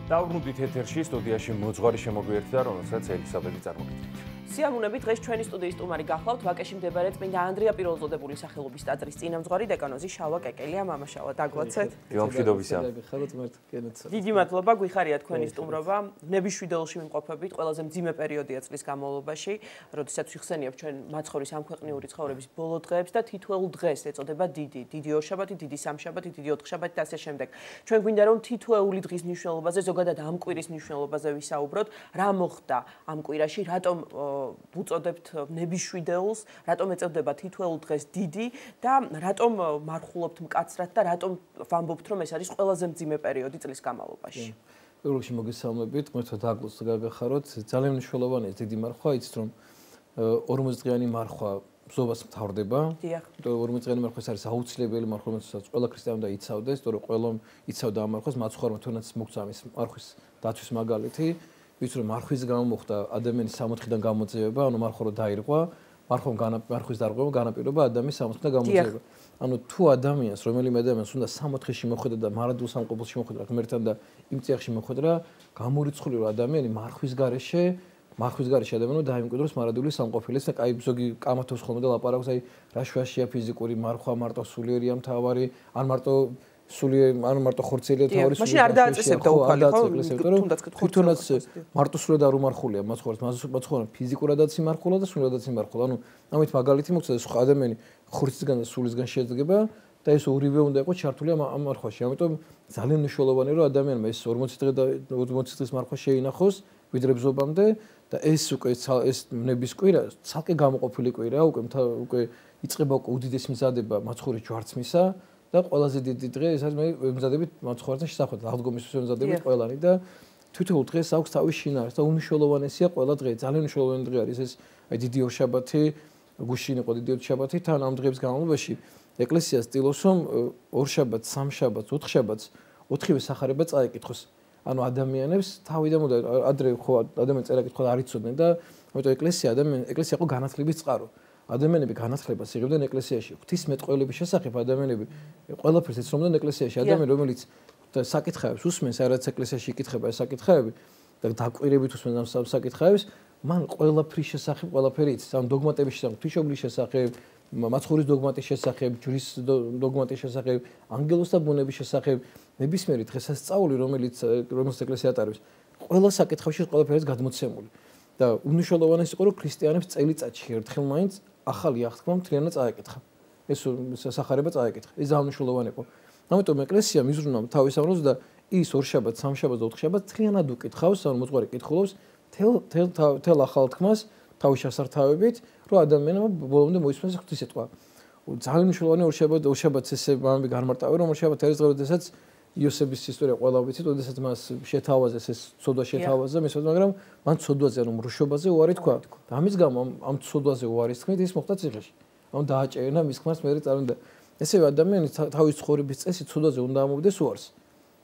Დავრუნდით ეთერში სტუდიაში მოძღვარი შემოგვიერთდა, რომელსაც ელისაბედი წარმოგიდგენთ. სიამოვნებით დღეს ჩვენი სტუდიის სტუმარი გახლავთ ვაკეში მდებარე წმინდა ანდრია პირველწოდებული სახელობის ტაძრის წინამძღვარი დეკანოზი შალვა კეკელია. მამა შალვა, დაგლოცეთ. მშვიდობისა. დიდი მადლობა, გვიხარია თქვენი სტუმრობა. ნებიშვიდელში ვიმყოფებით ყველაზე მძიმე პერიოდია წლის განმავლობაში, როდესაც ვიხსენიებთ ჩვენ მაცხოვრის ამქვეყნიური ცხოვრების ბოლო დღეებს და თითოეულ დღეს ეწოდება დიდი ორშაბათი, დიდი სამშაბათი, დიდი ოთხშაბათი და ასე შემდეგ. ჩვენ გვინდა რომ თითოეული დღის მნიშვნელობაზე, ზოგადად ამ კვირის მნიშვნელობაზე ვისაუბროთ, რა მოხდა ამ კვირაში, რატომ უწოდებთ ნებიშვიდეულს, რატომ ეწოდება თითოეულ დღეს დიდი და რატომ მარხულობთ მკაცრად და რატომ ვამბობთ რომ ეს არის ყველაზე მძიმე პერიოდი წლის განმავლობაში. პირველ რიგში მოგესალმებით, მოიწვევთ აკლოს გაგახაროთ. ძალიან მნიშვნელოვანია დიდი მარხვა, იცით რომ 40 დღიანი მარხვა ბზობას მთავრდება. 40 დღიანი მარხვა არის აუცილებელი მარხვა, რომელსაც ყველა ქრისტიანი უნდა იცავდეს, თორე ყველა იცავდა ამ მარხვას, მაცხოვრებმა თუნდაც მოგცა ამის მარხვის დაცვის მაგალითი. ვიცი რომ მარხვის გამო მოხდა ადამიანის 60-დან გამოძიება, ანუ მარხვა რო დაირღვა, მარხვის დარღვევა განაპირობა ადამიანის 60-დან გამოძიება. ანუ თუ ადამიანს, რომელიმე ადამიანს უნდა 60-ში მოხვედრა და მარადულ სამყოფელში მოხვედრა ღმერთთან და იმ წიაღში მოხვედრა, გამორიცხული რომ ადამიანი მარხვის გარეშე ადამიანი დაიმკვიდროს მარადული სამყოფელიც და კაი ზოგი კამათობს ხოლმე და ლაპარაკობს, აი რა შვაშია ფიზიკური მარხვა, მარტო სულიერია მთავარი, ან მარტო ხორცელია თავარი სული. მაშინ არ დააწესებდა უფალი, ხო? თუნდაც მარტო სულად არ უმარხულია მაცხოვრებელს ფიზიკურადაც იმარხულა და სულადაც იმარხულა. ანუ ამით მაგალითი მოგცა ეს ადამიანი ხორცისგან და სულისგან შედგება და ეს ორივე უნდა იყოს ჩართული ამ მარხვაში. ამიტომ ძალიან მნიშვნელოვანია რომ ადამიანმა ეს 40 დღის მარხვა შეინახოს ვიდრე ბზობამდე და ეს უკვე ეს ნების კვირა ცალკე გამოყოფილი კვირაა, უკვე იწყება უდიდესი მზადება მაცხოვრის ჯვარცმისა და ყველაზე დიდი დღე ეს არის მე მზადებით მაცხოვრებთან შესახვედრად აღდგომისთვის მზადებით ყველანი და თითოეულ დღეს აქვს თავის შინაარს და უნიშნულოვანესია ყველა დღე. ძალიან მნიშვნელოვანი დღე არის ეს აი დიდი ორშაბათი, გუშინ იყო დიდი ოთხშაბათი, თან ამ დღეების განმავლობაში ეკლესია ცდილობს რომ ორშაბათს, სამშაბათს, ოთხშაბათს ოთხივე სახარება წაეკითხოს. ანუ ადამიანებს თავიდან უნდა ადრე ხო ადამიანს წერა-კითხვა არ იცოდნენ და ამიტომ ეკლესია იყო განათლების წყარო. ადამიანები განათლებას იღებდნენ ეკლესიაში. ღვთისმეტყველების შესახებ ადამიანები ყველაფერს ეცნობდნენ ეკლესიაში. ადამიანი რომელიც საკითხებს უსმენს, რაც ეკლესიაში იკითხება ეს საკითხები და დაკვირებით უსმენს ამ საკითხებს, მან ყველაფრის შესახებ ყველაფერი იცის. ამ დოგმატების შესახებ, ღვთისმშობლის შესახებ, მაცხოვრის დოგმატის შესახებ, ჯვრის დოგმატის შესახებ, ანგელოზთა ბუნების შესახებ, ნებისმიერი დღესასწაული, რომელიც ეკლესია ატარებს, ყველა საკითხებში ყველაფერს გადმოცემული. და უნიშნულოვანესი იყო რომ ქრისტიანებს წელიწადში ერთხელ მაინც ახალი აღთქმა მთლიანად წაეკითხა. ეს სახარება წაეკითხა. ეს ძალიან მნიშვნელოვანი იყო. ამიტომ ეკლესია მიზრუნავ თავის ამბავს და ის ორშაბათს, სამშაბათს და ოთხშაბათს მთლიანად უკითხავს, ანუ მოძღვარი კითხულობს თელ ახალ თქმას თავის შესართავებით, რომ ადამიანმა ბოლომდე მოისმენს ღვთისმეტყვა. ძალიან მნიშვნელოვანია ორშაბათს ესე მამები განმარტავენ, რომ ორშაბათი არის დღე, როდესაც იოსების ისტორია ყველა ვიცით, როდესაც მას შეთავაზეს ეს ცოდვა შეთავაზა, მაგრამ მან ცოდვაზე ანუ მრუშობაზე უარი თქვა. და ამის გამო ამ ცოდვაზე უარის თქმით ის მოხდა ციხეში. ანუ დააჭერნა მის ქმარს მე წარუნდა. ესევე ადამიანი თავის ცხოვრების წესით ცოდვაზე უნდა ამოვიდეს უარს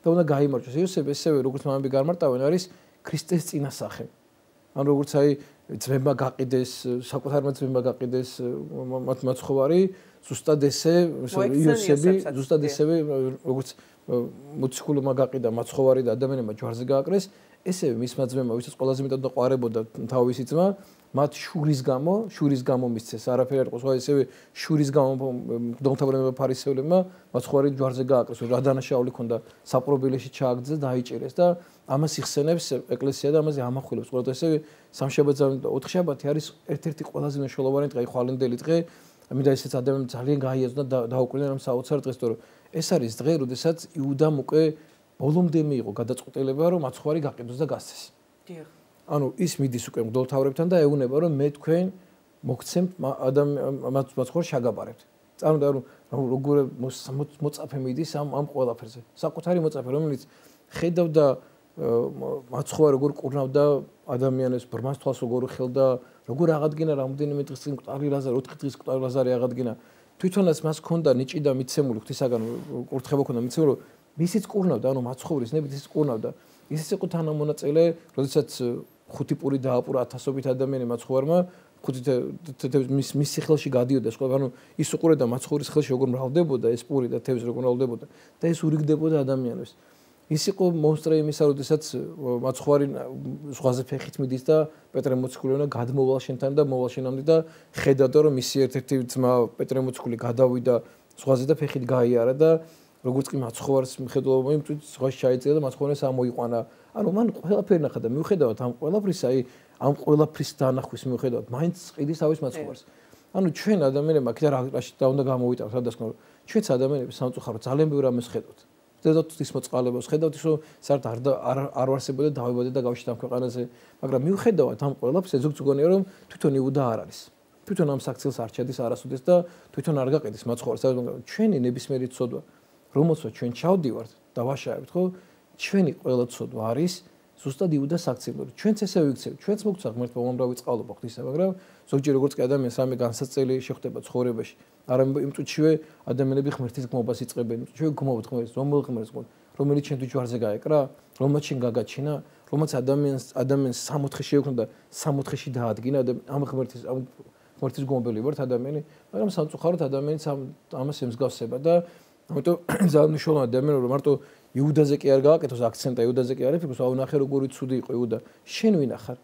და უნდა გაიმარჯვოს. იოსები ესევე როგორც მამები განმარტავენ არის ქრისტეს წინასახე. ანუ როგორც აი ძმება გაყიდეს, საკუთარმა ძმება გაყიდეს მაცხოვარი, ზუსტად ესე იოსები, ზუსტად ესევე როგორც მოციქულმა გაყიდა მაცხოვარი და ადამიანმა ჯვარზე გააკრეს, ესევე მისმა ძმებმა, ვისაც ყველაზე მეტად დაყვარებოდა თავისი ძმა, მათ შურის გამო მისცეს, არაფერი არ იყო, სხვა ესევე შურის გამო მღვდელმთავრებმა ფარისევლებმა მაცხოვარი ჯვარზე გააკრეს, რა დანაშაული ქონდა საპყრობილეში ჩააგდეს და დაიჭერეს და ამას იხსენებს ეკლესია და ამაზე ამახვილებს. ყოველთვის ესევე სამშაბათი და ოთხშაბათი არის ერთ-ერთი ყველაზე მნიშვნელოვანი დღე, ხვალინდელი დღე. მინდა ესეც ადამიანს ძალიან გაიაზრდა და დაუკვირდნენ ამ საოცარ დღეს, თორე ეს არის დღე, როდესაც იუდამ უკვე ბოლომდე მიიღო გადაწყვეტილება, რომ მაცხოვარი გაყიდოს და გასცეს. დიახ. ანუ ის მიდის უკვე მღვდელმთავრებთან და ეუბნება, რომ მე თქვენ მოგცემთ მაცხოვარს შაგაბარებთ. წარმოვიდგინეთ, რომ როგორ მოწაფე მიდის ამ ყველაფერზე. საკუთარი მოწაფე, რომელიც ხედავდა მაცხოვარი როგორ კურნავდა ადამიანებს, ბრმას თვალს როგორ ხელდა, როგორ აღადგინა რამდენიმე დღის წინ მკვდარი ლაზარი, 4 დღის მკვდარი ლაზარი აღადგინა. თვითონაც მას ჰქონდა ნიჭი და მიცემული ღვთისაგან კურთხება ჰქონდა მიცემული, რომ მისიც კურნავდა, ანუ მაცხოვრის ნებით ის კურნავდა. ისიც იყო თანამონაწილე, როდესაც 5 პური დააპურა 1000-ობით ადამიანი მაცხოვარმა, მის სიხელში გადიოდა ეს ყველა, ანუ ის უყურებდა მაცხოვრის ხელში როგორ მრავლდებოდა ეს პური და თევზი როგორ მრავლდებოდა და ეს ურიგდებოდა ადამიანებს. ის იყო მონსტრე იმისა, როდესაც მაცხვარი ზღვაზე ფეხით მიდის და პეტრე მოციქულინა გადმოვალ შენთან და მოვალ შენამდე და ხედავდა რომ მისი ერთ-ერთი ძმა პეტრე მოციქული გადავიდა ზღვაზე და ფეხით გაიარა და როგორც კი მაცხვარს მხედველობა იმწვით ზღვაში ჩაიწერა და მაცხვარს ამოიყვანა. ანუ მან ყველაფერი ნახა და მიუხედავად ამ ყველაფრისა, ამ ყველაფრის დანახვის მიუხედავად, მაინც ყიდის თავის მაცხვარს. ანუ ჩვენ ადამიანებმა კიდე რაში და უნდა გამოვიტანოთ, რადგან ჩვენც ადამიანები სამწუხაროდ ძალიან ბევრ რამეს ხედავთ. ხედავთ ის მოწყალებას, ხედავთ ის რომ საერთოდ არ ვარსებოდა დავიბადე და გავშით ამ ქვეყანაზე, მაგრამ მიუხედავად ამ ყველაფერს ზოგ ზოგონია რომ თვითონ იუდა არ არის. თვითონ ამ საქციელს არ ჩადის არასოდეს და თვითონ არ გაყიდის მაცხვარს. ჩვენი ნებისმიერი ცოდვა, რომელსაც ჩვენ ჩავდივართ და ვაშავებთ, ხო? ჩვენი ყველა ცოდვა არის ზუსტად იუდა საქციელური. ჩვენც ესე ვიქცევთ, ჩვენც მოგცა ღმერთმა უამრავი წყალობა ღვთისა, მაგრამ ზოგჯერ როგორც კი ადამიანს რამე განსაცდელი შეხვდება ცხოვრებაში, არამედ იმ წუთშივე ადამიანები ღმერთის გმობას იწყებენ. ჩვენ გმობთ ღმერთს, რომელ ღმერთს გმობთ, რომელიც ჩვენ თუჯვარზე გაეკრა, რომელმაც შენ გაგაჩინა, რომელმაც ადამიანს 64 შეექმნა და 64-ში დაადგინა ამ ღმერთის გმობელი ვართ ადამიანი, მაგრამ სამწუხაროდ ადამიანიც ამას ემსგავსება და ამიტომ ძალიან მნიშვნელოვანია ადამიანი რომ მარტო იუდაზე კი არ გააკეთოს აქცენტა, იუდაზე კი არ იფიქროს, აუნახე როგორი ცუდი იყო იუდა. შენ ვინ ახარ?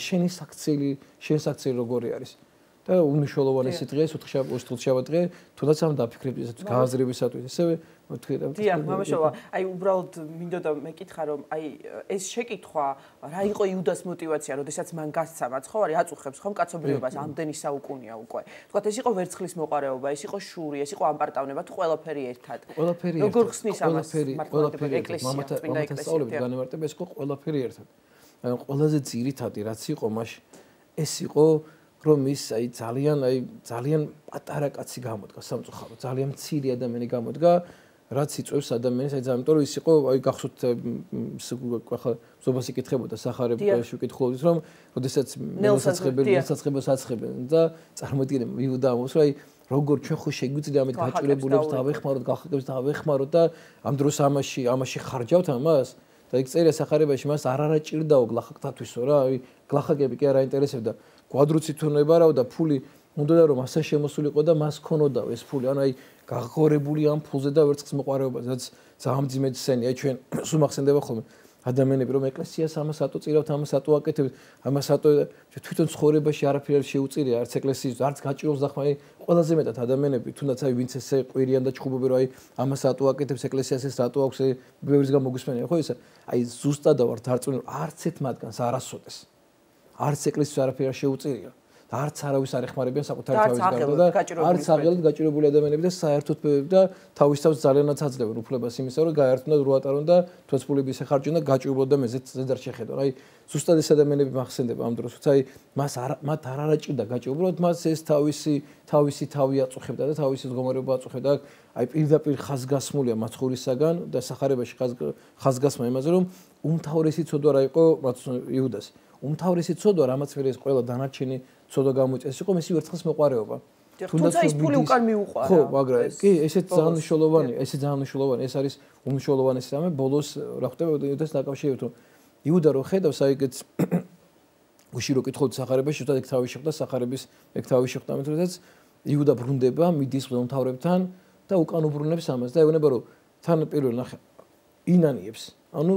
შენი საქციელი როგორი არის? და უნიშნულოვანესი დღე, ოთხშაბათი დღე, თუნდაც ამ დაფიქრებით ესეც გააზრებისათვის, ესევე თქვი და დიახ, მამაშოვა, აი უბრალოდ მინდოდა მეკითხა რომ აი ეს შეკითხვა რა იყო იუდას мотиваცია, როდესაც მან გასცა მაცხოვარი აწუხებს ხომ კაცობრიობას ამდენი საუკუნია უკვე. თქვათ ეს იყო ვერცხლის მოყარეობა, ეს იყო შური, ეს იყო ამპარტავნება, თუ ყველაფერი ერთად. როგორ ხსნის ამას მართლმადიდებლური ეკლესია, წმინდა ეკლესია. განმარტება ეს იყო ყველაფერი ერთად. აი ყველაზე ძირითადი რაც იყო მაშინ ეს იყო რომ ის ძალიან პატარა კაცი გამოდგა სამწუხაროდ, ძალიან მცირე ადამიანი გამოდგა, რაც იწვევს ადამიანს, ძალიან, იმიტომ რომ ის იყო, გახსოვთ ახლა ზობას იკითხებოდა სახარებაში ვკითხულობდით, რომ როდესაც ნელსაცხებელს აცხებენ და წარმოიდგინე იუდა ამბობს, რომ როგორ ჩვენ ხო შეგვიძლია ამით გაჭირებულებს დავეხმაროთ, გახაკებს დავეხმაროთ და ამ დროს ამაში ხარჯავთ ამას და იქ წერია სახარებაში მას არ ჭირდაო გლახაკთათვისო რა, გლახაკები კი არ აინტერესებდა. კვადრუცი თუნებარავ და ფული უნდა რომ ასე შემოსულიყო და მას ქონოდაო ეს ფული. ანუ გაღორებული ამ ფულზე და ვერცხლის მოყარეობაზე, რაც ძალიან ძიმედ სცენია. ჩვენ სულ მახსენდება ხოლმე ადამიანები რომ ეკლესიას ამას ატო წირავთ, ამას ატო აკეთებთ, ამას ატო თვითონ ცხოვრებაში არაფერი არ შეუწირია, არც ეკლესიის, არც გაჭიროს და ხმაი ყველაზე მეტად ადამიანები, თუნდაც ვინც ესე ყვირიან და ჩხუბობენ რომ ამას ატო აკეთებს ეკლესიას ეს რატო აქვს ბევრის გამოგისმენია, ხო ისა? ზუსტად ვარ დარწმუნებული, არც ერთ მათგანს არასოდეს არც ეკლესიის არაფერი არ შეუწირია და არც არავის არ ეხმარებიან საკუთარი თავის გარდა და არც აღელად გაჭირებული ადამიანები და საერთოდ და თავის თავს ძალიანაც აძლევენ უფლებას იმისა რომ გაერთონ და როატარონ და თვეცფულები შეხარჯონ და გაჭირებულო და მეზეთ არ შეხედონ. აი ზუსტად ეს ადამიანები მახსენდება ამ დროს, თუმცა მათ არ არაჭირდა გაჭირებულად, მას ეს თავისი თავი აწუხებდა და თავისი მდგომარეობა აწუხებდა. აი პირდაპირ ხაზგასმულია მაცხოვრისაგან და სახარებაში ხაზგასმა იმაზე რომ უმთავრესი ცოდვა რა იყო იუდას. უმთავრესი ცოდვა, რამაც ვერ ეს ყველა დანარჩენი ცოდვა გამოიწეს, იყო მისი ვერცხლის მოყარეობა. თუმცა ის ფული უკან მიუყარა. ხო, მაგრამ კი, ესეც ძალიან მნიშვნელოვანია, ეს არის უმნიშვნელოვანესი რამე. ბოლოს რა ხდება იუდას დაკავშირებით, რომ იუდა რო ხედავს, აი ეგეც უშირო კითხავთ სახარებაში, თუნდაც ეგ თავი შეხვდა სახარების, ეგ თავი შეხვდა, ამიტომაც იუდა ბრუნდება, მიდის მთავრებთან და უკან უბრუნებს ამას და ეუბნება რომ თან პირველ ნახე ინანიებს. ანუ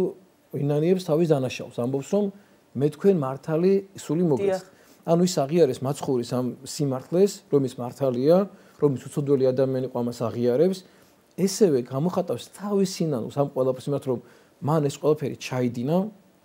ინანიებს თავის დანაშაულს, ამბობს რომ მე თქვენ მართალი სული მოგეც. ანუ ის აღიარეს მაცხოვრის ამ სიმართლეს, რომ ის მართალია, რომ ის უცოდველი ადამიანი ყო ამას აღიარებს, ესევე გამოხატავს თავის სინანულს ამ ყველაფერს იმათ რომ მან ეს ყველაფერი ჩაიდინა,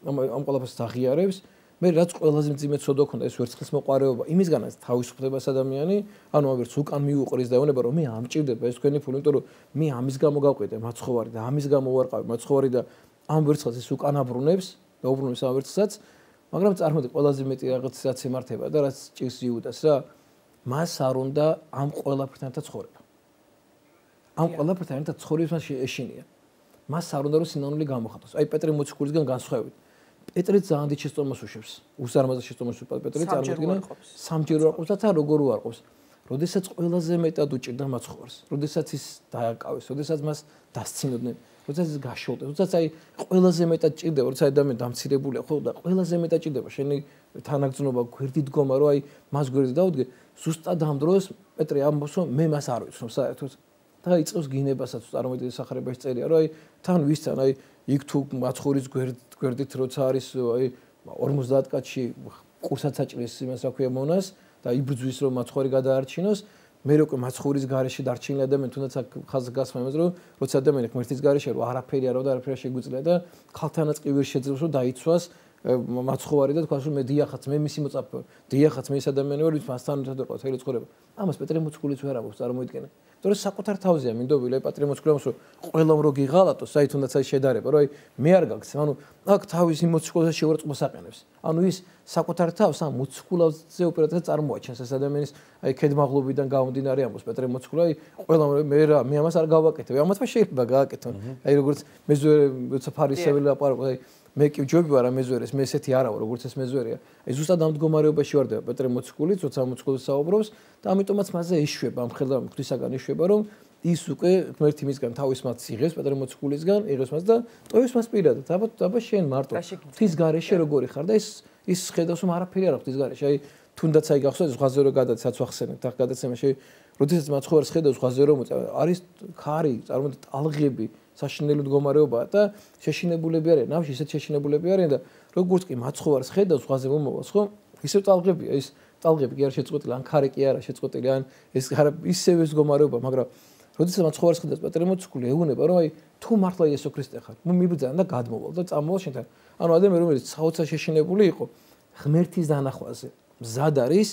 ამ ყველაფერს აღიარებს, მე რაც ყველაზე მძიმე ცოდვა ქონდა ეს ვერცხლის მოყარეობა, იმისგანაც თავისუფლებას ადამიანი, ანუ ამერც უკან მიუყრის და ეუბნება რომ მე ამჭირდება ეს თქვენი ფული, იმიტომ რომ მე ამის გამო გავყიდე მაცხოვარი და ამის გამო ვარყავი მაცხოვარი და ამ ვერცხლს ის უკან აბრუნებს და უბრუნებს ამ ვერცხლსაც. მაგრამ წარმოიდგინე ყველაზე მეტი რაღაცაც ემართება და რაც ჭირს იუდას რა მას არ უნდა ამ ყველაფერთან ერთად ცხოვრება. ამ ყველაფერთან ერთად ცხოვრებას მას ეშინია. მას არ უნდა რომ სინანული გამოხატოს. აი პეტრე მოციქულისგან განსხვავებით. პეტრე ძალიან დიდ შეცდომას უშვებს. უსარმაზარ შეცდომას უშვებს პეტრე წარმოიდგინე სამჯერ ვარყოფს და თან როგორ ვარყოფს. როდესაც ყველაზე მეტად უჭირდა მაცხოვარს. როდესაც ის დააკავეს, როდესაც მას დასცინოდნენ. როდესაც ის გაშოლდეს, როდესაც აი ყველაზე მეტად ჭირდება, როცა ადამიანი დამცირებულია, ხო და ყველაზე მეტად ჭირდება შენი თანაგრძნობა, გვერდი დგომა, რომ აი მას გვერდი დაუდგე, ზუსტად ამ დროს პეტრე ამბობს, რომ მე მას არ ვიცნობ საერთოდ და იწყებს გინებასაც წარმოიდგინე სახარებაში წერია, რომ აი თან ვისთან, აი იქ თუ მაცხოვრის გვერდით როცა არის აი 50 კაცში კურსაც აჭრის იმას რა ქვია მონას და იბრძვის რომ მაცხოვრი გადაარჩინოს მე უკვე მაცხოვრის გარეშე დარჩენილი ადამიანი თუნდაც ხაზს გასმა იმას რომ როცა ადამიანი ღმერთის გარეშე რომ არაფერი არა და არაფერი შეგვიძლია და ქალთანაც კი ვერ შეძლებს რომ დაიცვას მაცხოვარი და თქვას რომ მე დიახაც მე მისი მოწაფე ვარ დიახაც მე ეს ადამიანი ვარ ვის მასთან ერთად ვიყავ თელი ცხოვრება ამას პეტრე მოციქულიც ვერ ამბობს წარმოიდგინე იმიტომ რომ საკუთარ თავზეა მინდობილი აი პეტრე მოციქულს რომ ყველამ რო გიღალატოს აი თუნდაც აი შედარება რომ აი მე არ გაგცე ანუ აქ თავისი მოციქულს შეურაცხყოფას აყენებს ანუ ის საკუთარ თავს ამ მოციქულზე უპირატესად წარმოაჩენს ეს ადამიანის აი ქედმაღლობიდან გამომდინარე ამბობს პეტრე მოციქული აი ყველამ მე ამას არ გავაკეთებ ამათმა შეიძლება გააკეთონ აი როგორც მეზვერე როცა ფარისეველი ლაპარაკობს აი მე კი ჯობი ვარ ამ მეზვერეს მე ესეთი არა ვარ როგორც ეს მეზვერეა აი ზუსტად ამ მდგომარეობაში ვარდება პეტრე მოციქული როცა მოციქულს საუბრობს და ამიტომაც მასზე ეშვება ამ ხელდა ღვთისაგან ეშვება რომ ის უკვე ღმერთი მისგან თავის მას იღებს პეტრე მოციქულისგან იღებს მას და ტოვის მას პირადად აბა შენ მარტო ღვთის გარეშე როგორი ხარ და ის ხედავს რომ არაფერი არა ღვთის გარეშე აი თუნდაც აი გახსოვს ზღვაზე რო გადაცაც ვახსენებთ ახ გადაცემაში როდესაც მაცხოვარს ხედავს ზღვაზე რო არის ქარი წარმოიდგინეთ ტალღები საშინელი მდგომარეობაა და შეშინებულები არიან ნავში ისეთ შეშინებულები არიან და როგორც კი მაცხოვარს ხედავს ზღვაზე მომავალს ხო ისევ ტალღებია ის ტალღები კი არ შეწყვეტილი ან ქარი კი არა შეწყვეტილი ან ეს არა ისევ ეს მდგომარეობა მაგრამ როდესაც მაცხოვარს ხედავს პეტრე მოციქული ეუბნება რომ აი თუ მართლა იესო ქრისტე ხარ მიბრძან და გადმოვალ და წამოვალ შენთან ანუ ადამიანი რომელიც საოცარ შეშინებული იყო ღმერთის დანახვაზე მზად არის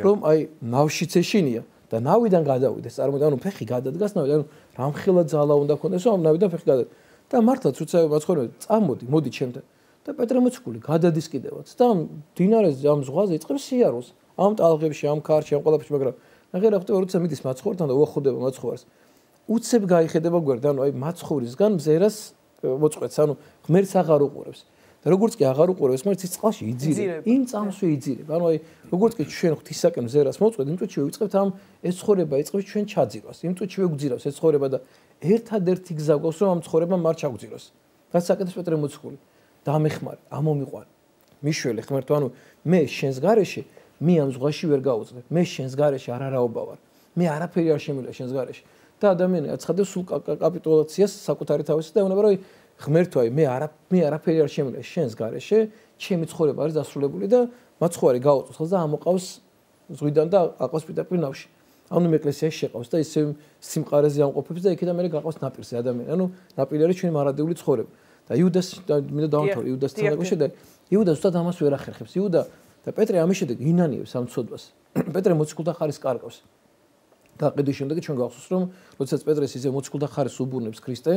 რომ აი ნავშიც ეშინია და ნავიდან გადავიდეს წარმოიდგინე ანუ ფეხი გადადგას ნავიდან ანუ რამხელა ძალა უნდა ქონდეს რომ ამ ნავიდან ფეხი გადადგას და მართლაც უცა მაცხოვრები წამოდი მოდი ჩემთან და პეტრე მოციქული გადადის კიდევაც და დინარეს ამ ზღვაზე იწყებს სიარულს ამ ტალღებში ამ ქარში ამ ყველაფერში მაგრამ ნახე რა ხდება როცა მიდის მაცხოვრთან და უახლოვდება მაცხოვარს უცებ გაიხედება გვერდ ანუ აი მაცხოვრისგან მზერას მოწყვეტს ანუ ღმერთს აღარ უყურებს და როგორც კი აღარ უყურებს ღმერთს ის წყალში იძირება იმ წამსვე იძირება ანუ აი როგორც კი ჩვენ ღვთისაკენ მზერას მოწყვეტ იმ წუთში ვიწყებთ ამ ეს ცხოვრება იწყებს ჩვენ ჩაძირვას იმ წუთში ვეგძირავს ეს ცხოვრება და ერთადერთი გზა გვაქვს რომ ამ ცხოვრებამ არ ჩაგვძიროს რაც საკეთებს პეტრე მოციქული დამეხმარე ამომიყვანე მიშველე ღმერთო ანუ მე შენს გარეშე მე ამ ზღვაში ვერ გაუძლებ მე შენს გარეშე არარაობა ვარ მე არაფერი არ შემიძლია შენს გარეშე და ადამიანი აცხადებს სულ კაპიტულაციას საკუთარი თავის და ეუბნება რომ ღმერთო აი მე არაფერი არ შემიძლია შენს გარეშე ჩემი ცხოვრება არის დასრულებული და მაცხოვარი გაუწევს და ამოყავს ზღვიდან და აყავს პირდაპირ ნავში ანუ მე ეკლესიაში შეყავს და ისე სიმყარეზე ამყოფებს და იქიდან მე გაყავს ნაპირზე ადამიანი ანუ ნაპირი არის ჩვენი მარადიული ცხოვრება და იუდას მინდა დავამთავრე იუდასთან დაკავშირებით და იუდა ზუსტად ამას ვერ ახერხებს იუდა და პეტრე ამის შემდეგ ინანიებს ამ ცოდვას პეტრე მოციქულთა ხარის კარგავს გაყიდვის შემდეგ ჩვენ გავხსოვს რომ როდესაც პეტრეს ისე მოციქულთა ხარის უბურნებს ქრისტე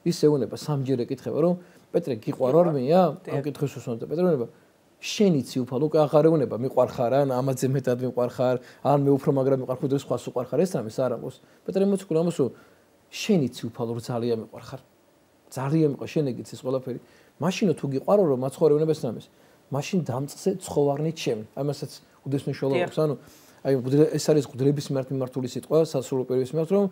ის ეუბნება სამჯერ ეკითხება რომ პეტრე გიყვარ არ მეა ამ კითხვის უსმენდა პეტრე ეუბნება შენიცი უფალო უკვე აღარ ეუბნება მიყვარხარ ან ამაზე მეტად მიყვარხარ ან მე უფრო მაგრამ მიყვარხარ და სხვას უყვარხარ ეს რამეს არ ამბობს პეტრე მოციქული ამბობს რომ შენიცი უფალო ძალიან მიყვარხარ ძალიან მიყვარ შენ ეგიც ეს ყველაფერი მაშინ თუ გიყვარო რომ მაცხოვარი ეუბნება ეს რამეს მაშინ დამწზე ცხოვარნით ჩემი ამასაც უდეს მნიშვნელობს ანუ აი ეს არის ღუდლების მიმართული სიტყვა სასრულო პირის მიმართ რომ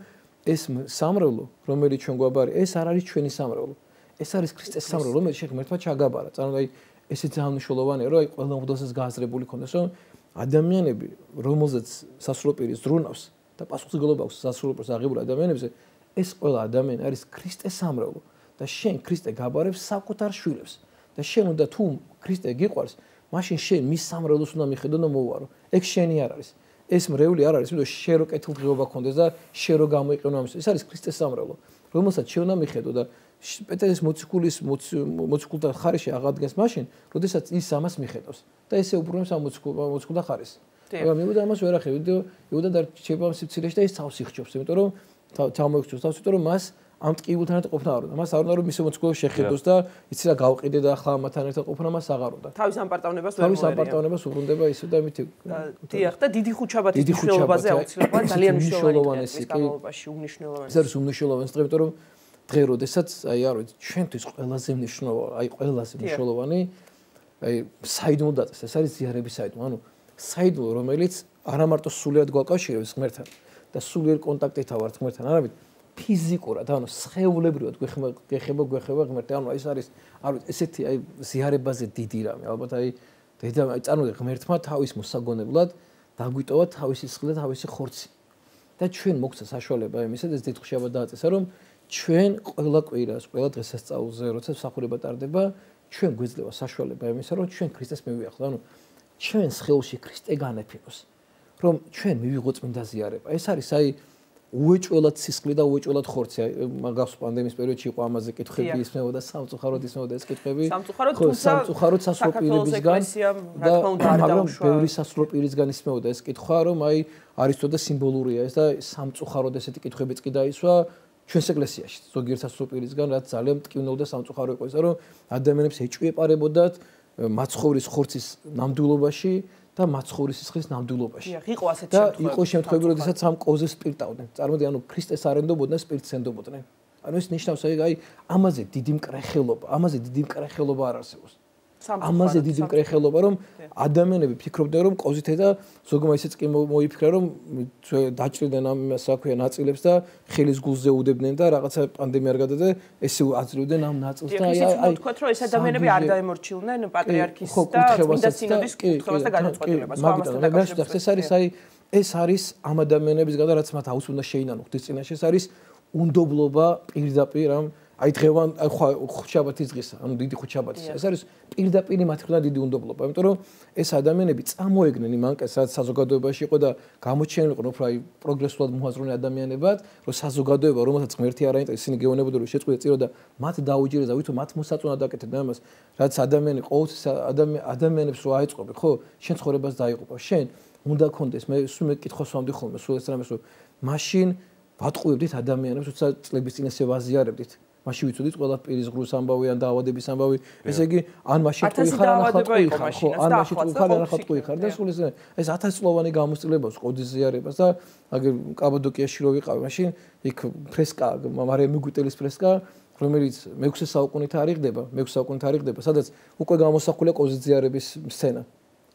ეს სამრევლო რომელიც ჩვენ გვაბარი ეს არ არის ჩვენი სამრევლო ეს არის ქრისტეს სამრევლო რომელიც ღმერთმა ჩაგაბარა ანუ აი ესე ძალიან მნიშვნელოვანია რომ აი ყველა მღვდელსაც გააზრებული ქონდეს რომ ადამიანები რომელზეც სასრულო პირი ზრუნავს და პასუხისმგებლობა აქვს სასრულო პირს აღებულ ადამიანებზე ეს ყველა ადამიანი არის ქრისტეს სამრევლო და შენ ქრისტე გაბარებს საკუთარ შვილებს და შენ უნდა თუ ქრისტე გიყვარს მაშინ შენ მის სამრევლოს უნდა მიხედო და მოუარო ეგ შენი არ არის ეს მრევლი არ არის იმიტომ შენ რო კეთილდღეობა გქონდეს და შენ რო გამოიყენო ამის ეს არის ქრისტეს სამრევლო რომელსაც შენ უნდა მიხედო და პეტრეს მოციქულთა ხარისში აღადგენს მაშინ როდესაც ის ამას მიხედავს და ესე უბრუნებს ამ მოციქულთა ხარის მაგრამ იუდა ამას ვერ ახერხებს იუდა და რჩება სიცილეში და ის თავს იხჩობს იმიტომ რომ თავმოიხჩობს თავს იმიტომ რომ მას ამ ტკივილთან ერთად ყოფნა არ უნდა. მას არ უნდა რომ მის მოციქულებს შეხედოს და იცი რა გავყიდე და ახლა ამათთან ერთად ყოფნა მას აღარ უნდა. თავის ამპარტავნებას ვერ მოერია. თავის ამპარტავნებას უბრუნდება ისე და მით დიახ და დიდი ხუჩაბათის მნიშვნელობაზე აუცილებლად ძალიან მნიშვნელოვანია ეს განმავლობაში უმნიშვნელოვანესი. ეს არის უმნიშვნელოვანესი დღე, იმიტომ რომ დღე როდესაც აი არ ვიცი ჩვენთვის ყველაზე მნიშვნელოვანი, აი ყველაზე მნიშვნელოვანი აი საიდუმლო დაწესა. ეს არის ზიარების საიდუმლო. ანუ საიდუმლო რომელიც არა მარტო სულიერ გვაკავშირებს ღმერთთან და სულიერ კონტაქტით ავართ ღმერთთან, არამედ ფიზიკურად, ანუ სხეულებრივად გვეხება ღმერთი. ანუ ეს არის, არ ვიცი, ესეთი აი ზიარებაზე დიდი რამე. ალბათ აი წარმოიდგინე ღმერთმა თავის მოსაგონებლად დაგვიტოვა თავისი სხლი და თავისი ხორცი. და ჩვენ მოგცა საშუალება იმისა, ეს დიდხუშება დააწესა, რომ ჩვენ ყველა კვირას, ყველა დღესასწაულზე, როცა მსახურება ტარდება, ჩვენ გვეძლევა საშუალება იმისა, რომ ჩვენ ქრისტეს მივიახლოთ. ანუ ჩვენ ხელში ქრისტე განეფინოს, რომ ჩვენ მივიღოთ წმინდა ზიარება. ეს არის აი უეჭველად სისხლი და უეჭველად ხორცი. მაგას პანდემიის პერიოდში იყო ამაზე კითხვები ისმეოდა სამწუხაროდ ისმეოდა ეს კითხვები. სამწუხაროდ სასწრაფო პირებისგან და მაგრამ ბევრი სასწრაფო პირისგან ისმეოდა ეს კითხვა, რომ აი არისტო და სიმბოლურია ეს და სამწუხაროდ ესეთი კითხვებიც კი დაისვა ჩვენს ეკლესიაში. ზოგიერთ სასწრაფო პირისგან რაც ძალიან მტკივნეულ და სამწუხარო იყო ისა, რომ ადამიანებს ეჭვიეპარებოდათ მაცხოვრის ხორცის ნამდვილობაში და მაცხოვრის სისხლის ნამდვილობაში. იყო ასეთი შემთხვევები. და იყო შემთხვევები, როდესაც ამ კოზეს სპირტავდნენ. წარმოიდგინე, ანუ ქრისტეს არ ენდობოდნენ, სპირტს ენდობოდნენ. ანუ ეს ნიშნავს, აი ამაზე დიდი მკრეხელობა არ არსებობს. ამაზე დიდი მკრეხელობა, რომ ადამიანები ფიქრობდნენ, რომ კოზით და ზოგმა ისეც კი მოიფიქრა, რომ დაჭრიდნენ ამ საქმე ნაწილებს და ხელის გულზე უდებდნენ და რაღაცა პანდემია არ გადადა, ესე აძლევდნენ ამ ნაწილს და აი თქვათ, რომ ეს ადამიანები არ დაემორჩილნენ პატრიარქის და წმინდა სინოდის კითხვას და განაცხადებას. ეს არის ამ ადამიანებისგან, რაც მათ აუცილებლად უნდა შეინანო ღვთის წინაშე, ეს არის უნდობლობა პირდაპირ ამ აი დღევან ხუთშაბათის დღისა, ანუ დიდი ხუთშაბათის. ეს არის პირდაპირ მათი მხრიდან დიდი უნდობლობა, იმიტომ რომ ეს ადამიანები წამოეგნენ იმ ანკეს, რაც საზოგადოებაში იყო და გამოჩენილიყო უფრო აი პროგრესულად მოაზროვნე ადამიანებად, რომ საზოგადოება, რომელსაც ღმერთი არ აინტერესებს, ისინი გეუბნებოდნენ, რომ შეწყვეტა წირო და მათ დაუჯერეს და ვითომ მათ მოსაწონად აკეთებდნენ ამას, რაც ადამიანი ყოველთვის ადამიანებს რო აეწყობი, ხო? შენ ცხოვრებას დაიღუპა. შენ უნდა კონდეს, მე სულ მე კითხავს ვამდი ხოლმე, სულ ეს რამეს, რომ მაშინ ვატყუებდით ადამიანებს, როცა წლების წინ ესე ვაზიარებდით. მაშინ ვიცოდით ყველა პირის ღრუს ამბავი ან დაავადების ამბავი. ესე იგი, ან მაშინ ყუიხარ, ან ახლა ყუიხარ, ხო? ან მაშინ ყუიხარ, ან ახლა ყუიხარ და სულ ეს 1000-წლოვანი გამოსწლებას ყოდის ზიარებას და აგერ კაბადოკიაში რო ვიყავი, მაშინ იქ ფრესკა, მარიამ მიგუტელის ფრესკა, რომელიც მე-6 საუკუნით არიღდება, სადაც უკვე გამოსახულია ყოდის ზიარების სცენა.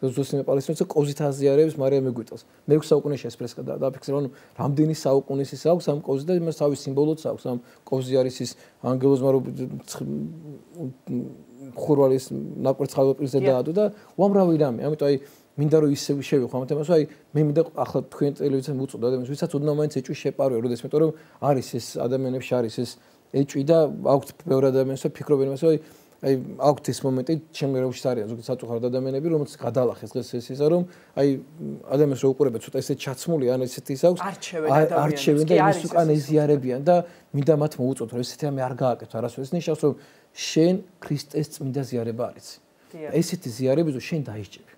ზუსტად პალესტინელს ყოზით აზიარებს მარიამ მიგუტელს. მე-6 საუკუნეში ეს ფრესკა დააფიქსირა, ანუ რამდენი საუკუნის ის აქვს ამ ყოზი და იმას თავის სიმბოლოც აქვს ამ ყოზი არის ის ანგელოზმა რო ხურვალის ნაკვერცხავ პირზე დაადო და უამრავი რამე. ამიტომ აი მინდა რომ ისე შევიხო ამ თემას, აი მე მინდა ახლა თქვენ ტელევიზიას მოუწოდო ადამიანს, ვისაც ოდნავ მაინც ეჭვი შეპარვე, როდეს მეტყვი რომ არის ეს ადამიანებში არის ეს ეჭვი და აქვთ ბევრ ადამიანს ფიქრობენ იმას, რომ აი აქვთ ეს მომენტი, ჩემი როუში არის ზოგი საწუხაროდ ადამიანები, რომელსაც გადალახეს დღეს ეს ისა, რომ აი ადამიანს რო უყურებენ ცოტა ესეთ ჩაცმული ან ესეთი ის აქვს, არჩევენ და იმის უკან ეზიარებიან და მინდა მათ მოუწოდოთ, რომ ესეთი რამე არ გააკეთო არასოდეს. ეს ნიშნავს, რომ შენ ქრისტეს წმინდა ზიარება არიცი. ესეთი ზიარები რო შენ დაიჭები.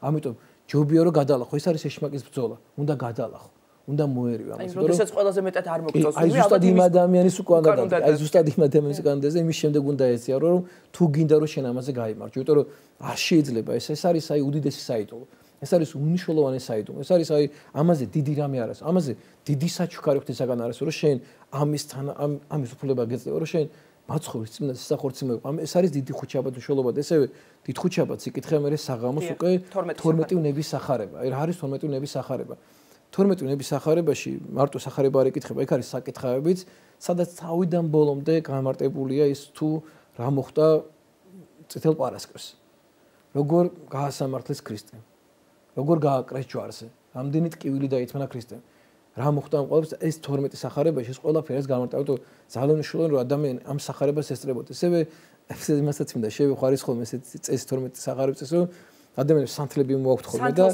ამიტომ ჯობია რომ გადალახო, ეს არის ეშმაკის ბრძოლა, უნდა გადალახო. უნდა მოერივე ამას, იმიტომ რომ ეს ყველაზე მეტად არ მოგწონს. აი ზუსტად იმ ადამიანის უკან დადა. აი ზუსტად იმ ადამიანის უკან დადა, იმის შემდეგ უნდა ეციარო, რომ თუ გინდა რომ შენ ამაზე გაიმარჯვე, იმიტომ რომ არ შეიძლება ეს არის აი უდიდესი საიდუმლო. ეს არის უნიშნულოვანი საიდუმლო. ეს არის აი ამაზე დიდი რამე არ არის. ამაზე დიდი საჩუქარი ღვთისაგან არის, რომ შენ ამისთან ამის უფლება გეძლევა, რომ შენ მაცხოვრის წმინდა სისახორცი მოიყვა. ეს არის დიდი ხუთშაბათი უშუალოდ. ესევე დიდ ხუთშაბათს იკითხე მე საღამოს უკვე 12 ნების სახარება. აი რა არის 12 ნების სახარება? 12 ნების სახარებაში მარტო სახარება არ იკითხება, იქ არის საკითხავებიც, სადაც თავიდან ბოლომდე გამარტებულია ის თუ რა მოხდა წითელ პარასკევს. როგორ გაასამართლეს ქრისტე. როგორ გააკრეს ჯვარზე. რამდენი ტკივილი დაითმნა ქრისტემ. რა მოხდა ამ ყველაფერს ეს 12 სახარებაში ეს ყველაფერს გამარტავდა, თუ ძალიან მნიშვნელოვანია რომ ადამიანი ამ სახარებას ესწრებოდეს. ესევე იმასაც მინდა შევიხარის ხოლმე ესეთ წეს 12 სახარებს რომ ადამიანებს სანთლები მოაქვთ ხოლმე და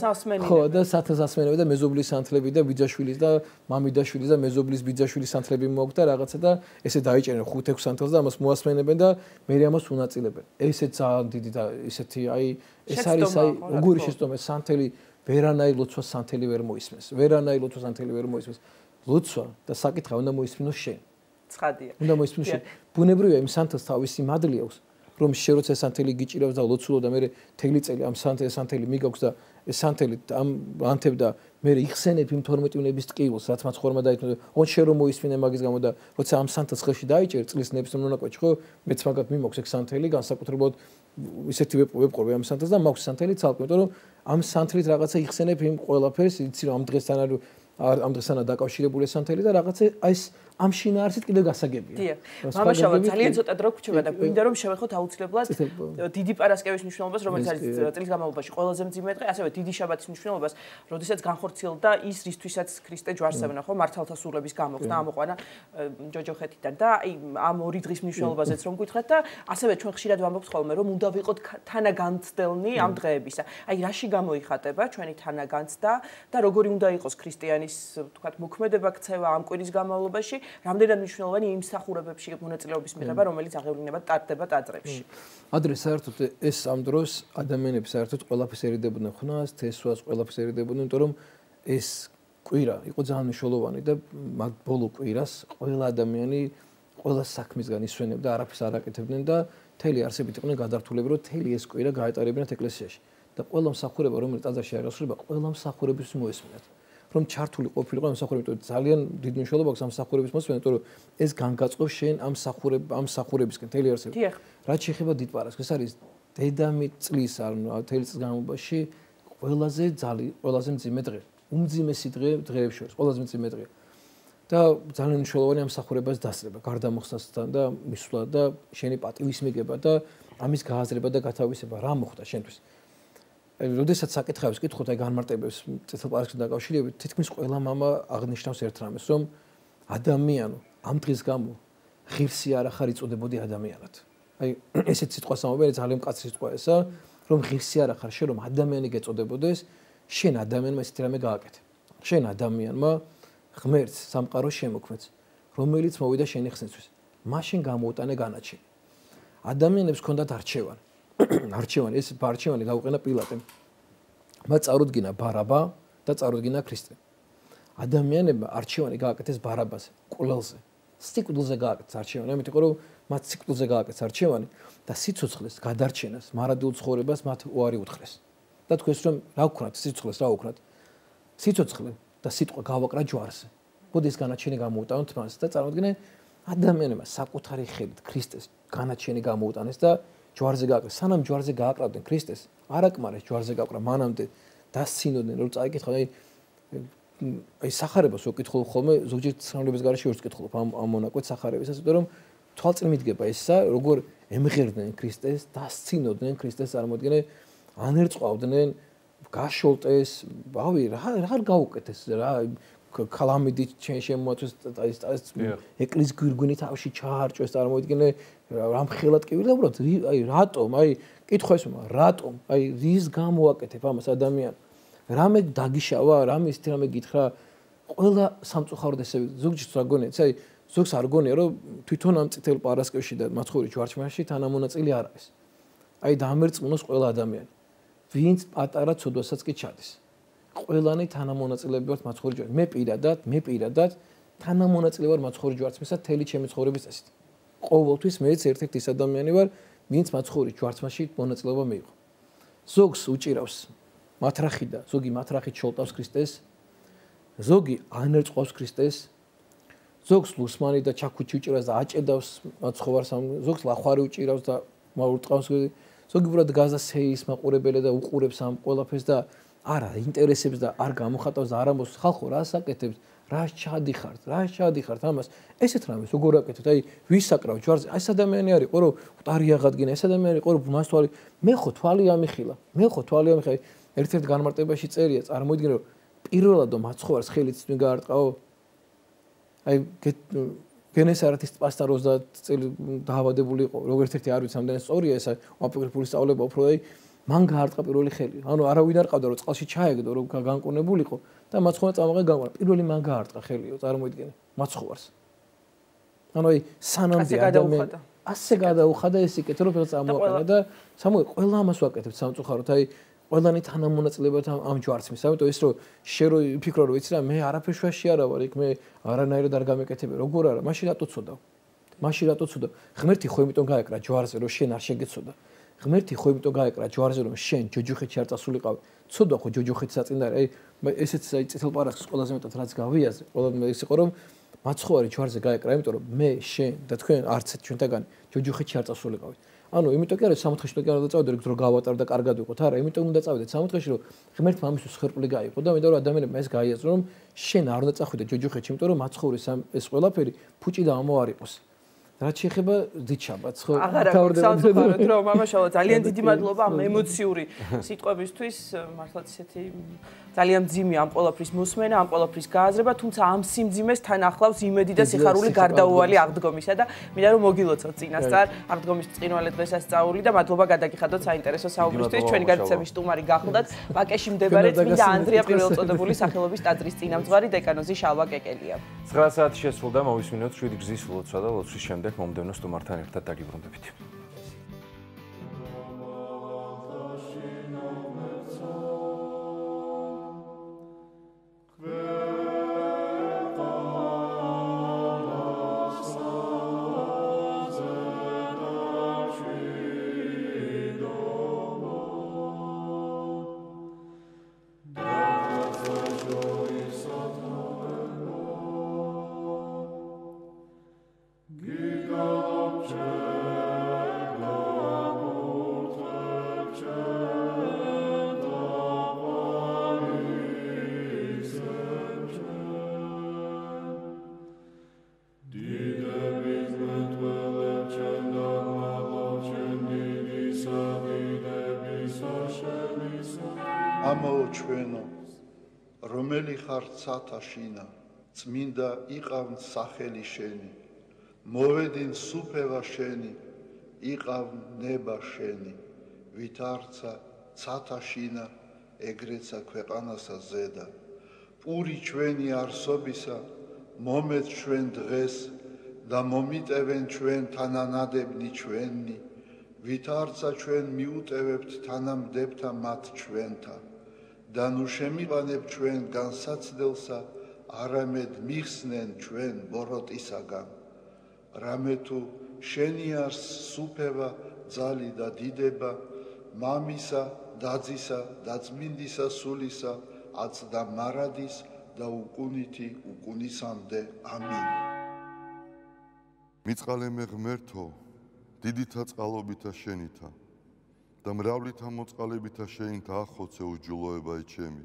ხო და სათელსასმენები და მეზობლის სანთლები და ბიძაშვილის და მამიდაშვილის და მეზობლის ბიძაშვილის სანთლები მოაქვთ და რაღაცა და ესე დაიჭერენ 5-6 სანთელს და ამას მოასმენებენ და მე ამას უნაწილებენ. ესეც ძალიან დიდი და ესეთი აი ეს არის აი როგორი შეცდომა სანთელი ვერანაირ ლოცვას სანთელი ვერ მოისმენს. ვერანაირ ლოცვას სანთელი ვერ მოისმენს. ლოცვა და საკითხი უნდა მოისმინოს შენ. ცხადია. უნდა მოისმინოს შენ. ბუნებრივია იმ სანთელს თავისი მადლი აქვს. რომ შე როცა სანთელი გიჭირავს და ლოცულობ და მე თელი წელი ამ სანთელი მიგაქვს და ეს სანთელი ამ ანთებ და მე იხსენებ იმ 12 ნების ტკივილს, რაც მათ ხორმა დაითმო. ოღონდ შე რომ მოისმინე მაგის გამო და როცა ამ სანთელს ხელში დაიჭერ წლის ნების მონაკვეთში, ხო, მეც მაგათ მიმოქვს ეგ სანთელი, განსაკუთრებულად ისეთი ვეპყრობი ამ სანთელს და მაქვს სანთელი ცალკე, იმიტომ რომ ამ სანთლით რაღაცა იხსენებ იმ ყველაფერს, იცი რომ ამ დღესთან არის ამ დღესანა დაკავშირებული ეს ანთელი და რაღაცა ეს ამ შინაარსით კიდე გასაგებია. დიახ. მამაშავა ძალიან ცოტა დრო გვჩება და გვინდა რომ შევეხოთ აუცილებლად დიდი პარასკევის მნიშვნელობას, რომელიც არის წლის განმავლობაში ყველაზე მძიმე დღე, ასევე დიდი შაბათის მნიშვნელობას, როდესაც განხორციელდა ის, რისთვისაც ქრისტე ჯვარსებნა, ხო, მართალთა სულების გამოხსნა, ამოყვანა ჯოჯოხეთიდან და აი ამ ორი დღის მნიშვნელობაზეც რომ გითხრათ და ასევე ჩვენ ხშირად ვამბობთ ხოლმე, რომ უნდა ვიყოთ თანაგანცდელნი ამ დღეებისა. აი რაში გამოიხატება ჩვენი თანაგანცდა და როგორი უნდა იყოს ქრისტიანის, თქვათ, მოქმედება ქცევა ამ კვირის განმავლობაში, რამდენად მნიშვნელოვანი იმ მსახურებებში მონაწილეობის მიღება, რომელიც აღევლინებად ტარდება ტაძრებში. ადრე საერთოდ ეს ამ დროს ადამიანები საერთოდ ყველაფერს ერიდებოდნენ ხნას, თესვას, ყველაფერს ერიდებოდნენ, იმიტომ რომ ეს კვირა იყო ძალიან მნიშვნელოვანი და მაგ ბოლო კვირას ყველა ადამიანი ყველა საქმისგან ისვენებდა, არაფერს არ აკეთებდნენ და მთელი არსებით იყვნენ გადართულები, რომ მთელი ეს კვირა გაეტარებინათ ეკლესიაში. და ყველა მსახურება, რომელიც ტაძარში არ ასრულება, ყველა მსახურების მოესმინათ. რომ ჩართული ყოფილიყო ამ მსახურებაში, ძალიან დიდი მნიშვნელობა აქვს ამ მსახურების მოსმენა, იმიტომ რომ ეს განგაწყობს შენ ამ მსახურებისკენ მთელი არსებით. რაც შეეხება დიდ პარასკევს, ეს არის დედამიწის წლის, ანუ მთელი წლის განმავლობაში ყველაზე მძიმე დღე. უმძიმესი დღეებს შორის, ყველაზე მძიმე დღე. და ძალიან მნიშვნელოვანი ამ მსახურებას დასწრება, გარდამოხსნასთან და მისვლა და შენი პატივის მიგება და ამის გააზრება და გათავისება, რა მოხდა შენთვის. როდესაც საკითხავს კითხოთ აი განმარტებებს წითელ პარასკევსთან დაკავშირებით, თითქმის ყველა მამა აღნიშნავს ერთ რამეს, რომ ადამიანო ამ დღის გამო ღირსი არ ახარ იწოდებოდი ადამიანად. აი ესეთ სიტყვას ამბობენ, ძალიან მკაცრი სიტყვა ესა, რომ ღირსი არ ახარ, შენ რომ ადამიანი გეწოდებოდეს, შენ ადამიანმა ესეთი რამე გააკეთე. შენ ადამიანმა ღმერთს სამყაროს შემოქმნეს, რომელიც მოვიდა შენი ხსნისთვის. მაშინ გამოუტანე განაჩენი. ადამიანებს ჰქონდათ არჩევანი. არჩევანი, ეს არჩევანი გაუყენა პილატემ. მათ წარუდგინა ბარაბა და წარუდგინა ქრისტე. ადამიანებმა არჩევანი გააკეთეს ბარაბაზე, კვლელზე. სიკვდილზე გააკეთეს არჩევანი, ამიტომ რომ მათ სიკვდილზე გააკეთეს არჩევანი და სიცოცხლეს, გადარჩენას, მარადულ ცხოვრებას მათ უარი უთხრეს. და თქვენს რომ რა ვქნათ, სიცოცხლეს რა ვქნათ? სიცოცხლე და სიტყვა გავაკრა ჯვარზე. მოდი ეს განაჩენი გამოუტანოთ მას და წარმოიდგინე ადამიანებმა საკუთარი ხელით ქრისტეს განაჩენი გამოუტანეს და ჯვარზე გააკრა. სანამ ჯვარზე გააკრავდნენ ქრისტეს, არაკმარეს ჯვარზე გააკრა, მანამდე დასცინოდნენ, რომ წაიკითხავ, აი სახარებას ვკითხულ ხოლმე, ზოგჯერ ცნობების გარეშე ვერც ვკითხულობ ამ მონაკვეთ სახარებისას, იმიტომ რომ თვალწინ მიდგება ესა, როგორ ემღერდნენ ქრისტეს, დასცინოდნენ ქრისტეს, წარმოიდგინე, ანერწყავდნენ, გაშოლტეს, ბავი, რა გაუკეთეს, რა ქალამიდით ჩვენ შემოაწვეს ეს ეკლესიის გვირგვინი თავში ჩაარჭვეს, წარმოიდგინე, რამხელად კი ვიდა უბრალოდ, აი რატომ, აი კითხვა ეს რატომ, აი რის გამოაკეთებ ამას ადამიანს? რამე დაგიშავა, რამე ისეთი რამე გითხრა, ყველა სამწუხაროდ ესე ზოგჯერ რა გონია, აი ზოგს არ გონია, რომ თვითონ ამ წითელ პარასკევში და მაცხოვრის ჯვარჩმაში თანამონაწილე არ არის. აი დამერწმუნოს ყველა ადამიანი, ვინც პატარა ცოდვასაც კი ჩადის. ყველანი თანამონაწილეები ვართ მაცხოვრის ჯვარში. მე პირადად თანამონაწილე ვარ მაცხოვრის ჯვარცმისა თელი ჩემი ცხოვრების წესით. ყოველთვის მეც ერთ-ერთი ის ადამიანი ვარ, ვინც მაცხოვრის ჯვარცმაში მონაწილეობა მიიღო. ზოგს უჭირავს მათრახი და ზოგი მათრახით შოლტავს ქრისტეს, ზოგი ანერწყავს ქრისტეს, ზოგს ლუსმანი და ჩაქუჩი უჭირავს და აჭედავს მაცხოვარს, ზოგს ლახვარი უჭირავს და მაურტყავს, ზოგი უბრალოდ გაზა სეის მაყურებელია და უყურებს ამ ყველაფერს და არა ინტერესებს და არ გამოხატავს და არ ამბობს ხალხო რას აკეთებს, რას ჩადიხართ ამას, ესეთ რამეს როგორ აკეთებთ, აი ვის აკრავ ჯვარზე, ეს ადამიანი არის ყო რომ ყარი აღადგინა, ეს ადამიანი ყო რომ მას თვალი, მე ხო თვალი ამიხილა, ერთ-ერთ განმარტებაში წერია, წარმოიდგინე რომ პირველადო მაცხოვარს ხელით მი გაარტყაო, აი გენესარეთის პასტა 30 წელი დაავადებული იყო, როგორც ერთი არ ვიცი ამდენი სწორია ეს აპოკრიფული სწავლება, უფრო აი მან გაარტყა პირველი ხელი. ანუ არავინ არ ყავდა რომ წყალში ჩაეგდო, რომ განკურნებულიყო და მაცხოვარ წამაღე გამარა. პირველი მან გაარტყა ხელიო, წარმოიდგინე, მაცხოვარს. ანუ აი სანამდე ადამიანი ასე გადაუხადა ეს იკეთე რომ ფეხს წამოაყენა და სამოი ყველა ამას ვაკეთებ სამწუხაროდ, აი ყველანი თანამონაწილეებად ამ ჯვარცმის. ამიტომ ეს რომ შენ რო ფიქრო რომ იცი რა მე არაფერ შვაში არა ვარ, იქ მე არანაირად არ გამეკეთებ, როგორ არა, მაშინ რატო ცოდავ? ღმერთი ხო იმიტომ გაეკრა ჯვარზე რომ შენ არ შეგეცოდა. ღმერთი ხო იმიტომ გაეკრა ჯვარზე რომ შენ ჯოჯოხეთში არ წასულიყავ. ცოდვა ხო ჯოჯოხეთს აწინდა, აი ესეც აი წითელ პარასკევს ყველაზე მეტად რაც გავიაზრე, ყველა ეს იყო რომ მაცხოვარი ჯვარზე გაეკრა, იმიტომ რომ მე, შენ და თქვენ არც ჩვენთაგანი ჯოჯოხეთში არ წასულიყავით. ანუ იმიტომ კი არა სამოთხეში კი არ დაწავდეთ რომ გავატარ და კარგად ვიყოთ. არა, იმიტომ უნდა წავიდეთ სამოთხეში რომ ღმერთმა ამისთვის ხერხული გაიყო და მინდა რომ ადამიანებმა ეს გაიაზრო რომ შენ არ უნდა წახვიდე ჯოჯოხეთში, იმიტომ რომ მაცხოვრის ეს ყველაფერი ფუჭი და ამოარ იყოს. რაც შეეხება დიჩაბაც ხო თავრდებოდა რომ მამაშალა ძალიან დიდი მადლობა ამ ემოციური სიტყვებისთვის მართლაც ისეთი ძალიან მძიმე ამ ყოლაფრის მოსმენა ამ ყოლაფრის გააზრება თუმცა ამ სიმძიმეს თან ახლავს იმედი და სიხარული გარდაუვალი აღდგომისა და მინდა რომ მოგილოცოთ წინასწარ აღდგომის ბრწყინვალე დღესასწაული და მადლობა გადაგიხადოთ საინტერესო საუბრისთვის ჩვენი გადაცემის სტუმარი გახლდათ ვაკეში მდებარე წმინდა ანდრია პირველწოდებული სახელობის ტაძრის წინამძღვარი დეკანოზი შალვა კეკელია 9 საათი შესრულდა მოვისმინოთ 7 გზის ლოცვა და ლოცვის შემდეგ მომდევნო სტუმართან ერთად დაგიბრუნდებით. ჩვენო რომელი ხარ ცათაშინა წმინდა იყავ სახელი შენი მოვედინ სუფევა შენი იყავ ნება შენი ვით არცა ცათაშინა ეგრეცა ქვეყანასა ზედა პური ჩვენი არსობისა მომეც ჩვენ დღეს და მომიტევენ ჩვენ თანანადებნი ჩვენი ვით არცა ჩვენ მიუტევებთ თანამდებთა მათ ჩვენთა და ნუ შემიყანებ ჩვენ განსაცდელსა არამედ მიხსნენ ჩვენ ბოროტისაგან რამე თუ შენი არს სუფევა ძალი და დიდება მამისა დაძისა და წმინდისა სულისა აცდა მარადის და უკუნითი უკუნისამდე ამინ მიწყალე მე ღმერთო დიდითა წყალობითა შენითა და მრავლითა მოწყალებითა შეინთა ახოცე უჯულოებაი ჩემი.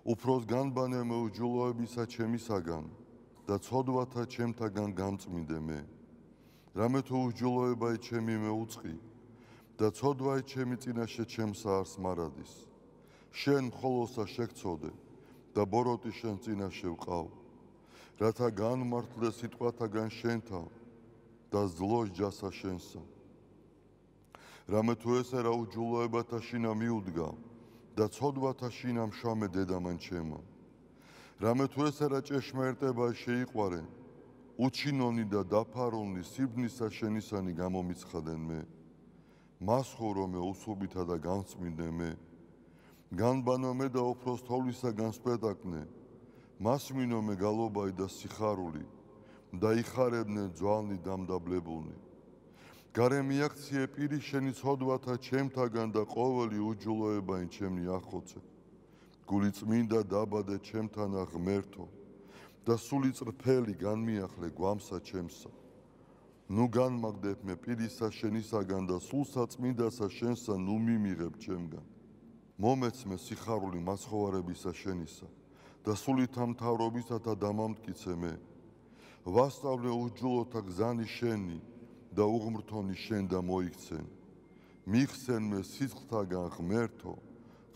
უფროს განბანე მე უჯულოებისა ჩემისაგან და ცოდვათა ჩემთაგან გამწმინდე მე. რამე თუ უჯულოებაი ჩემი მე უწყი და ცოდვაი ჩემი წინაშე ჩემსა არს მარადის. შენ მხოლოსა შეგწოდე და ბოროტი შენ წინაშე ვყავ. რათა განმართლე სიტყვათაგან შენთა და ზლოს ჯასა შენსა. რამე თუ ესე რა უჯულოებათა შინა მიუდგა და ცოდვათა შინა მშამე დედამან ჩემო. რამე თუ ესე რა ჭეშმარიტება შეიყვარე უჩინონი და დაფარონი სიბნისა შენისანი გამომიცხადენ მე. მასხურო მე უსუბითა და განწმინდე მე. განბანო მე და უფროს თოვლისაგან სპეტაკნე. მასმინო მე გალობაი და სიხარული და იხარებნე ძვალნი დამდაბლებულნი. გარე მიაქციე პირი შენი ცოდვათა ჩემთაგან და ყოველი უჯულოებაი ჩემნი ახოცე. გული წმინდა დაბადე ჩემთანა ღმერთო და სული წრფელი განმიახლე გვამსა ჩემსა. ნუ განმაგდებ მე პირისა შენისაგან და სულსა წმინდასა შენსა ნუ მიმიღებ ჩემგან. მომეც მე სიხარული მაცხოვარებისა შენისა და სულითა მთავრობისათა დამამტკიცე მე. ვასწავლე უჯულოთა გზანი შენი და უღმრთონი შენ და მოიქცენ. მიხსენ მე სიცხთაგან ღმერთო,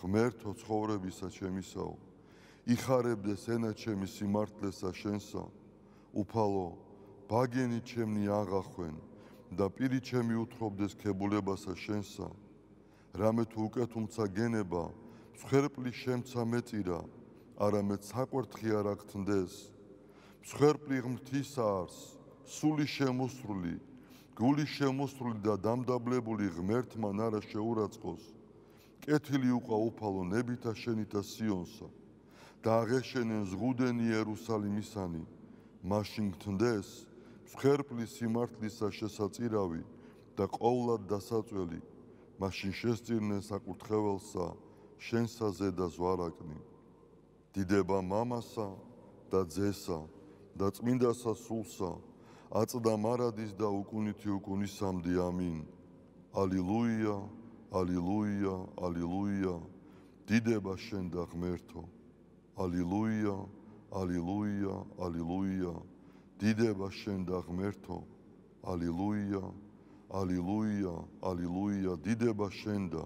ღმერთო ცხოვრებისა ჩემისაო. იხარებდეს ენა ჩემი სიმართლესა შენსა. უფალო, ბაგენი ჩემნი აღახვენ და პირი ჩემი უთხრობდეს ქებულებასა შენსა. რამე თუ უკეთუმცა გენება, მსხვერპლი შემცა მეწირა, არამედ საკვერთხი არ აგთნდეს. მსხვერპლი ღმრთისა არს, სული შემოსრული, გული შემოსრული და დამდაბლებული ღმერთმან არა შეურაცხყოს. კეთილი უყვა უფალო ნებითა შენითა სიონსა და აღეშენენ ზღუდენი იერუსალიმისანი. მაშინ გთნდეს მსხვერპლი სიმართლისა შესაწირავი და ყოვლად დასაწველი. მაშინ შესწირნენ საკურთხეველსა შენსა ზედა ზვარაკნი. დიდება მამასა და ძესა და წმინდასა სულსა აწდა მარადის და უკუნითი უკუნისამდე ამინ. ალილუია, ალილუია, ალილუია. დიდება შენ და ღმერთო. ალილუია, ალილუია, ალილუია. დიდება შენ და ღმერთო. ალილუია, ალილუია, ალილუია. დიდება შენ და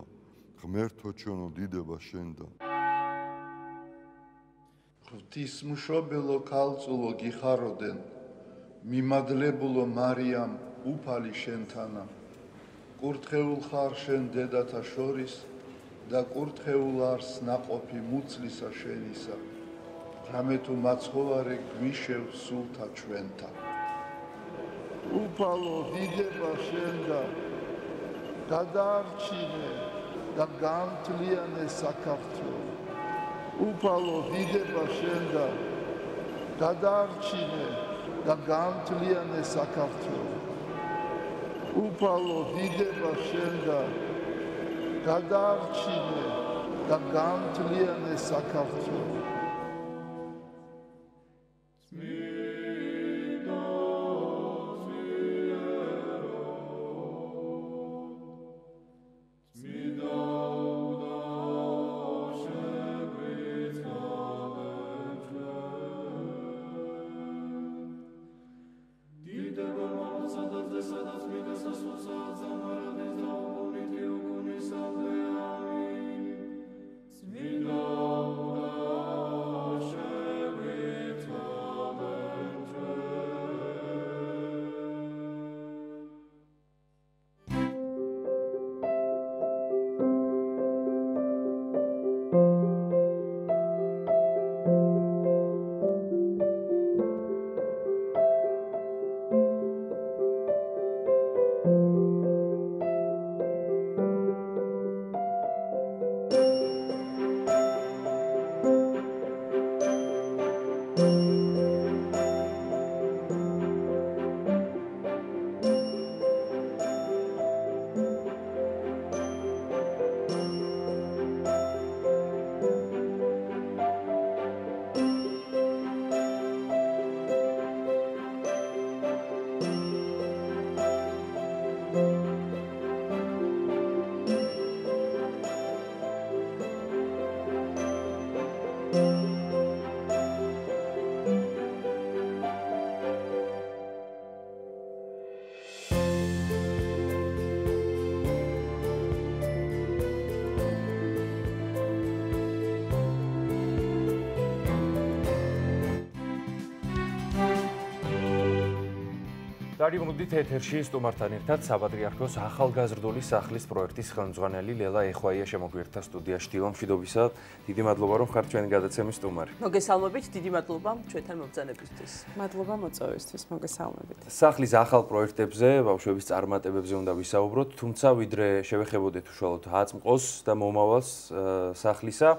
ღმერთო ჩვენო, დიდება შენ და. ღვთისმშობელო ქალწულო გიხაროდენ, მიმადლებულო მარიამ უფალი შენთანა. კურთხეულ ხარ შენ დედათა შორის და კურთხეულ არს ნაყოფი მუცლისა შენისა. რამე თუ მაცხოვარე გვიშევ სულთა ჩვენთა. უფალო დიდება შენ და გადაარჩინე და გამთლიანე საქართველო. უფალო დიდება შენ და გადაარჩინე და გამთლიანე საქართველო. უფალო დიდება შენ და გადაარჩინე და გამთლიანე საქართველო. დაგიბრუნდით ეთერში სტუმართან ერთად საპატრიარქოს ახალგაზრდული სახლის პროექტის ხელმძღვანელი ლელა ეხვაია შემოგვიერთდა სტუდიაში. დილო მშვიდობისა, დიდი მადლობა რომ ხართ ჩვენი გადაცემის სტუმარი. მოგესალმებით, დიდი მადლობა ჩვენთან მობრძანებისთვის. მადლობა მოწვევისთვის, მოგესალმებით. სახლის ახალ პროექტებზე, ბავშვების წარმატებებზე უნდა ვისაუბროთ, თუმცა ვიდრე შევეხებოდეთ უშუალოდ აწმყოს და მომავალს სახლისა,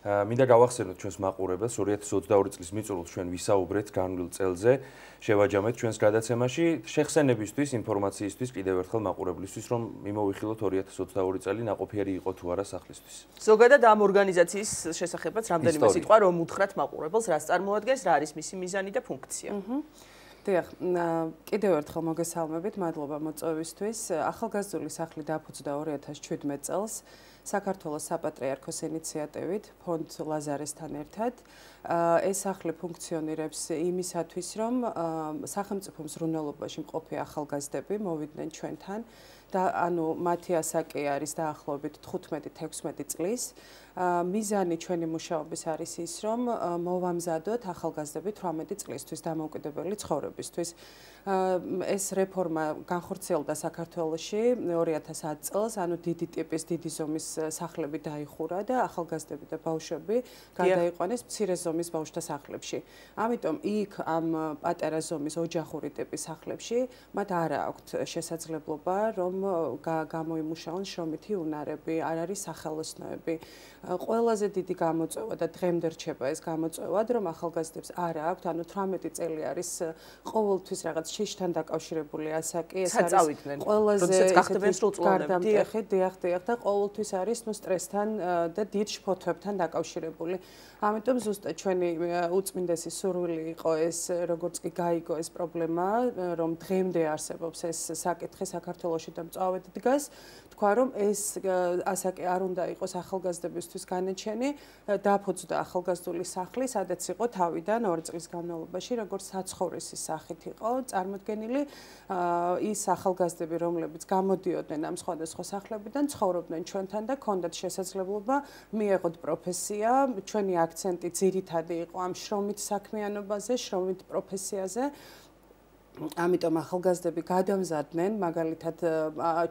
მინდა გავახსენოთ ჩვენს მაყურებელს 2022 წლის მიწურულს ჩვენ ვისაუბრეთ განვლილ წელზე, შევაჯამეთ ჩვენს გადაცემაში შეხსენებისთვის, ინფორმაციისთვის კიდევ ერთხელ მაყურებლისთვის, რომ მიმოვიხილოთ 2022 წელი ნაყოფიერი იყო თუ არა სახლისთვის. ზოგადად ამ ორგანიზაციის შესახებაც რამდენიმე სიტყვა რომ უთხრათ მაყურებელს, რას წარმოადგენს, რა არის მისი მიზანი და ფუნქცია. დიახ, კიდევ ერთხელ მოგესალმებით, მადლობა მოწვევისთვის. ახალგაზრდული სახლი დაფუძნდა 2017 წელს. საქართველოს საპატრიარქოს ინიციატივით ფონდ ლაზარესთან ერთად. ეს სახლი ფუნქციონირებს იმისათვის, რომ სახელმწიფო მზრუნველობაში მყოფი ახალგაზრდები მოვიდნენ ჩვენთან და ანუ მათი ასაკი არის დაახლოებით 15-16 წლის. მიზანი ჩვენი მუშაობის არის ის, რომ მოვამზადოთ ახალგაზრდები 18 წლისთვის დამოუკიდებელი ცხოვრებისთვის. ეს რეფორმა განხორციელდა საქართველოში 2010 წელს, ანუ დიდი ტიპის, დიდი ზომის სახლები დაიხურა და ახალგაზრდები და ბავშვები გადაიყვანეს მცირე ზომის ბავშვთა სახლებში. ამიტომ იქ ამ პატარა ზომის ოჯახური ტიპის სახლებში მათ არ აქვთ შესაძლებლობა, რომ გამოიმუშაონ შრომითი უნარები, არ არის სახელოსნოები. ყველაზე დიდი გამოწვევა და დღემდე რჩება ეს გამოწვევად, რომ ახალგაზრდებს არ აქვთ, ანუ 18 წელი არის ყოველთვის რაღაც შიშთან დაკავშირებული ასაკი, ეს არის ყველაზე როდესაც გახდებიან სრულწლოვანები. დიახ და ყოველთვის არის სტრესთან და დიდ შფოთვებთან დაკავშირებული. ამიტომ ზუსტად ჩვენი უწმინდესი სურვილი იყო ეს, როგორც კი გაიგო ეს პრობლემა, რომ დღემდე არსებობს ეს საკითხი საქართველოში და მწვავედ დგას, თქვა რომ ეს ასაკი არ უნდა იყოს ახალგაზრდებისთვის განაჩენი, დაფუძნდა ახალგაზრდული სახლი, სადაც იყო თავიდან 2 წლის განმავლობაში, როგორც საცხოვრისის სახით იყო წარმოდგენილი ის ახალგაზრდები, რომლებიც გამოდიოდნენ ამ სხვადასხვა სახლებიდან, ცხოვრობდნენ ჩვენთან და ჰქონდათ შესაძლებლობა მიეღოთ პროფესია, ჩვენი აქცენტი ძირითადი იყო ამ შრომით საქმიანობაზე, შრომით პროფესიაზე. ამიტომ ახალგაზრდები გადამზადდნენ, მაგალითად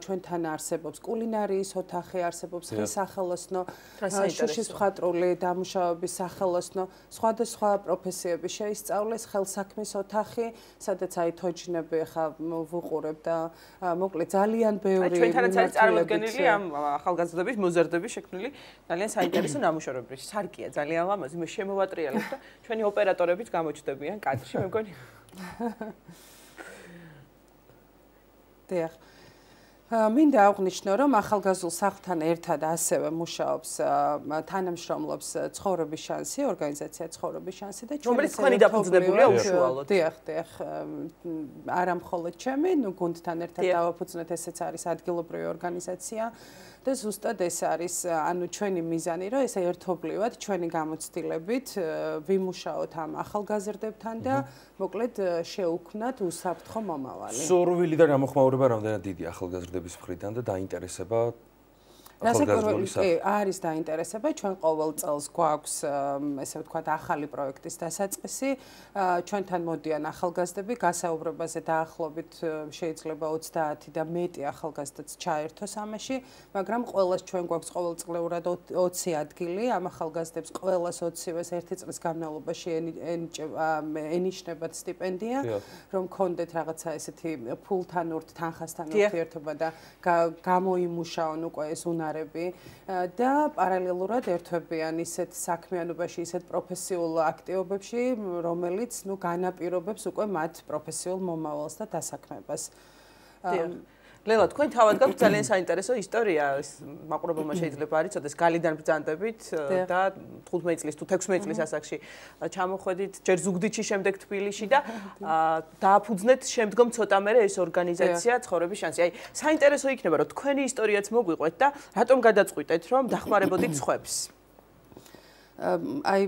ჩვენთან არსებობს კულინარიის ოთახი, არსებობს ხელსახელოსნო, შუშის მხატვრული დამუშავების სახელოსნო, სხვადასხვა პროფესიები შეისწავლეს, ხელსაქმის ოთახი, სადაც თოჯინები ხა ვუყურებ და მოკლედ ძალიან ბევრი ჩვენთანაც არის წარმოდგენილი ამ ახალგაზრდების მოზარდების შექმნილი ძალიან საინტერესო ნამუშევრები. სარკია ძალიან ლამაზი, მე შემოვატრიალებ და ჩვენი ოპერატორებიც გამოჩნდებიან კადრში, მე მგონი მინდა აღვნიშნო, რომ ახალგაზრდულ სახლთან ერთად ასევე მუშაობს თანამშრომლობს ცხოვრების შანსი, ორგანიზაცია ცხოვრების შანსი და რომელიც თქვენი დაფუძნებულია უშუალოდ. დიახ, არა მხოლოდ ჩემი, გუნდთან ერთად დავაფუძნეთ, ესეც არის ადგილობრივი ორგანიზაცია. და ზუსტად ეს არის ანუ ჩვენი მიზანი, რომ ეს ერთობლივად ჩვენი გამოცდილებით ვიმუშაოთ ამ ახალგაზრდებთან და მოკლედ შეუქმნათ უსაფრთხო მომავალი. სურვილი და გამოხმაურება რამდენად დიდი ახალგაზრდების მხრიდან და დაინტერესება არის დაინტერესება, ჩვენ ყოველ წელს გვაქვს ესე ვთქვათ ახალი პროექტის დასაწყისი, ჩვენთან მოდიან ახალგაზრდები, გასაუბრებაზე დაახლოებით შეიძლება 30 და მეტი ახალგაზრდაც ჩაერთოს ამაში, მაგრამ ყოველას ჩვენ გვაქვს ყოველწლიურად 20 ადგილი, ამ ახალგაზრდებს ყოველას 20-ვეს 1 წლის განმავლობაში ენიშნებათ სტიპენდია, რომ კონდეთ რაღაცა ესეთი ფულთან თანხასთან ურთიერთობა და გამოიმუშაონ უკვე ეს და პარალელურად ერთვებიან ისეთ საქმიანობაში, ისეთ პროფესიულ აქტივობებში, რომელიც განაპირობებს უკვე მათ პროფესიულ მომავალს და დასაქმებას. ლელა, თქვენ თავად გაქვთ ძალიან საინტერესო ისტორია, მაყურებელმა შეიძლება არ იცოდეს, გალიდან ბრძანდებით და 15 წლის თუ 16 წლის ასაკში ჩამოხვედით ჯერ ზუგდიდში, შემდეგ თბილისში და დააფუძნეთ შემდგომ ცოტა მერე ეს ორგანიზაცია ცხოვრების შანსი. აი, საინტერესო იქნება, რომ თქვენი ისტორიაც მოგვიყვეთ და რატომ გადაწყვიტეთ, რომ დახმარებოდით სხვებს? აი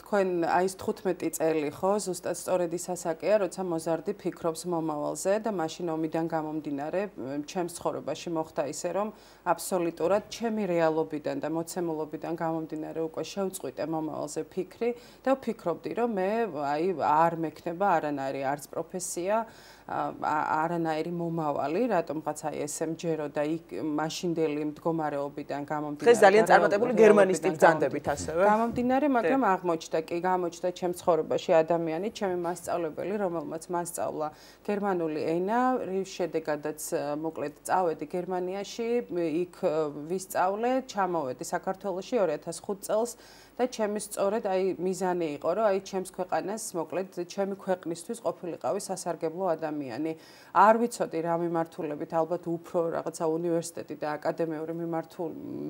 თქვენ აი 15 წელი ხო ზუსტად სწორედ ის ასაკია, როცა მოზარდი ფიქრობს მომავალზე და მაშინ ომიდან გამომდინარე ჩემს ცხოვრებაში მოხდა ისე რომ აბსოლუტურად ჩემი რეალობიდან და მოცემულობიდან გამომდინარე უკვე შევწყვიტე მომავალზე ფიქრი და ვფიქრობდი რომ მე აი არ მექნება არანაირი არც პროფესია არანაირი მომავალი, რატომღაც აი ესე მჯერო და იქ მაშინდელი მდგომარეობიდან გამომდინარე. დღეს ძალიან წარმატებული გერმანისტი ბრძანდებით ასევე. გამომდინარე, მაგრამ გამოჩნდა ჩემს ცხოვრებაში ადამიანი, ჩემი მასწავლებელი, რომელმაც მასწავლა გერმანული ენა, რის შედეგადაც მოკლედ წავედი გერმანიაში, იქ ვისწავლე, ჩამოვედი საქართველოში 2005 წელს და ჩემი სწორედ აი მიზანი იყო, რომ აი ჩემს ქვეყანას, მოკლედ ჩემი ქვეყნისთვის ყოფილიყავი სასარგებლო ადამიანი. არ ვიცოდი რა მიმართულებით, ალბათ უფრო რაღაცა უნივერსიტეტი და აკადემიური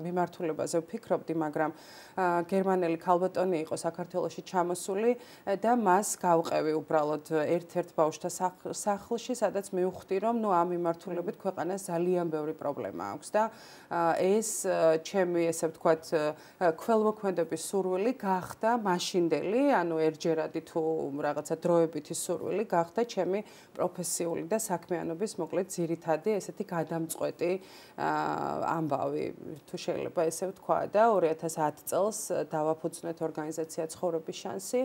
მიმართულებაზე ვფიქრობდი, მაგრამ გერმანელი ქალბატონი იყო საქართველოში ჩამოსული და მას გავყევი უბრალოდ ერთ-ერთ ბავშვთა სახლში, სადაც მივხვდი, რომ ნუ ამ მიმართულებით ქვეყანას ძალიან ბევრი პრობლემა აქვს და ეს ჩემი ესე ვთქვათ ქველმოქმედების სურვილი გახდა მაშინდელი, ანუ ერთჯერადი თუ რაღაცა დროებითი სურვილი გახდა ჩემი პროფესიული და საქმიანობის მოკლედ ძირითადი ესეთი გადამწყვეტი ამბავი, თუ შეიძლება ესე ვთქვა და 2010 წელს დავაფუძნეთ ორგანიზაცია ცხოვრების შანსი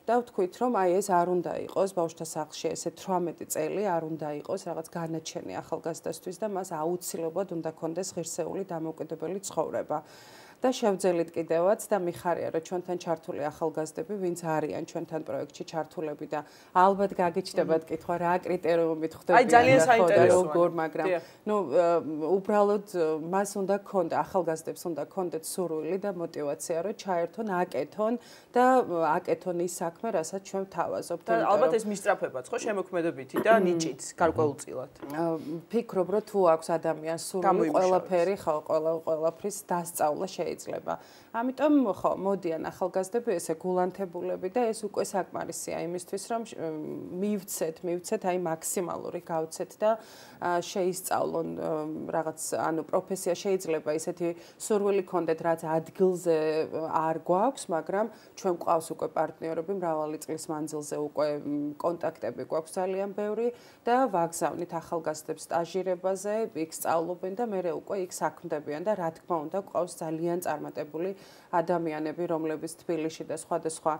და ვთქვით, რომ აი ეს არ უნდა იყოს ბავშვთა სახლში ესე 18 წელი არ უნდა იყოს რაღაც განაჩენი ახალგაზრდასთვის და მას აუცილებლად უნდა ქონდეს ღირსეული დამოუკიდებელი ცხოვრება. და შევძელით კიდევაც და მიხარია რომ ჩვენთან ჩართული ახალგაზრდები ვინც არიან ჩვენთან პროექტში ჩართულები და ალბათ გაგიჩნდებათ კითხვა რა კრიტერიუმით ხდებიან აი ძალიან საინტერესოა როგორ მაგრამ ნუ უბრალოდ მას უნდა ქონდა ახალგაზრდებს უნდა ქონდეთ სურვილი და мотиваცია რომ ჩაერთონ აკეთონ და აკეთონ ის საქმე რასაც ჩვენ ვთავაზობთ და ალბათ ეს მისწრაფებაც ხო შემოქმედებითი და ნიჭით გარკვეულწილად ფიქრობ რომ თუ აქვს ადამიანს სურვილი ყველაფერი ხო ყველაფრის დასწავლა შეიძლება ამიტომ ხო მოდიან ახალგაზრდები ესე გულანთებულები და ეს უკვე საკმარისია იმისთვის რომ მივცეთ აი მაქსიმალური გავცეთ და შეისწავლონ რაღაც ანუ პროფესია შეიძლება ისეთი სურვილი ქონდეთ რაც ადგილზე არ გვაქვს მაგრამ ჩვენ გვყავს უკვე პარტნიორები მრავალი წლის მანძილზე უკვე კონტაქტები გვაქვს ძალიან ბევრი და ვაგზავნით ახალგაზრდებს სტაჟირებაზე იქ სწავლობენ და მერე უკვე იქ საქმდებიან და რა თქმა უნდა გვყავს ძალიან წარმატებული ადამიანები რომლებიც თბილისში და სხვადასხვა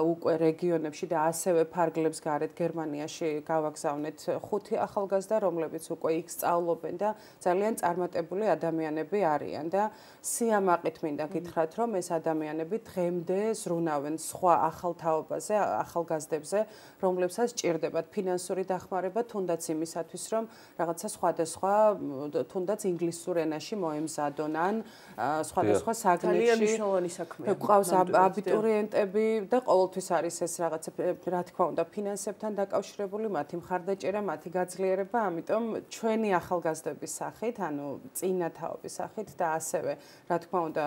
უკვე რეგიონებში და ასევე ფარგლებს გარეთ გერმანიაში გავაგზავნეთ 5 ახალგაზრდა რომლებიც უკვე იქ სწავლობენ და ძალიან წარმატებული ადამიანები არიან და სიამაყით მინდა გითხრათ რომ ეს ადამიანები დღემდე ზრუნავენ სხვა ახალ თაობაზე ახალგაზრდებზე რომლებსაც ჭირდებათ ფინანსური დახმარება თუნდაც იმისათვის რომ რაღაცა სხვადასხვა თუნდაც ინგლისურ ენაში მოემზადონ ან სხვადასხვა საგნებში გვყავს აბიტურიენტები და ყოველთვის არის ეს რაღაცა რა თქმა უნდა ფინანსებთან დაკავშირებული მათი მხარდაჭერა მათი გაძლიერება ამიტომ ჩვენი ახალგაზრდების სახით ანუ წინა თაობის სახით და ასევე რა თქმა უნდა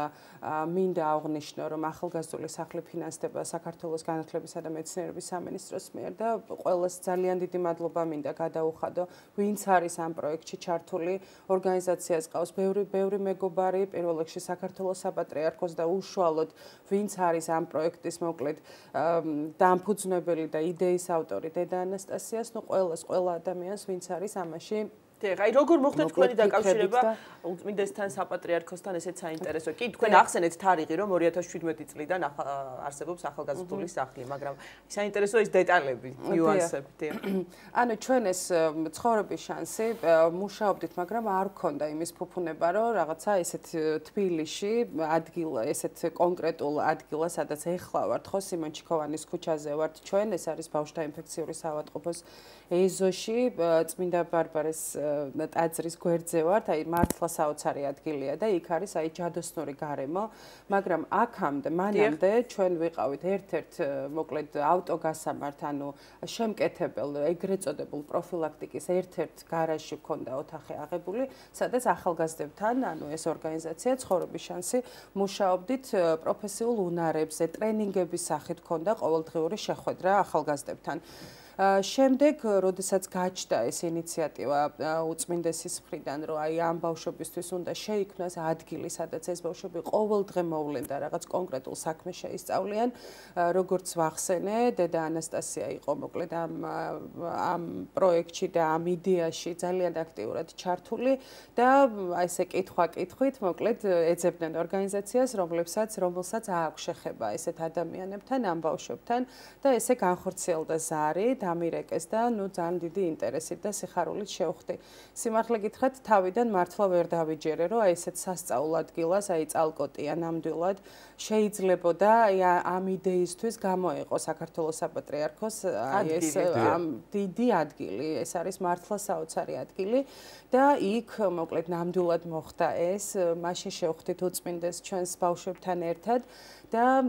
მინდა აღვნიშნო რომ ახალგაზრდული სახლი ფინანსდება საქართველოს განათლებისა და მეცნიერების სამინისტროს მიერ და ყველას ძალიან დიდი მადლობა მინდა გადაუხადო ვინც არის ამ პროექტში ჩართული ორგანიზაციას ყავს ბევრი მეგობარი პირველ რიგში საქართველოს საპატრიარქოს და უშუალოდ ვინც არის ამ პროექტის მოკლედ დამფუძნებელი და იდეის ავტორი დედა ანასტასიას ნუ ყველა ადამიანს ვინც არის ამაში აი როგორ მოხდა თქვენი დაკავშირება ულწმინდესთან საპატრიარქოსთან ესეც საინტერესო კი თქვენ ახსენეთ თარიღი რომ 2017 წლიდან არსებობს ახალგაზრდული სახლი მაგრამ საინტერესოა ის დეტალები ნიუანსები ანუ ჩვენ ეს ცხოვრების შანსი მუშაობდით მაგრამ არ გქონდა იმის ფუფუნება რომ რაღაცა ესეთ თბილისში ადგილ ესეთ კონკრეტულ ადგილას სადაც ეხლა ვართ ხო სიმონ ჩიქოვანის ქუჩაზე ვართ ჩვენ ეს არის ბავშვთა ინფექციური საავადმყოფოს ეზოში წმინდა ბარბარეს ტაძრის გვერდზე ვართ, აი მართლა საოცარი ადგილია და იქ არის აი ჯადოსნური გარემო, მაგრამ აქამდე, მანამდე ჩვენ ვიყავით ერთ-ერთ მოკლედ ავტოგასამართ, ანუ შემკეთებელ, ეგრეთ წოდებულ პროფილაქტიკის ერთ-ერთ გარაჟში ჰქონდა ოთახი აღებული, სადაც ახალგაზრდებთან, ანუ ეს ორგანიზაცია ცხოვრების შანსი მუშაობდით პროფესიულ უნარებზე, ტრენინგების სახით ჰქონდა ყოველდღიური შეხვედრა ახალგაზრდებთან. შემდეგ, როდესაც გაჩნდა ეს ინიციატივა უწმინდესის მხრიდან, რომ აი ამ ბავშვებისთვის უნდა შეიქმნას ადგილი, სადაც ეს ბავშვები ყოველდღე მოვლენ და რაღაც კონკრეტულ საქმეს შეისწავლიან, როგორც ვახსენე, დედა ანასტასია იყო მოკლედ ამ პროექტში და ამ იდეაში ძალიან აქტიურად ჩართული და აი ესე კითხვა-კითხვით მოკლედ ეძებდნენ ორგანიზაციას, რომელსაც აქვს შეხება ესეთ ადამიანებთან, ამ ბავშვებთან და ესე განხორციელდა ზარი ამირეკეს და ნუ ძალიან დიდი ინტერესით და სიხარულით შევხვდი. სიმართლე გითხრათ, თავიდან მართლა ვერ დავიჯერე, რომ აი ესეთ სასწავლო ადგილას, აი წალკოტია ნამდვილად შეიძლებოდა აი ამ იდეისთვის გამოეყო საქართველოს საპატრიარქოს აი ეს დიდი ადგილი, ეს არის მართლა საოცარი ადგილი და იქ მოკლედ ნამდვილად მოხდა ეს, მაშინ შევხვდით უწმინდეს ჩვენს ბავშვებთან ერთად და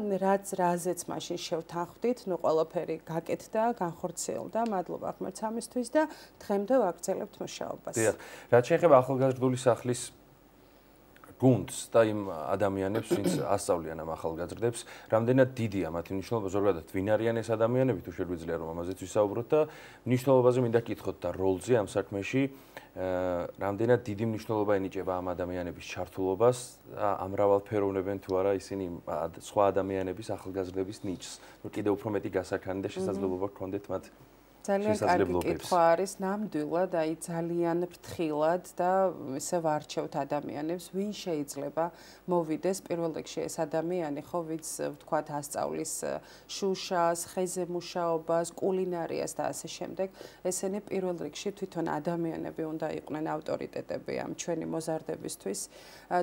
რაზეც მაშინ შევთანხმდით, ნუ ყველაფერი გაკეთდა, განხორციელდა, მადლობა ღმერთს ამისთვის და დღემდე ვაგრძელებთ მუშაობას. დიახ, რაც შეეხება ახალგაზრდული სახლის გუნდს და იმ ადამიანებს, ვინც ასწავლიან ამ ახალგაზრდებს, რამდენად დიდია მათი მნიშვნელობა, ზოგადად ვინ არიან ეს ადამიანები, თუ შეგვიძლია რომ ამაზეც ვისაუბროთ და მნიშვნელობაზე მინდა გითხოთ და როლზე ამ საქმეში, რამდენად დიდი მნიშვნელობა ენიჭება ამ ადამიანების ჩართულობას და ამრავალფეროვნებენ თუ არა ისინი სხვა ადამიანების ახალგაზრდების ნიჭს. ნუ კიდევ უფრო მეტი გასაქანი და შესაძლებლობა გქონდეთ მათ ძალიან კარგი კითხვა არის ნამდვილად, აი ძალიან ფრთხილად და ისე ვარჩევთ ადამიანებს, ვინ შეიძლება მოვიდეს პირველ რიგში ეს ადამიანი, ხო, ვინც ვთქვათ ასწავლის შუშას, ხეზე მუშაობას, კულინარიას და ასე შემდეგ. ესენი პირველ რიგში თვითონ ადამიანები უნდა იყვნენ ავტორიტეტები ამ ჩვენი მოზარდებისთვის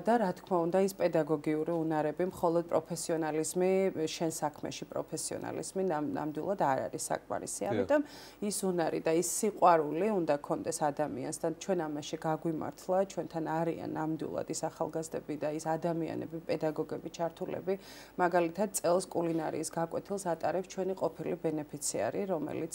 და რა თქმა უნდა ის პედაგოგიური უნარები, მხოლოდ პროფესიონალიზმი, შენ საქმეში პროფესიონალიზმი ნამდვილად არ არის საკმარისი. ამიტომ ის უნარი და ის სიყვარული უნდა კონდეს ადამიანს და ჩვენ ამაში გაგვიმართლა, ჩვენთან არიან ნამდვილად ის ახალგაზრდები და ის ადამიანები, პედაგოგები, ჩართულები, მაგალითად წელს კულინარიის გაკვეთილს ატარებს ჩვენი ყოფილი ბენეფიციარი, რომელიც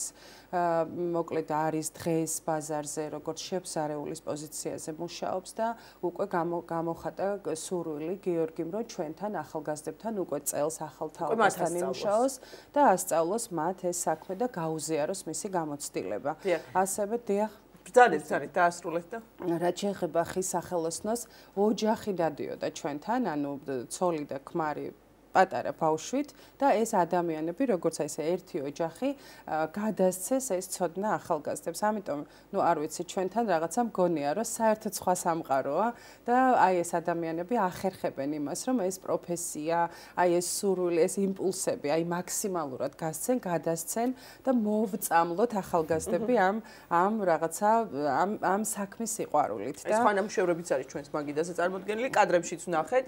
მოკლედ არის დღეს ბაზარზე, როგორც შეფსარეულის პოზიციაზე მუშაობს და უკვე გამოხატა სურვილი გიორგიმ, რომ ჩვენთან ახალგაზრდებთან უკვე წელს ახალ თაობასთან იმუშაოს და ასწავლოს მათ ეს საქმე და გაუზიაროს მისი გამოცდილება. ასევე დიახ ძალიან დაასრულეთ და რაც შეეხება ხის სახელოსნოს, ოჯახი დადიოდა ჩვენთან, ანუ ცოლი და ქმარი პატარა ბავშვით და ეს ადამიანები, როგორც აი ესე ერთი ოჯახი, გადასცეს ეს ცოდნა ახალგაზრდებს. ამიტომ, არ ვიცი, ჩვენთან რაღაცა მგონია, რომ საერთოდ სხვა სამყაროა და აი ეს ადამიანები ახერხებენ იმას, რომ ეს პროფესია, აი ეს სურვილი, ეს იმპულსები, აი მაქსიმალურად გასცენ, გადასცენ და მოვწამლოთ ახალგაზრდები ამ რაღაცა ამ საქმის სიყვარულით და ეს ხანამშევრებიც არის ჩვენს მაგიდაზე წარმოდგენილი, კადრებშიც ვნახეთ.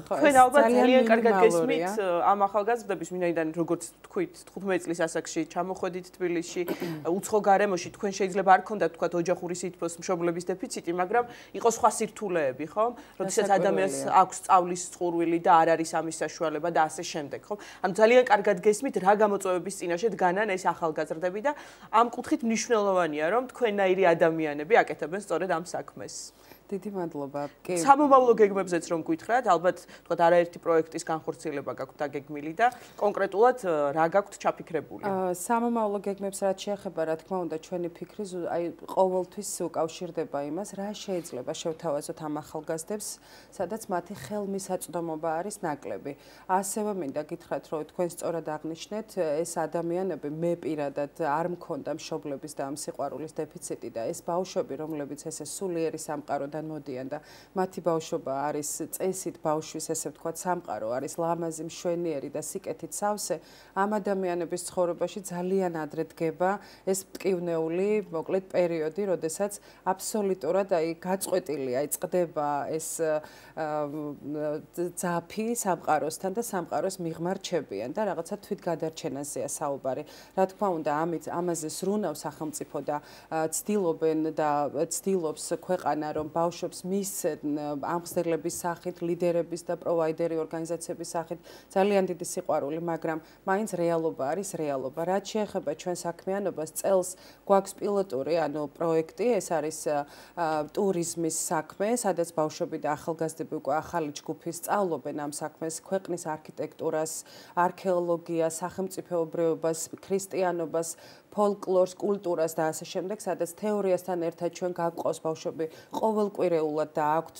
თქვენ ალბათ ძალიან კარგად გესმით ამ ახალგაზრდების, ვინაიდან როგორც თქვით, 15 წლის ასაკში ჩამოხვედით თბილისში, უცხო გარემოში, თქვენ შეიძლება არ ქონდათ თქვათ ოჯახური სითბოს მშობლების დეფიციტი, მაგრამ იყო სხვა სირთულეები, ხო? როდესაც ადამიანს აქვს სწავლის წყურვილი და არ არის ამის საშუალება და ასე შემდეგ, ხო? ანუ ძალიან კარგად გესმით, რა გამოწვევების წინაშე დგანან ეს ახალგაზრდები და ამ კუთხით მნიშვნელოვანია, რომ თქვენნაირი ადამიანები აკეთებენ სწორედ ამ საქმეს. დიდი მადლობა. სამომავლო გეგმებზეც რომ გითხრათ, ალბათ თქვათ არაერთი პროექტის განხორციელება გაქვთ დაგეგმილი და კონკრეტულად რა გაქვთ ჩაფიქრებული? სამომავლო გეგმებს რაც შეეხება, რა თქმა უნდა, ჩვენი ფიქრი აი ყოველთვის უკავშირდება იმას, რა შეიძლება შევთავაზოთ ამ ახალგაზრდებს, სადაც მათი ხელმისაწვდომობა არის ნაკლები. ასევე მინდა გითხრათ, რომ თქვენ სწორად აღნიშნეთ, ეს ადამიანები მე პირადად არ მქონდა მშობლების და ამ სიყვარულის დეფიციტი და ეს ბავშვები, რომლებიც ესე სულიერი სამყარო მოდიან და მათი ბავშვობა არის წესით ბავშვის, ესე ვთქვათ, სამყარო არის ლამაზი, მშვენიერი და სიკეთით სავსე, ამ ადამიანების ცხოვრებაში ძალიან ადრე დგება ეს მტკივნეული, მოკლედ პერიოდი, როდესაც აბსოლუტურად აი გაწყვეტილია, წყდება ეს ძაფი სამყაროსთან და სამყაროს მიღმარჩებიან და რაღაცა თვითგადარჩენაზეა საუბარი. რა თქმა უნდა, ამაზე სრუნავს სახელმწიფო და ცდილობენ და ცდილობს ქვეყანა, რომ ბავშვებს მისცენ ამხსნელების სახით, ლიდერების და პროვაიდერი ორგანიზაციების სახით ძალიან დიდი სიყვარული, მაგრამ მაინც რეალობა არის რეალობა. რაც შეეხება ჩვენ საქმიანობას, წელს გვაქვს პილოტური, ანუ პროექტი, ეს არის ტურიზმის საქმე, სადაც ბავშვები და ახალგაზრდები უკვე ახალი ჯგუფი სწავლობენ ამ საქმეს, ქვეყნის არქიტექტურას, არქეოლოგიას, სახელმწიფოებრიობას, ქრისტიანობას, ფოლკლორს, კულტურას და ასე შემდეგ, სადაც თეორიასთან ერთად ჩვენ გავყავს ბავშვები ყოველკვირეულად და აქვთ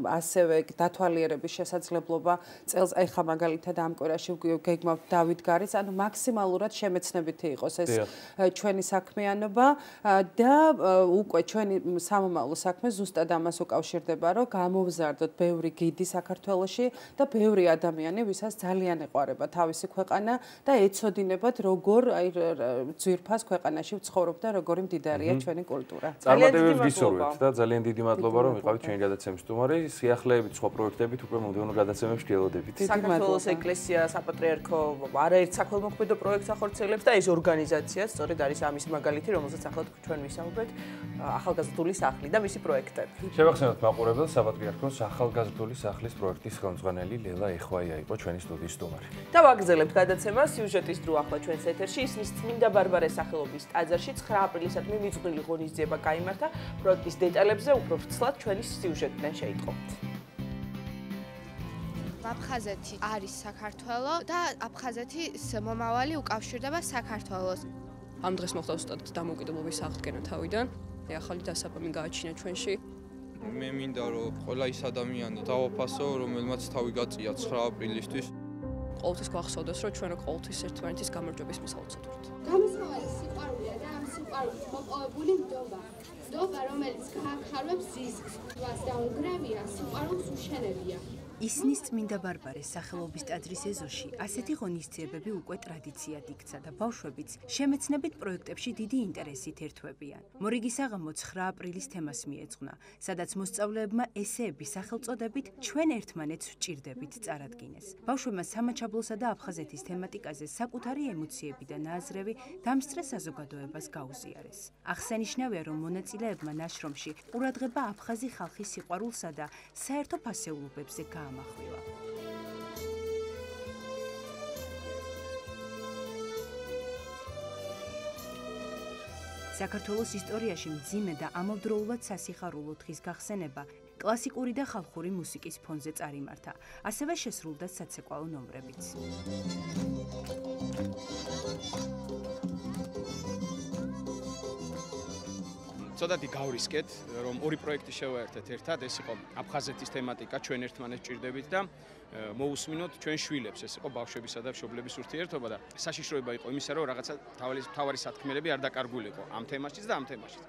ასევე დათვალიერების შესაძლებლობა. წელს ახლა მაგალითად ამ კვირაში გეგმავთ დავიდგარის, ანუ მაქსიმალურად შემეცნებითი იყოს ეს ჩვენი საქმიანობა და უკვე ჩვენი სამომავლო საქმე ზუსტად ამას უკავშირდება, რომ გამოვზარდოთ ბევრი გიდი საქართველოში და ბევრი ადამიანი, ვისაც ძალიან ეყვარება თავისი ქვეყანა და ეცოდინებათ როგორ აი ძვირფას ქვეყანაში ვცხოვრობ და როგორი მდიდარია ჩვენი კულტურა. წარმატებებს გისურვებთ და ძალიან დიდი მადლობა რომ ვიყავით ჩვენი გადაცემის სტუმარი. სიახლეებით სხვა პროექტებით უკვე მომდევნო გადაცემებში გელოდებით. საქართველოს ეკლესია, საპატრიარქო არაერთ საქველმოქმედო პროექტს ახორციელებს და ეს ორგანიზაცია სწორედ არის ამის მაგალითი, რომელზეც ახლა ჩვენ ვისაუბრეთ, ახალგაზრდული სახლი და მისი პროექტები. შევახსენოთ მაყურებელს, საპატრიარქოს ახალგაზრდული სახლის პროექტის ხელმძღვანელი ლელა ეხვაია იყო ჩვენი სტუდიის სტუმარი. და ვაგრძელებთ გადაცემას სიუჟეტის დრო ახლა ჩვენს ეთერში, ისმის წმინდა ბარბარეს სახელობის ტაძარში 9 აპრილისადმი მიძღვნილი ღონისძიება გაიმართა. პროექტის დეტალებზე უფრო ვრცლად ჩვენი სიუჟეტიდან შეიტყობთ. აფხაზეთი არის საქართველო და აფხაზეთის მომავალი უკავშირდება საქართველოს. ამ დღეს მოხდა უბრალოდ დამოუკიდებლობის აღდგენა თავიდან. ახალი დასაბამი გააჩინა ჩვენში. მე მინდა რომ ყველა ის ადამიანი დავაფასო, რომელმაც თავი გაწია 9 აპრილისთვის. ყოველთვის გვახსოვდეს, რომ ჩვენ ყოველთვის ერთმანეთის გამარჯვების მისაუცოთ. გამოსავალი სიყვარულია და სიყვარულით მოპოვებული ნდობა. ნდობა, რომელიც გაახარვებს რისკს, თვას და უნგრევია, სიყვარულს უშენებია. ისნის წმინდა ბარბარეს სახელობის ტაძრის ეზოში ასეთი ღონისძიებები უკვე ტრადიციად იქცა და ბავშვებიც შემეცნებით პროექტებში დიდი ინტერესით ერთვებიან. მორიგის აღამო 9 აპრილის თემას მიეძღვნა, სადაც მოსწავლეებმა ესეები სახელწოდებით ჩვენ ერთმანეთს ვჭირდებით წარადგინეს. ბავშვებმა სამაჩაბლოსა და აფხაზეთის თემატიკაზე საკუთარი ემოციები და ნააზრევი დამსწრე საზოგადოებას გაუზიარეს. აღსანიშნავია, რომ მონაწილეებმა ნაშრომში ყურადღება აფხაზი ხალხის სიყვარულსა და საერთო ფასეულობებზე გაამახვილა. საქართველოს ისტორიაში მძიმე და ამავდროულად სასიხარულო დღის გახსენება კლასიკური და ხალხური მუსიკის ფონზე წარიმართა. ასევე შესრულდა საცეკვაო ნომრებიც. ცოტათი გავრისკეთ, რომ ორი პროექტი შევაერთეთ ერთად, ეს იყო აფხაზეთის თემატიკა, ჩვენ ერთმანეთს ჭირდებით და მოусმინოთ ჩვენ შვილებს, ეს იყო ბავშვებისა და მშობლების ურთიერთობა და საშიშროება იყო იმისა, რომ რაღაცა თავარი სათქმელები არ დაკარგულიყო ამ თემაშიც და ამ თემაშიც.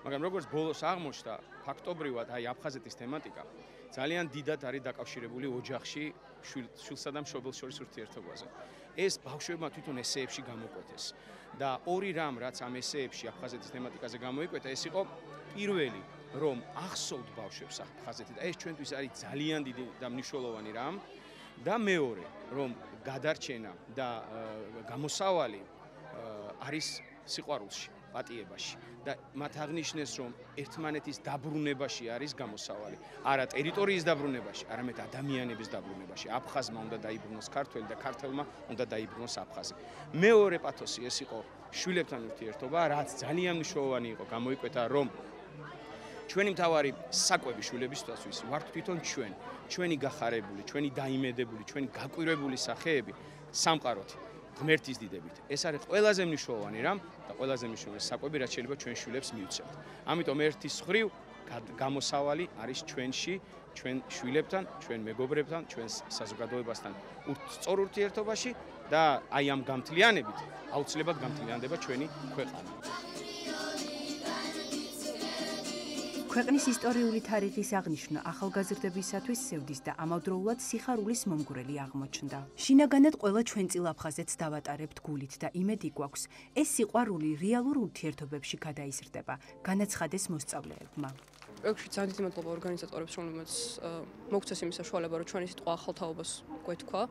მაგრამ როგორც ბოლოს აღმოჩნდა, ფაქტობრივად აი აფხაზეთის თემატიკა ძალიან დიდად არის დაკავშირებული ოჯახში შვილსა და მშობელს შორის ურთიერთობაზე. ეს ბავშვებმა თვითონ ესეებში გამოკვეთეს და ორი რამ რაც ამ ესეებში აფხაზეთის თემატიკაზე გამოიკვეთა, ეს იყო პირველი, რომ ახსოვთ ბავშვებს აფხაზეთი და ეს ჩვენთვის არის ძალიან დიდი და მნიშვნელოვანი რამ და მეორე, რომ გადარჩენა და გამოსავალი არის სიყვარულში, პატიებაში და მათ აღნიშნეს, რომ ერთმანეთის დაბრუნებაში არის გამოსავალი. არა ტერიტორიის დაბრუნებაში, არამედ ადამიანების დაბრუნებაში. აფხაზმა უნდა დაიბრუნოს ქართველი და ქართველმა უნდა დაიბრუნოს აფხაზი. მეორე პათოსი ეს იყო შვილებთან ურთიერთობა, რაც ძალიან მნიშვნელოვანი იყო, გამოიკვეთა, რომ ჩვენი მთავარი საკვები შვილებისთვის ვართ თვითონ ჩვენი გახარებული, ჩვენი დაიმედებული, ჩვენი გაკვირვებული სახეები სამყაროთი. ღმერთის დიდებით. ეს არის ყველაზე მნიშვნელოვანი რამ და ყველაზე მნიშვნელოვანი საკვები, რაც შეიძლება ჩვენ შვილებს მივცემთ. ამიტომ ერთის მხრივ გამოსავალი არის ჩვენში, ჩვენ შვილებთან, ჩვენ მეგობრებთან, ჩვენ საზოგადოებასთან სწორ ურთიერთობაში და აი ამ გამთლიანებით აუცილებლად გამთლიანდება ჩვენი ქვეყანა. ქვეყნის ისტორიული თარიღის აღნიშვნა ახალგაზრდებისათვის სევდის და ამავდროულად სიხარულის მომგვრელი აღმოჩნდა. შინაგანად ყველა ჩვენწილ აფხაზეთს დავატარებთ გულით და იმედი გვაქვს, ეს სიყვარული რეალურ ურთიერთობებში გადაიზრდება, განაცხადეს მოსწავლეებმა. პროექტში ძალიან დიდი მადლობა ორგანიზატორებს, რომლებიც მოგცეს იმის საშუალება, რომ ჩვენი სიტყვა ახალ თაობას გვეთქვა.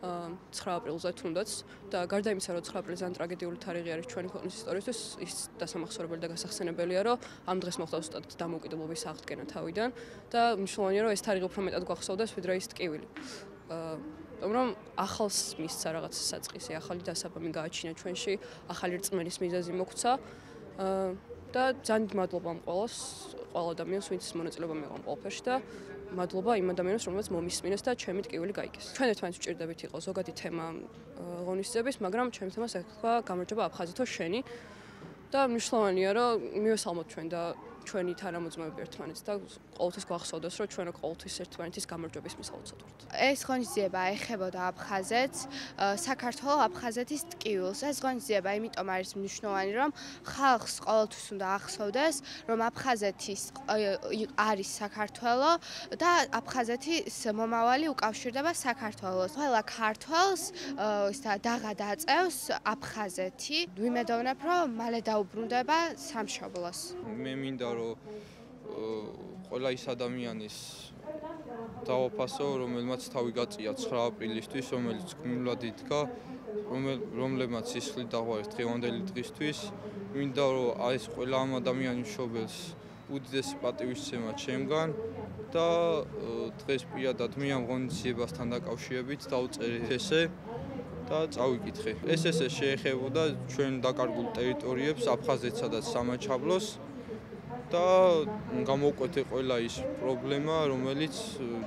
9 აპრილზე თუნდაც და გარდა იმისა, რომ 9 აპრილი ძალიან ტრაგედიული თარიღი არის ჩვენი ქვეყნის ისტორიისთვის, ის დასამახსოვრებელი და გასახსენებელია, რომ ამ დღეს მოხდა ზუსტად დამოუკიდებლობის აღდგენა თავიდან და მნიშვნელოვანია, რომ ეს თარიღი უფრო მეტად გვახსოვდეს, ვიდრე ის ტკივილი. რომ ახალს მისცა რაღაც საწყისი, ახალი დასაბამი გააჩინა ჩვენში, ახალი რწმენის მიზეზი მოგვცა და ძალიან მადლობა ამ ყველა ადამიანს, ვინც მონაწილეობა მიიღო ამ ყველაფერში და მადლობა იმ ადამიანებს, რომელსაც მომისმინეს და ჩემი ტკივილი გაიგეს. ჩვენ ერთმანეთს ვჭირდებით იყო ზოგადი თემა ღონისძიების, მაგრამ ჩემი თემას ეხება გამარჯობა აფხაზეთო შენი და მნიშვნელოვანია, რომ მივესალმოთ ჩვენ და ჩვენი თანამოძმეები ერთმანეთს და ყოველთვის გვახსოვდეს, რომ ჩვენ ყოველთვის ერთმანეთის გამარჯვების მისაუცად ვართ. ეს ღონისძიება ეხებოდა აფხაზეთს, საქართველოს აფხაზეთის ტკივილს. ეს ღონისძიება იმიტომ არის მნიშვნელოვანი, რომ ხალხს ყოველთვის უნდა ახსოვდეს, რომ აფხაზეთის არის საქართველო და აფხაზეთის მომავალი უკავშირდება საქართველოს. ყველა ქართველს დაღადაწევს აფხაზეთი. ვიმედოვნებ, რომ მალე დაუბრუნდება სამშობლოს. მე მინდა რომ ყველა ის ადამიანის დავაფასო, რომელმაც თავი გაწია 9 აპრილისთვის, რომელიც გმირულად იდგა, რომლებმაც სისხლი დაღვარეს დღევანდელი დღისთვის. მინდა რომ ეს ყველა ამ ადამიანის მშობელს უდიდესი პატივისცემა ჩემგან და დღეს პირადად მე ამ ღონისძიებასთან დაკავშირებით დავწერე ესე და წავიკითხე. ეს ესე შეეხებოდა ჩვენ დაკარგულ ტერიტორიებს, აფხაზეთსა და სამაჩაბლოს და გამოვკვეთე ყველა ის პრობლემა, რომელიც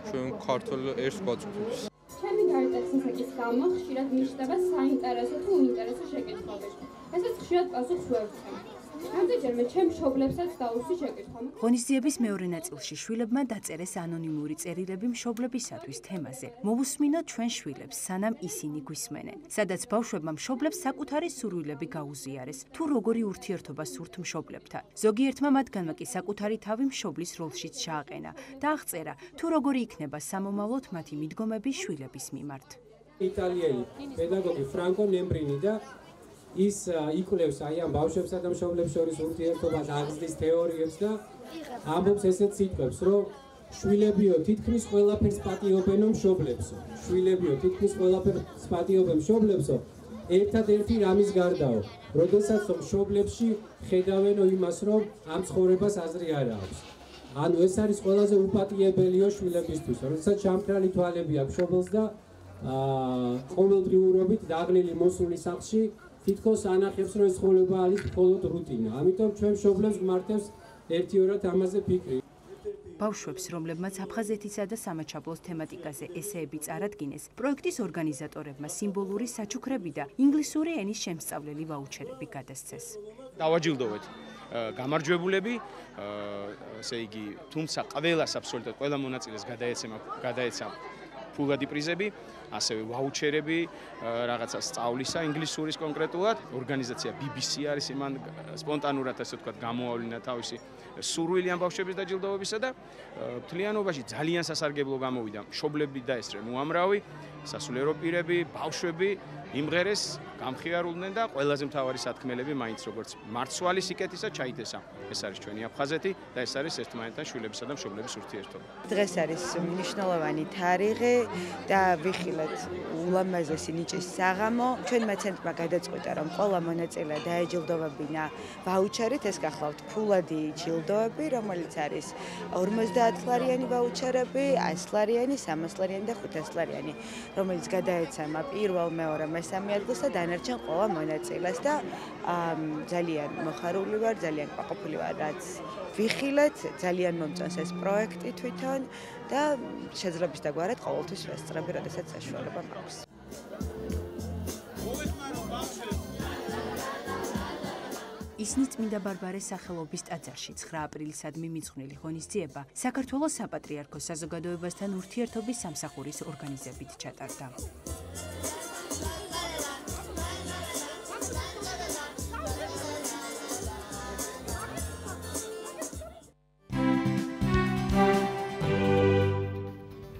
ჩვენ ქართველ ერთს გვაწვდის. ჩემი გარდაცინების გამო ხშირად მიჩნდება საინტერესო თუ უინტერესო შეკითხვები. ესეც ხშირად პასუხს ვერ ვცემ. რამდენჯერმე ჩემ მშობლებსაც დაუსვი შეკითხვა. ღონისძიების მეორე ნაწილში შვილებმა დაწერეს ანონიმური წერილები მშობლებისათვის თემაზე. მოვუსმინოთ ჩვენ შვილებს, სანამ ისინი გვისმენენ. სადაც ბავშვებმა მშობლებს საკუთარი სურვილები გაუზიარეს, თუ როგორი ურთიერთობა სურთ მშობლებთან. ზოგიერთმა მათგანმა კი საკუთარი თავი მშობლის როლშიც ჩააყენა და აღწერა, თუ როგორი იქნება სამომავლოდ მათი მიდგომები შვილების მიმართ. იტალიელი პედაგოგი ფრანკო ნემბრინი და ის იკვლევს აი ამ ბავშვებსა და მშობლებს შორის ურთიერთობას, აღზრდის თეორიებს და ამბობს ესეთ სიტყვებს, რომ შვილებიო თითქმის ყველაფერს პატიობენო მშობლებსო. შვილებიო თითქმის ყველაფერს პატიობენ მშობლებსო. ერთადერთი რამის გარდაო, როდესაც მშობლებში ხედავენო იმას, რომ ამ ცხოვრებას აზრი არ აქვს. ანუ ეს არის ყველაზე უპატიებელიო შვილებისთვის, როდესაც ჩამქრალი თვალები აქვს მშობელს და ყოველდღიურობით დაღლილი მოსული სახლში თითქოს ანახებს, რომ ეს ცხოვრება არის მხოლოდ რუტინა. ამიტომ ჩვენ მშობლებს გმართებს ერთიორად ამაზე ფიქრი. ბავშვებს, რომლებმაც აფხაზეთისა და სამაჩაბლოს თემატიკაზე ესეები წარადგინეს, პროექტის ორგანიზატორებმა სიმბოლური საჩუქრები და ინგლისური ენის შემსწავლელი ვაუჩერები გადასცეს. დავაჯილდოვეთ გამარჯვებულები, ესე იგი, თუმცა ყველას აბსოლუტურად ყველა მონაწილეს გადაეცა ფულადი პრიზები, ასევე ვაუჩერები, რაღაცა სწავლისა ინგლისურის კონკრეტულად. ორგანიზაცია BBC არის იმან სპონტანურად ასე ვთქვათ გამოავლინა თავისი სურვილი ამ ბავშვების დაჯილდოვებისა და მთლიანობაში ძალიან სასარგებლო გამოვიდა. მშობლები დაესწრნენ უამრავი, სასულიერო პირები, ბავშვები იმღერეს, გამხიარულდნენ და ყველაზე მთავარი სათქმელები მაინც როგორც მარცვალი სიკეთისა ჩაითესა. ეს არის ჩვენი აფხაზეთი და ეს არის ერთმანეთთან შვილებისა და მშობლების ურთიერთობა. დღეს არის მნიშვნელოვანი თარიღი და ვიხილეთ ულამაზესი ნიჭის საღამო. ჩვენმა ცენტრმა გადაწყვიტა, რომ ყველა მონაწილე დაეჯილდოვებინა ვაუჩერით, ეს გახლავთ ფულადი ჯილდოები, რომელიც არის 50 ლარიანი ვაუჩერები, 100 ლარიანი, 300 ლარიანი და 500 ლარიანი, რომელიც გადაეცემა პირველ, მეორე, მესამე ადგილს და დანარჩენ ყველა მონაწილეს და ძალიან მოხარული ვარ, ძალიან ყვაყოფილი ვარ, რაც ვიხილეთ, ძალიან მომწონს ეს პროექტი თვითონ და შეძლებს დაგვარად ყოველთვის ვესწრები, როდესაც საშუალება მაქვს. ისინი წმინდა ბარბარეს სახელობის ტაძარში 9 აპრილისადმი მიძღვნილი ღონისძიება საქართველოს საპატრიარქოს საზოგადოებასთან ურთიერთობის სამსახურის ორგანიზებით ჩატარდა.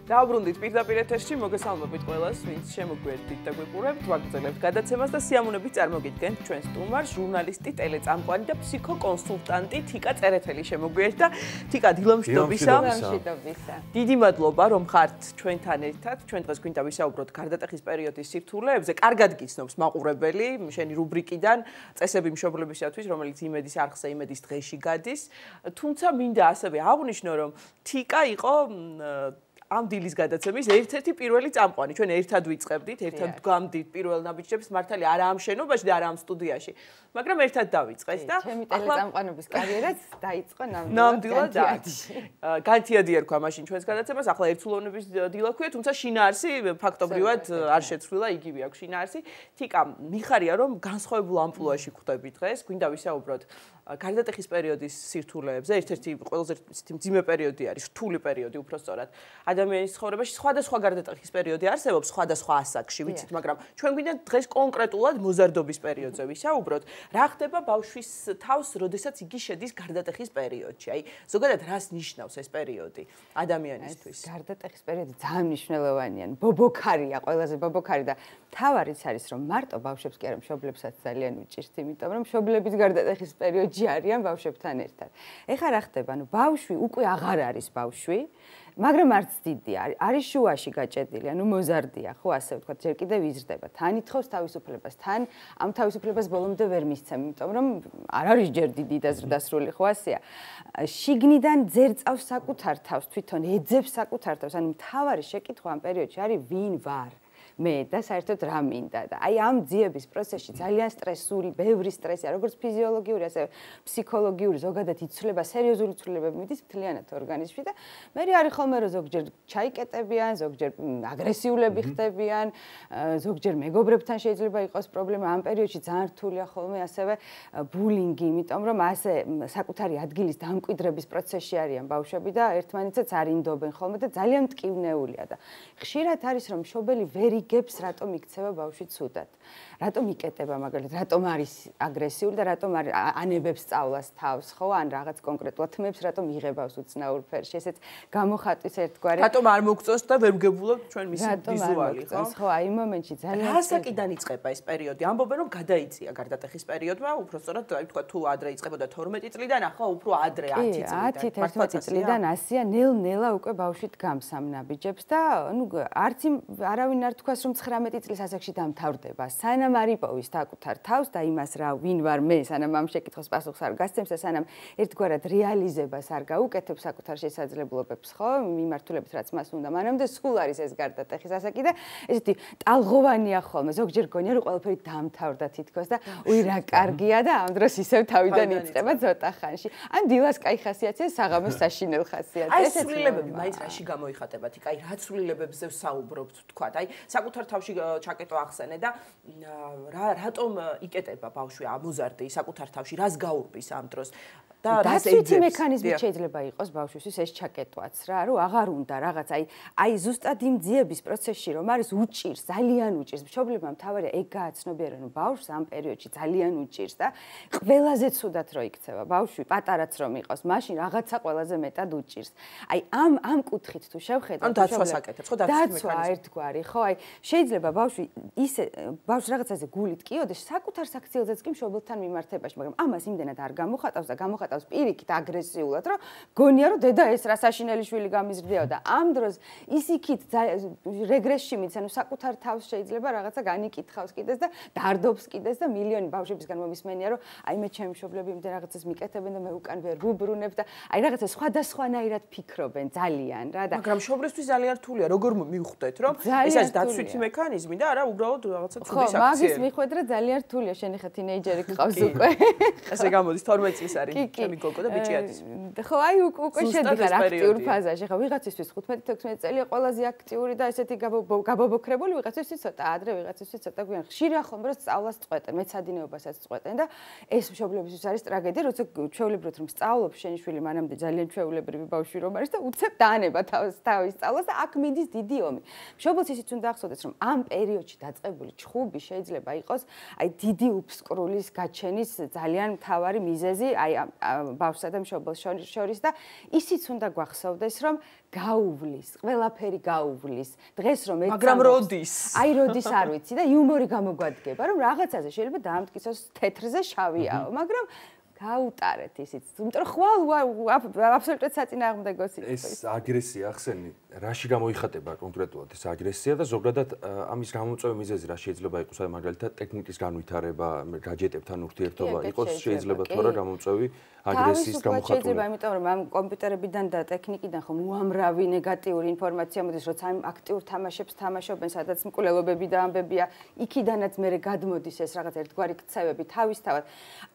დავბრუნდით პირდაპირ ეთერში, მოგესალმებით ყველას, ვინც შემოგვიერთდით და გვიყურებთ, ვაგრძელებთ გადაცემას და სიამოვნებით წარმოგიდგენთ ჩვენ სტუმარს, ჟურნალისტი, ტელეწამყვანი და ფსიქოკონსულტანტი თიკა წერეთელი შემოგვიერთდა. თიკა, დილომშვიდობისა. დიდი მადლობა, რომ ხართ ჩვენთან ერთად. ჩვენ დღეს გვინდა ვისაუბროთ გარდატეხის პერიოდის სირთულეებზე. კარგად გიცნობს მაყურებელი, შენი რუბრიკიდან წესები მშობლებისათვის, რომელიც იმედის არხზე, იმედის დღეში გადის. თუმცა მინდა ასევე აღვნიშნო, რომ თიკა იყო ამ დილის გადაცემის ერთ-ერთი პირველი წამყვანი. ჩვენ ერთად ვიწყებდით, ერთად ვდგამდით პირველ ნაბიჯებს, მართალია არა ამ შენობაში და არა ამ სტუდიაში, მაგრამ ერთად დავიწყეთ და ჩემი ტელეწამყვანობის კარიერაც დაიწყო ნამდვილად. განთიადი ერქვა მაშინ ჩვენს გადაცემას, ახლა ერთსულოვნების დილა ქვია, თუმცა შინაარსი ფაქტობრივად არ შეცვლილა, იგივე აქვს შინაარსი. თიკა, მიხარია რომ განსხვავებულ ამპლუაში ხვდები დღეს, გვინდა ვისაუბროთ გარდატეხის პერიოდის სირთულეებზე. ერთ-ერთი ყველაზე მძიმე პერიოდი არის, რთული პერიოდი უბრალოდ. ადამიანის ცხოვრებაში სხვადასხვა გარდატეხის პერიოდი არსებობს სხვადასხვა ასაკში, ვიცით, მაგრამ ჩვენ გვინდა დღეს კონკრეტულად მოზარდობის პერიოდზე ვისაუბროთ. რა ხდება ბავშვის თავს, როდესაც იგი შედის გარდატეხის პერიოდში? აი, ზოგადად რას ნიშნავს ეს პერიოდი ადამიანისთვის? გარდატეხის პერიოდი ძალიან მნიშვნელოვანია, ბობოქარია, ყველაზე ბობოქარი და თავარიც არის, რომ მარტო ბავშვებს კი არა, მშობლებსაც ძალიან უჭირთ, იმიტომ რომ მშობლების გარდატეხის პერიოდში არიან ბავშვებთან ერთად. ეხლა რა ხდება? ანუ ბავშვი უკვე აღარ არის ბავშვი. მაგრამ არც დიდია, არის შუაში გაჭედილი, ანუ მოზარდია, ხო, ასე ვთქვათ, ჯერ კიდევ იზრდება. თან ითხოვს თავისუფლებას, თან ამ თავისუფლებას ბოლომდე ვერ მისცემ, იმიტომ რომ არ არის ჯერ დიდი და ზრდასრული, ხო, ასეა. შიგნიდან ძერწავს საკუთარ თავს, თვითონ ეძებს საკუთარ თავს, ანუ მთავარი შეკითხვა ამ პერიოდში არის ვინ ვარ. მე და საერთოდ რა მინდა და აი ამ ძიების პროცესში ძალიან სტრესული, ბევრი სტრესია, როგორც ფიზიოლოგიური, ასევე ფსიქოლოგიური, ზოგადად იცვლება სერიოზული ცვლილებები მიდის მთლიანად ორგანიზმში და მე არის ხოლმე რომ ზოგჯერ ჩაიკეტებიან, ზოგჯერ აგრესიულები ხდებიან, ზოგჯერ მეგობრებთან შეიძლება იყოს პრობლემა ამ პერიოდში ძალიან რთულია ხოლმე ასევე ბულინგი, იმიტომ რომ ასე საკუთარი ადგილის დამკვიდრების პროცესში არიან ბავშვები და ერთმანეთსაც არ ინდობენ ხოლმე და ძალიან მტკივნეულია და ხშირად არის რომ მშობელი ვერ იგებს რატომ იქცევა ბავშვი ცუდად. რატომ იკეტება მაგალითად, რატომ არის აგრესიული და რატომ ანებებს სწავლას თავს, ხო, ან რაღაც კონკრეტულად თმებს რატომ იღებავს უცნაურ ფერში. ესეც გამოხატვის ერთგვარი. რატომ არ მოგწონს და ვერ გგებულობ ჩვენ მისი ვიზუალი, ხო? ხო, აი იმ მომენტში ძალიან რასაკიდან იწყება ეს პერიოდი? ამბობენ რომ გადაიწია გარდატეხის პერიოდმა, უფრო სწორად, აი თქვა თუ ადრე იწყებოდა 12 წლიდან, ახლა უფრო ადრე 10 წლიდან. 10-11 წლიდან ასია ნელ-ნელა უკვე ბავშვი დგამს ამ ნაბიჯებს და ნუ არც არავინ არ თქვას რომ 19 წლის ასაკში დამთავრდება. სანამ არ იპოვის საკუთარ თავს და იმას რა ვინ ვარ მე, სანამ ამ შეკითხვის პასუხს არ გასცემს და სანამ ერთგვარად რეალიზებას არ გაუკეთებს საკუთარ შესაძლებლობებს, ხო, მიმართულებით რაც მას უნდა, მანამდე სულ არის ეს გარდატეხის ასაკი და ესეთი ტალღოვანია ხოლმე. ზოგჯერ გონია რომ ყველაფერი დამთავრდა თითქოს და უი რა კარგია და ამ დროს ისევ თავიდან იწყება ცოტა ხანში. ან დილას კაი ხასიათია, საღამოს საშინელ ხასიათია. აი ცვლილებები მაინც რაში გამოიხატებათ? იქ აი რა ცვლილებებზე ვსაუბრობთ, თქვა, აი საკუთარ თავში ჩაკეტო ახსენე და რატომ იკეტება ბავშვი ამოზარდი საკუთარ თავში, რას გაურბის ამ დროს? და დაცვითი მექანიზმი შეიძლება იყოს ბავშვისთვის ეს ჩაკეტვაც რა, რომ აღარ უნდა რაღაც აი ზუსტად იმ ძიების პროცესში რომ არის უჭირს, ძალიან უჭირს. მშობლებმა მთავარია ეგ გააცნობიერონ, რომ ბავშვს ამ პერიოდში ძალიან უჭირს და ყველაზე ცუდად რო იქცევა ბავშვი, პატარაც რომ იყოს, მაშინ რაღაცა ყველაზე მეტად უჭირს. აი ამ კუთხით თუ შევხედავთ, ან დაცვას აკეთებს, ხო, დაცვა ერთგვარი, ხო, აი შეიძლება ბავშვი ისე ბავშვს რაღაცაზე გულით კიოდეს საკუთარ საქციელზეც კი მშობელთან მიმართებაში, მაგრამ ამას იმდენად არ გამოხატავს და გამოხატავს პირიქით აგრესიულად, რომ გონია რომ დედა ეს რა საშინელი შვილი გამიზრდიაო და ამ დროს ის იქით რეგრესში მიცან, საკუთარ თავს შეიძლება რაღაცა განიკითხავს კიდეს და დარდობს კიდეს და მილიონი ბავშვებისგან მომისმენია, რომ აი მე ჩემი მშობლები იმდენ რაღაცას მიკეთებენ და მე უკან ვერ ვუბრუნებ და აი რაღაცა სხვადასხვანაირად ფიქრობენ ძალიან რა და მაგრამ მშობლისთვის ძალიან რთულია, როგორ მივხვდეთ, რომ ეს არის დაცვითი მექანიზმი და არა უბრალოდ რაღაცა ცუდი საქციელი. ხო, მაგის მიხვედრა ძალიან რთულია, შენი ხა თინეიჯერი გყავს უკვე. ესე გამოდის 12 წლის არის. ჩემი გოგო და ბიჭიადის. ხო, აი უკვე შედიხარ აქტიურ ფაზაში. ხო, ვიღაცისთვის 15-16 წელია ყველაზე აქტიური და ესეთი გაბობოქრებული, ვიღაცისთვის ცოტა ადრე, ვიღაცისთვის ცოტა გვიან. ხშირია ხოლმე რომ სწავლას წყვეტენ, მეცადინეობასაც წყვეტენ და ეს მშობლებისთვის არის ტრაგედია, როცა ჩვეულებრივად რომ სწავლობს შენი შვილი, მანამდე ძალიან ჩვეულებრივი ბავშვი რომ არის და უცებ დაანება თავის სწავლას და აქ მიდის დიდი ომი. მშობელს ისიც უნდა ახსოვდეს, რომ ამ პერიოდში დაწყებული ჩხუბი შეიძლება იყოს აი დიდი უფსკრულის გაჩენის ძალიან მთავარი მიზეზი, აი ბავშვსა და მშობელს შორის და ისიც უნდა გვახსოვდეს, რომ გაუვლის, ყველაფერი გაუვლის. დღეს რომ ეცამს მაგრამ როდის? აი როდის არ ვიცი და იუმორი გამოგვადგება, რომ რაღაცაზე შეიძლება დაამტკიცოს თეთრზე შავიაო, მაგრამ გაუტარეთ ისიც. იმიტომ რომ ხვალ აბსოლუტურად საწინააღმდეგო სიტყვა. ეს აგრესია ახსენი, რაში გამოიხატება კონკრეტულად ეს აგრესია და ზოგადად ამის გამოწვევი მიზეზი რა შეიძლება იყოს, აი მაგალითად ტექნიკის განვითარება, გაჯეტებთან ურთიერთობა იყოს შეიძლება თუ არა გამოწვევი აგრესიის გამოხატული. შეიძლება, იმიტომ რომ ამ კომპიუტერებიდან და ტექნიკიდან ხომ უამრავი ნეგატიური ინფორმაცია მოდის, როცა ამ აქტიურ თამაშებს თამაშობენ, სადაც მკვლელობები და ამბებია, იქიდანაც მერე გადმოდის ეს რაღაც ერთგვარი ქცევები თავისთავად.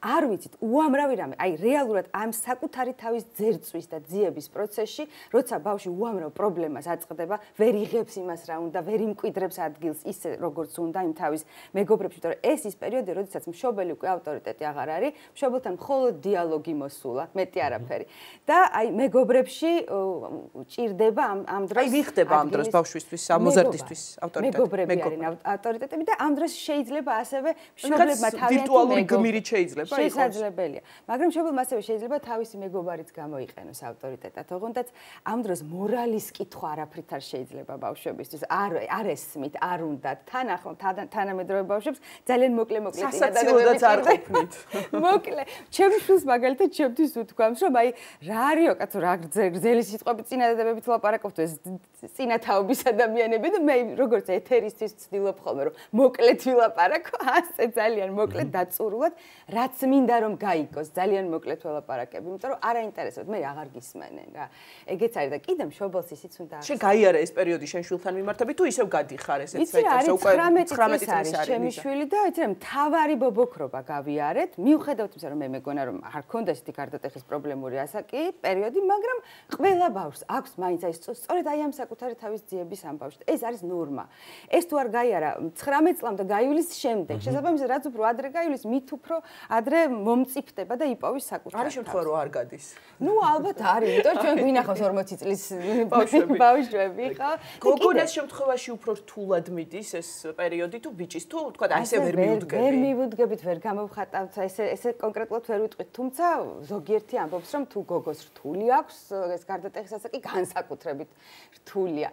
არ ვიცით, უამრავი რამე, აი რეალურად ამ საკუთარი თავის ძერწვის და ძიების პროცესში, როცა ბავშვი უამრავ პრობლემას აწყდება, ვერ იღებს იმას რა უნდა, ვერ იმკვიდრებს ადგილს ისე როგორც უნდა იმ თავის მეგობრებში, იმიტომ რომ ეს ის პერიოდი, როდესაც მშობელი უკვე ავტორიტეტი აღარ არის, მშობელთან მხოლოდ დიალოგი მოსულა, მეტი არაფერი. და აი მეგობრებში ჭირდება ამ დროს. აი ვიხდება ამ დროს ბავშვისთვის, ამოზარდისთვის ავტორიტეტი. მეგობრები არიან ავტორიტეტები და ამ დროს შეიძლება ასევე მშობლებმა თავიანთი ვირტუალური გმირით შეიძლება იყოს. შესაძლებელია. მაგრამ მშობელმა ასევე შეიძლება თავისი მეგობარიც გამოიყენოს ავტორიტეტად. ოღონდ ამ დროს მორალის კითხვა არაფრით არ შეიძლება ბავშვებისთვის. არ ესმით, არ უნდათ. თან ახლა თანამედროვე ბავშვებს ძალიან მოკლე სასაცილოდაც არ ყოფნით. მოკლე. ჩემი შვილს მაგალითად ჩემთვის უთქვამს, რომ აი რა არისო კაცო, რა გრძელი სიტყვები წინადადებებით ლაპარაკობთ ეს წინათაობის ადამიანები და მე როგორც ეთერისთვის ვცდილობ ხოლმე რომ მოკლედ ვილაპარაკო, ასე ძალიან მოკლედ დაწურულად, რაც მინდა რომ გაიგოს, ძალიან მოკლედ ველაპარაკები, იმიტომ რომ არ აინტერესებთ, მე აღარ გისმენენ რა. ეგეც არის და კიდე მშობელს ისიც უნდა და შენ გაიარე ეს პერიოდი შენ შვილთან მიმართებით თუ ისევ გადიხარ ესეც საერთოდ უკვე 19 წლის არის ჩემი შვილი და იცი რა მთავარი ბობოქრობა გავიარეთ მიუხედავად იმისა რომ მე მეგონა რომ არ ქონდა ესეთი გარდატეხის პრობლემური ასაკი პერიოდი მაგრამ ყველა ბავშვს აქვს მაინც აი სწორედ აი ამ საკუთარი თავის ძიების ამ ბავშვს ეს არის ნორმა ეს თუ არ გაიარა 19 წლამდე გაივლის შემდეგ შესაბამისად რაც უფრო ადრე გაივლის მით უფრო ადრე მომწიფდება და იპოვის საკუთარ არის შემთხვევა რომ არ გადის ნუ ალბათ არის იმიტომ ჩვენ გვინახავს 40 წლის ბავშვები ხო გოგონას შემთხვევაში უფრო რთულად მიდის ეს პერიოდი თუ ბიჭის თუ თქვა ასე ვერ მივუდგები ვერ მივუდგებით ვერ გამოვხატავთ ესე კონკრეტულად ვერ ვიტყვით თუმცა ზოგიერთი ამბობს რომ თუ გოგოს რთული აქვს ეს გარდატეხის ასაკი განსაკუთრებით რთულია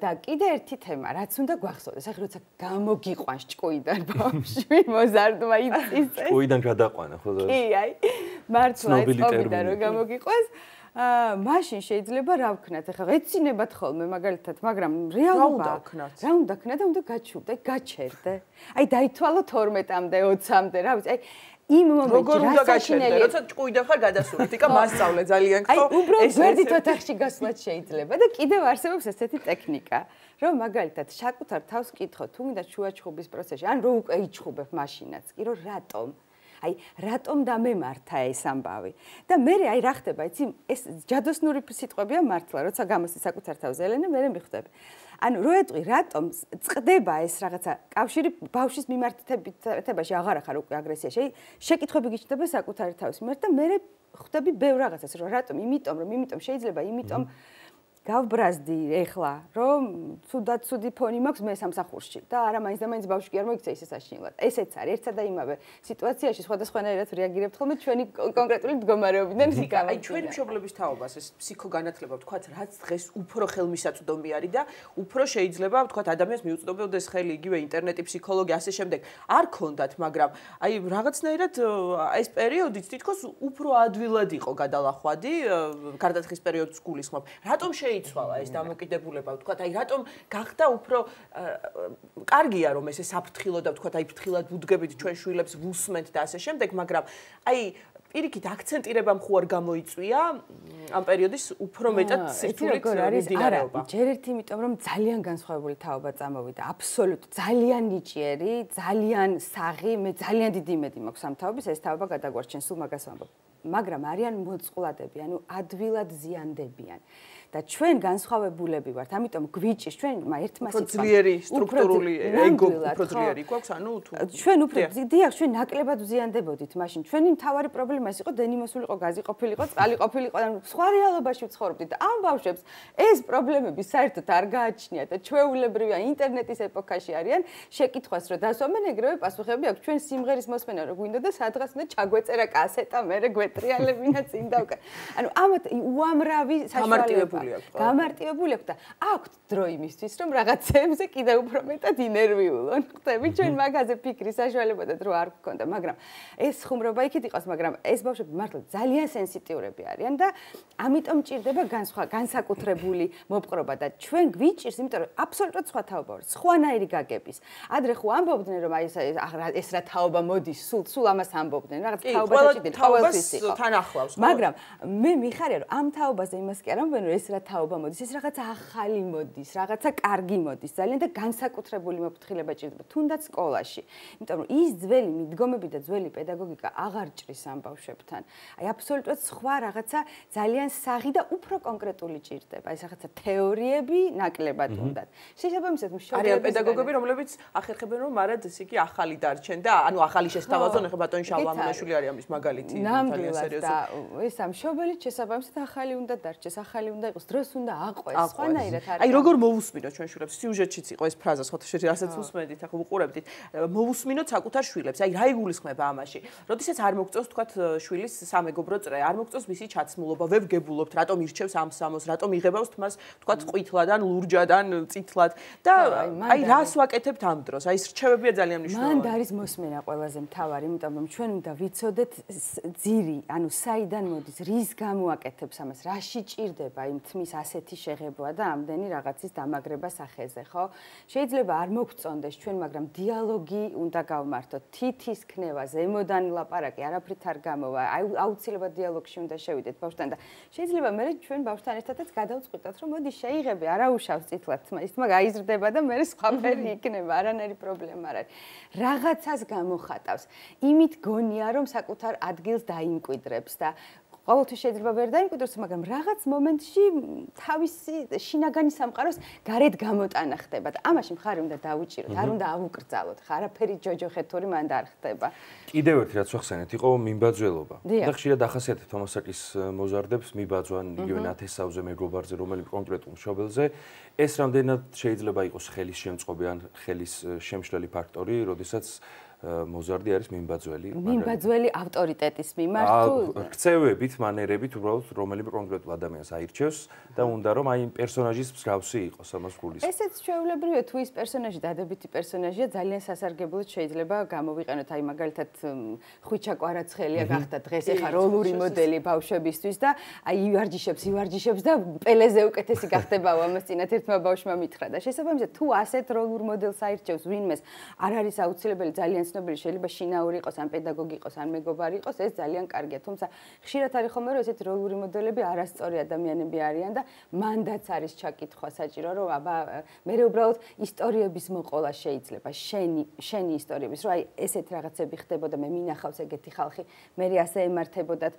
და კიდე ერთი თემა რაც უნდა გვახსოვდეს ახლა როცა გამოგიყვანს ჭკუიდან ბავშვი მოზარდმა იწის ჭკუიდან გადაყვანა ხო კი აი მართლა ეს ყოფილა რომ გამოგიყვანს მაშინ შეიძლება რა ვქნათ ახლა ეცინებათ ხოლმე მაგალითად მაგრამ რეალობა რა უნდა ქნა და უნდა გაჩუბდე გაჩერდე აი დაითვალო 12-მდე 20-მდე რა ვიცი აი იმ მომენტში როგორ უნდა გაჩერდე როცა ჭკუიდან ხარ გადასული თიკა მასწავლე ძალიან ხო აი უბრალოდ გვერდით ოთახში გასვლაც შეიძლება და კიდევ არსებობს ესეთი ტექნიკა რომ მაგალითად საკუთარ თავს კითხო თუ მინდა შუაჩხუბის პროცესში ან რო უკვე იჩხუბებ მაშინაც კი რომ რატომ აი რატომ დამემართა ეს ამბავი და მე აი რა ხდება იცი ეს ჯადოსნური სიტყვებია მართლა როცა გამოსი საკუთარ თავს ელენე მე მიხვდები ანუ რო ეტყვი რატომ წდება ეს რაღაცა კავშირი ბავშვის მიმართებაში აღარ ახარ უკვე აგრესიაში შეკითხვები გიჩნდება საკუთარი თავის მიმართ და მე ხვდები ბევრ რაღაცას რომ რატომ იმიტომ შეიძლება იმიტომ გავბრაზდი ეხლა რომ ცუდად ცუდი ფონი მაქვს მე სამსახურში და არა მაინც და მაინც ბავშვი კი არ მოიქცა ისე საშინლად ესეც არის ერთსა და იმავე სიტუაციაში სხვადასხვანაირად რეაგირებთ ხოლმე ჩვენი კონკრეტული მდგომარეობიდან აი ჩვენი მშობლების თაობას ეს ფსიქოგანათლება ვთქვათ რაც დღეს უფრო ხელმისაწვდომი არის და უფრო შეიძლება ვთქვათ ადამიანს მიუწვდომდეს ხელი იგივე ინტერნეტი ფსიქოლოგი ასე შემდეგ არ ქონდათ მაგრამ აი რაღაცნაირად ეს პერიოდიც თითქოს უფრო ადვილად იყო გადალახვადი გარდატეხის პერიოდს გულისხმობ რატომ იცვალა ეს დამოკიდებულება ვთქვათ აი რატომ გახდა უფრო კარგია რომ ესე საფრთხილო და ვთქვათ აი ფრთხილად ვუდგებით ჩვენ შვილებს ვუსმენთ და ასე შემდეგ მაგრამ აი პირიქით აქცენტირებამ ხო არ გამოიწვია ამ პერიოდის უფრო მეტად სირთულით მიმდინარეობა ჯერ ერთი იმიტომ რომ ძალიან განსხვავებული თაობა წამოვიდა აბსოლუტ ძალიან ნიჭიერი ძალიან საღი მე ძალიან დიდი იმედი მაქვს ამ თაობის ეს თაობა გადაგვარჩენს სულ მაგას ვამბობ მაგრამ არიან მოწყვლადები ანუ ადვილად ზიანდებიან და ჩვენ განსხვავებულები ვართ, ამიტომ გვიჭირს ჩვენ ერთმა სიტყვამ. უფრო ძლიერი სტრუქტურული ეგო უფრო ძლიერი გვაქვს, ანუ თუ ჩვენ უფრო დიახ, ჩვენ ნაკლებად ვზიანდებოდით მაშინ. ჩვენი მთავარი პრობლემა ის იყო დენიმოსულიყო, გაზი ყოფილიყო, წყალი ყოფილიყო, ანუ სხვა რეალობაში ვცხოვრობდით და ამ ბავშვებს ეს პრობლემები საერთოდ არ გააჩნიათ და ჩვეულებრივია ინტერნეტის ეპოქაში არიან. შეკითხვას რო დასვამენ, ეგრევე პასუხები აქვს. ჩვენ სიმღერის მოსმენა რო გვინდა და სადღაც უნდა ჩაგვეწერა კასეტა, მერე გვეტრიალებინა წინ დავკა. ანუ ამათ უამრავი საშუალება გამარტივებული აქვს და აქვთ დრო იმისთვის რომ რაღაცეებზე კიდევ უფრო მეტად ინერვიულონ. ხტები ჩვენ მაგაზე ფიქრის საშუალება და დრო არ გქონდა, მაგრამ ეს ხუმრობა იქით იყოს, მაგრამ ეს ბავშვები მართლა ძალიან სენსიტიურები არიან და ამიტომ ჭირდება განსაკუთრებული მოპყრობა და ჩვენ გვიჭირს, იმიტომ რომ აბსოლუტურად სხვა თაობა ვარ, სხვანაირი გაგების. ადრე ხო ამბობდნენ რომ აი ეს რა თაობა მოდის, სულ ამას ამბობდნენ, რაღაც თაობათა ჭიდენ, ყოველთვის იყო. თან ახლავს. მაგრამ მე მიხარია რომ ამ თაობაზე იმას კი არ ამბობენ რომ ეს რა თაობა მოდის, ეს რაღაცა ახალი მოდის, რაღაცა კარგი მოდის, ძალიან და განსაკუთრებული მოფრთხილება ჭირდება, თუნდაც სკოლაში. იმიტომ რომ ის ძველი მიდგომები და ძველი პედაგოგიკა აღარ ჭრის ამ ბავშვებთან. აი აბსოლუტურად სხვა რაღაცა ძალიან საღი და უფრო კონკრეტული ჭირდება. ეს რაღაცა თეორიები ნაკლებად უნდათ. შესაბამისად მშობლები არიან პედაგოგები, რომლებიც ახერხებენ რომ მარად ესე იგი ახალი დარჩენ და ანუ ახალი შესთავაზონ, ეხლა ბატონი შალვამონაშვილი არის ამის მაგალითი, ძალიან სერიოზული. და ეს ამშობელი შესაბამისად ახალი უნდა დარჩეს, ახალი უნდა იყოს, დროს უნდა აყვეს, სხვანაირად არის. აი როგორ მოусმინოთ ჩვენ შვილებს, სიუჟეტშიც იყო ეს ფრაზა, სხვათაშორის რასაც უსმენდით, ახლა უყურებდით, მოусმინოთ საკუთარ შვილებს. აი რა იგულისხმება ამაში? როდესაც არ მოგწონს თქვათ შვილის სამეგობრო წრე, არ მოგწონს მისი ჩაცმულობა, ვებგებულობთ, რატომ ირჩევს ამ სამოს, რატომ იღებავს თმას თქვათ ყვითლადან, ლურჯადან, წითლად და აი რას ვაკეთებთ ამ დროს? აი ეს რჩევებია ძალიან მნიშვნელოვანი. მანდ არის მოსმენა ყველაზე მთავარი, იმიტომ რომ ჩვენ უნდა ვიცოდეთ ძირი ანუ საიდან მოდის, რის გამო აკეთებს ამას, რაში ჭირდება იმ თმის ასეთი შეღებვა და ამდენი რაღაცის დამაგრება სახეზე, ხო? შეიძლება არ მოგწონდეს ჩვენ, მაგრამ დიალოგი უნდა გავმართოთ. თითის ქნება, ზემოდან ლაპარაკი, არაფრით არ გამოვა. აუცილებლად დიალოგში უნდა შევიდეთ ბავშვთან და შეიძლება მე ჩვენ ბავშვთან ერთადაც გადავწყვიტოთ, რომ მოდი შეიღები, არა უშავს წითლად თმა, ის თმა გაიზრდება და მე სხვაფერი იქნება, არანაირი პრობლემა არ არის. რაღაცას გამოხატავს. იმით გონია, რომ საკუთარ ადგილს დაიმკვიდრებს და ყოველთვის შეიძლება ვერ დაიმკვიდროს, მაგრამ რაღაც მომენტში თავისი შინაგანი სამყაროს გარეთ გამოტანა ხდება და ამაში მხარი უნდა დაუჭიროთ, არ უნდა ავუკრძალოთ, არაფერი ჯოჯოხეთური მანდ არ ხდება. კიდევ ერთი რაც ვახსენეთ, იყო მიმბაძველობა. და ხშირად ახასიათებთ თომასაკის მოზარდებს მიბაძვან იგივე ნათესავზე, მეგობარზე, რომელი კონკრეტულ მშობელზე. ეს რამდენად შეიძლება იყოს ხელის შემწყობი ან ხელის შემშლელი ფაქტორი, როდესაც მოზარდი არის მიმბაძველი. მიმბაძველი ავტორიტეტის მიმართ თუ ქცევებით, მანერებით, უბრალოდ რომელიმე კონკრეტულ ადამიანს აირჩევს და უნდა რომ აი პერსონაჟის მსგავსი იყოს ამას გულის. ესეც ჩვეულებრივია, თუ ის პერსონაჟი დადებითი პერსონაჟია, ძალიან სასარგებლოდ შეიძლება გამოვიყენოთ, აი მაგალითად ხვიჩა კვარაცხელია გახდა დღეს ეხა როლური მოდელი ბავშვებისთვის და აი ივარჯიშებს და პელეზე უკეთესი გახდება ამას წინათ ერთმა ბავშვმა მითხრა და შესაბამისად თუ ასეთ როლურ მოდელს აირჩევს ვინმეს არ არის აუცილებელი ძალიან ცნობილი შეიძლება შინაური იყოს ან პედაგოგი იყოს ან მეგობარი იყოს ეს ძალიან კარგია თუმცა ხშირად არის ხოლმე რომ ესეთი როლური მოდელები არასწორი ადამიანები არიან და მანდაც არის ჩაკითხვა საჭირო რომ აბა მე უბრალოდ ისტორიების მოყოლა შეიძლება შენი ისტორიების რომ აი ესეთ რაღაცები ხდებოდა მე მინახავს ეგეთი ხალხი მე ასე ემართებოდათ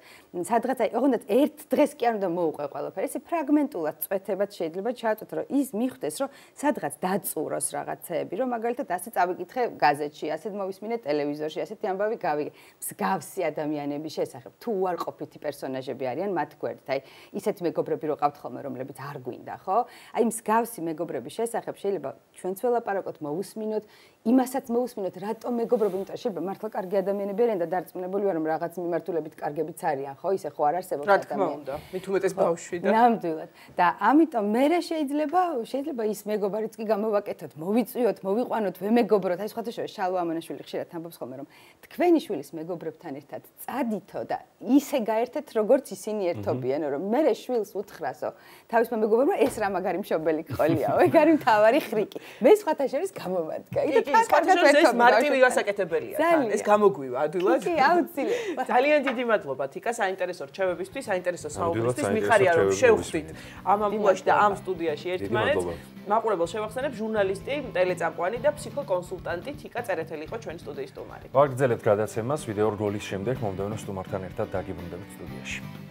სადღაც აი ოღონდ ერთ დღეს კი არ უნდა მოუყვე ყველაფერი ესე ფრაგმენტულად წვეთებად შეიძლება ჩააწვეთ რომ ის მიხვდეს რომ სადღაც დაწუროს რაღაცეები რომ მაგალითად ასე წავიკითხე გაზეთში ასეთ მოვისმინე ტელევიზორში ასეთი ამბავი გავიგე მსგავსი ადამიანების შესახებ თუ უარყოფითი პერსონაჟები არიან მათ გვერდით აი ისეთ მეგობრები რო ყავთ ხოლმე რომლებიც არ გვინდა ხო აი მსგავსი მეგობრების შესახებ შეიძლება ჩვენც ველაპარაკოთ მოусმინოთ იმასაც მოусმინოთ რატომ მეგობრები იმიტომ შეიძლება მართლა კარგი ადამიანები არიან და დარწმუნებული ვარ რომ რაღაც მიმართულებით კარგებიც არიან ხო ისე ხო არ არსებობს ადამიანები მით უმეტეს ბავშვი და ნამდვილად და ამიტომ მე შეიძლება ის მეგობარიც კი გამოვაკეთოთ მოვიწვიოთ მოვიყვანოთ ვემეგობროთ აი სხვათა შორის შალვა ამანაშვილი ხშირად ამბობს ხოლმე რომ თქვენი შვილის მეგობრებთან ერთად წადითო და ისე გაერთეთ როგორც ისინი ერთობიან რომ მე შვილს უთხრასო თავისმა მეგობრებმა ეს რა მაგარი მშობელი გყოლიაო ეგ არის მთავარი ხრიკი მე სხვათა შორის გამოვადგა ეს მარტივი გასაკეთებელია თან ეს გამოგვივა ადვილად კი აუცილებლად ძალიან დიდი მადლობა თიკა საინტერესო რჩევებისთვის საინტერესო საუბრისთვის მიხარია რომ შევხვდით ამ ამბულაში და ამ სტუდიაში ერთმანეთს მაყურებელს შევახსენებ ჟურნალისტი ტელეწამყვანი და ფსიქოკონსულტანტი თიკა წერეთელი იყო ჩვენი სტუდიის სტუმარი ვაგრძელებთ გადაცემას ვიდეო რგოლის შემდეგ მომდევნო სტუმართან ერთად დაგიბრუნდებით სტუდიაში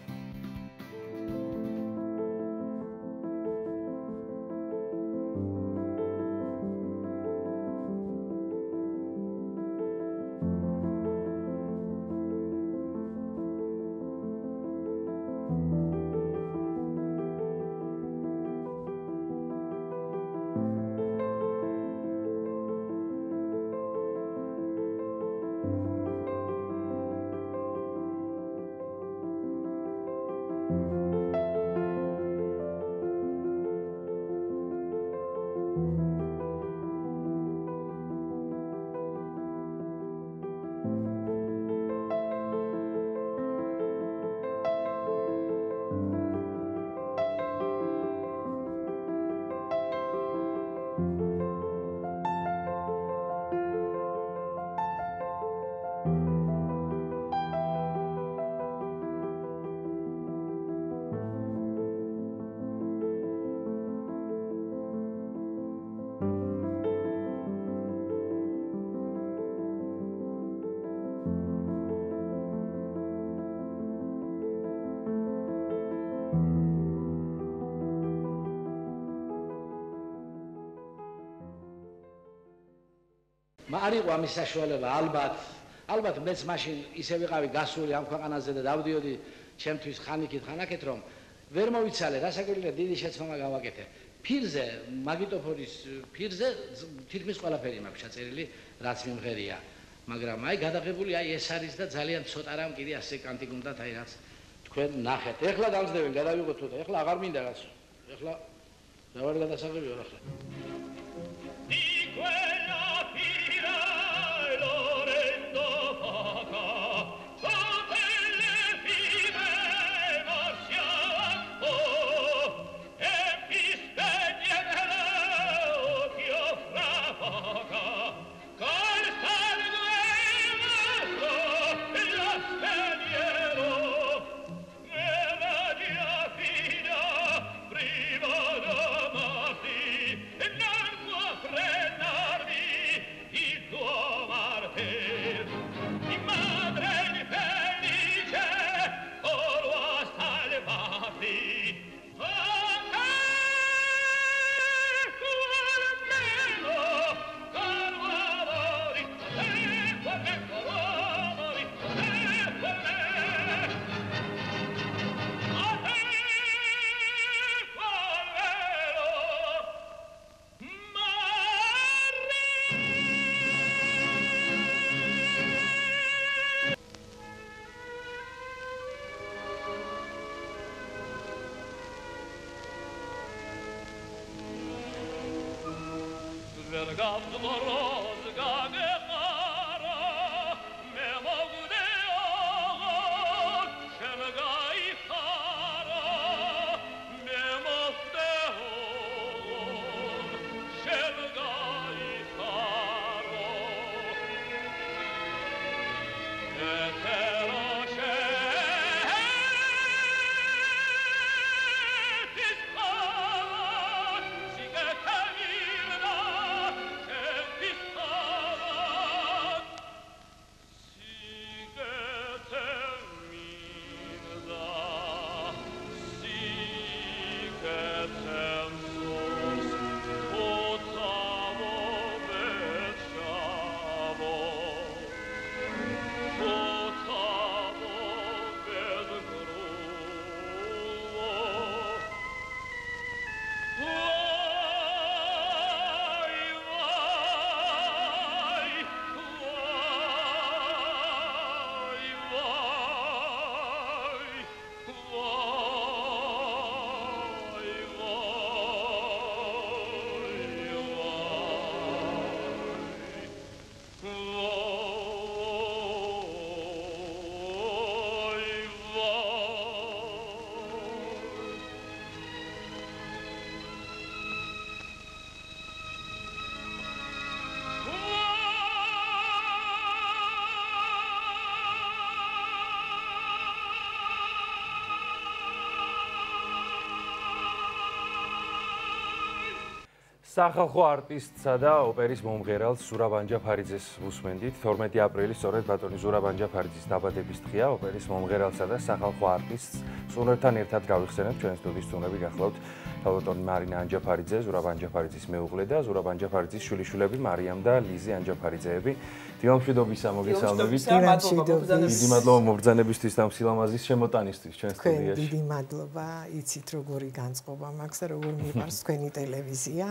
არიყო ამის საშუალება ალბათ მეც მაშინ ისე ვიყავი გასული ამ ქვეყანაზე და დავდიოდი ჩემთვის ხანიკით ხანაკეთ რომ ვერ მოვიცალე რასაკვირველია დიდი შეცდომა გავაკეთე ფირზე მაგნიტოფონის ფირზე თითქმის ყველაფერი მაქვს ჩაწერილი რაც მიმღერია მაგრამ აი გადაღებული აი ეს არის და ძალიან ცოტა რამ კიდე ასე კანტი გუნდათ აი რაც თქვენ ნახეთ ეხლა დამძდევენ გადავიღოთ თუ და ეხლა აღარ მინდა რაც ეხლა რა ვარ გადასაღებია ახლა სახალხო არტისტსა და ოპერის მომღერალ ზურაბ ანჯაფარიძეს უსმენდით. 12 აპრილი სწორედ ბატონი ზურაბ ანჯაფარიძის დაბადების დღეა. ოპერის მომღერალსა და სახალხო არტისტს სუნერთან ერთად გავიხსენებთ ჩვენი სტუდიის სტუმრები გახლავთ ბატონი მარინა ანჯაფარიძე, ზურაბ ანჯაფარიძის მეუღლე და ზურაბ ანჯაფარიძის შვილიშვილები მარიამ და ლიზი ანჯაფარიძეები. დილამშვიდობისა მოგესალმებით. დიდი მადლობა მობრძანებისთვის და სილამაზის შემოტანისთვის ჩვენ სტუდიაში. დიდი მადლობა, იცით როგორი განწყობა მაქვს და როგორ მიყვარს თქვენი ტელევიზია.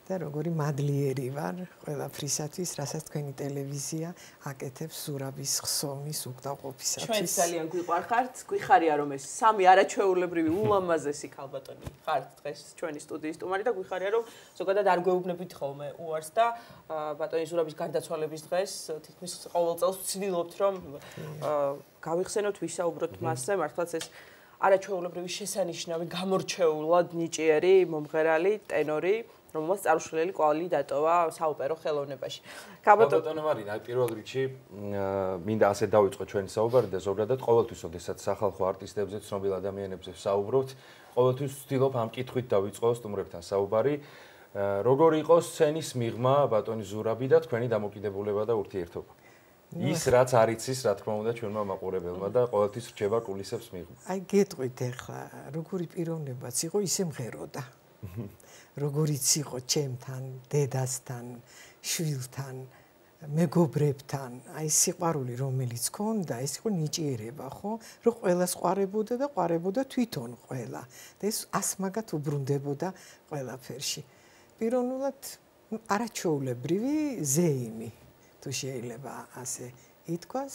და როგორი მადლიერი ვარ ყველაფრისათვის, რასაც თქვენი ტელევიზია აკეთებს ზურაბის ხსოვნის უკდავყოფისათვის. ჩვენ ძალიან გვიყვარხართ, გვიხარია რომ ეს სამი არაჩვეულებრივი ულამაზესი ქალბატონი ხართ დღეს ჩვენი სტუდიის სტუმარი და გვიხარია რომ ზოგადად არ გვეუბნებით ხოლმე უარს და ბატონი ზურაბის გარდაცვალების დღეს თითქმის ყოველ წელს ვცდილობთ რომ გავიხსენოთ, ვისაუბროთ მასზე, მართლაც ეს არაჩვეულებრივი შესანიშნავი, გამორჩეულად ნიჭიერი მომღერალი, ტენორი რომელსაც წარუშლელი კვალი დატოვა საოპერო ხელოვნებაში. ბატონო მარინა, პირველ რიგში მინდა ასე დავიწყო ჩვენი საუბარი და ზოგადად ყოველთვის, ოდესაც სახალხო არტისტებზე, ცნობილ ადამიანებზე ვსაუბრობთ, ყოველთვის ვცდილობ ამ კითხვით დავიწყო სტუმრებთან საუბარი. როგორი იყო სცენის მიღმა ბატონი ზურაბი და თქვენი დამოკიდებულება და ურთიერთობა? ის რაც არ იცის, რა თქმა უნდა, ჩვენმა მაყურებელმა და ყოველთვის რჩება კულისებს მიღმა. აი გეტყვით ახლა, როგორი პიროვნებაც იყო, ისე მღეროდა. როგორიც იყო ჩემთან, დედასთან, შვილთან, მეგობრებთან, აი სიყვარული რომელიც ქონდა, ეს იყო ნიჭიერება, ხო? რომ ყველას ყვარებოდა და ყვარებოდა თვითონ ყველა. და ეს ასმაგად უბრუნდებოდა ყველაფერში. პიროვნულად არაჩვეულებრივი ზეიმი, თუ შეიძლება ასე ითქვას,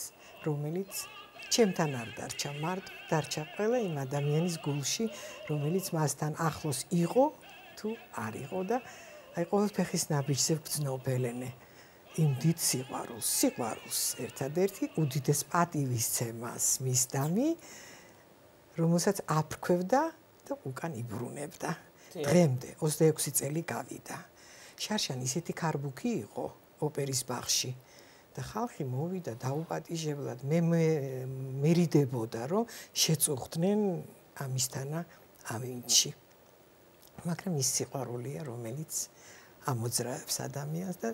რომელიც ჩემთან არ დარჩა მარტო, დარჩა ყველა იმ ადამიანის გულში, რომელიც მასთან ახლოს იყო თუ არ იყო და აი ყოველ ფეხის ნაბიჯზე ვგრძნობელენე იმ დიდ სიყვარულს ერთადერთი უდიდეს პატივისცემას მისდამი, რომელსაც აფრქვევდა და უკან იბრუნებდა. დღემდე 26 წელი გავიდა. შარშან ისეთი ქარბუქი იყო ოპერის ბაღში და ხალხი მოვიდა დაუპატიჟებლად, მე მერიდებოდა რომ შეწუხდნენ ამისთანა ავინჩი. მაგრამ ის სიყვარულია, რომელიც ამოძრავებს ადამიანს და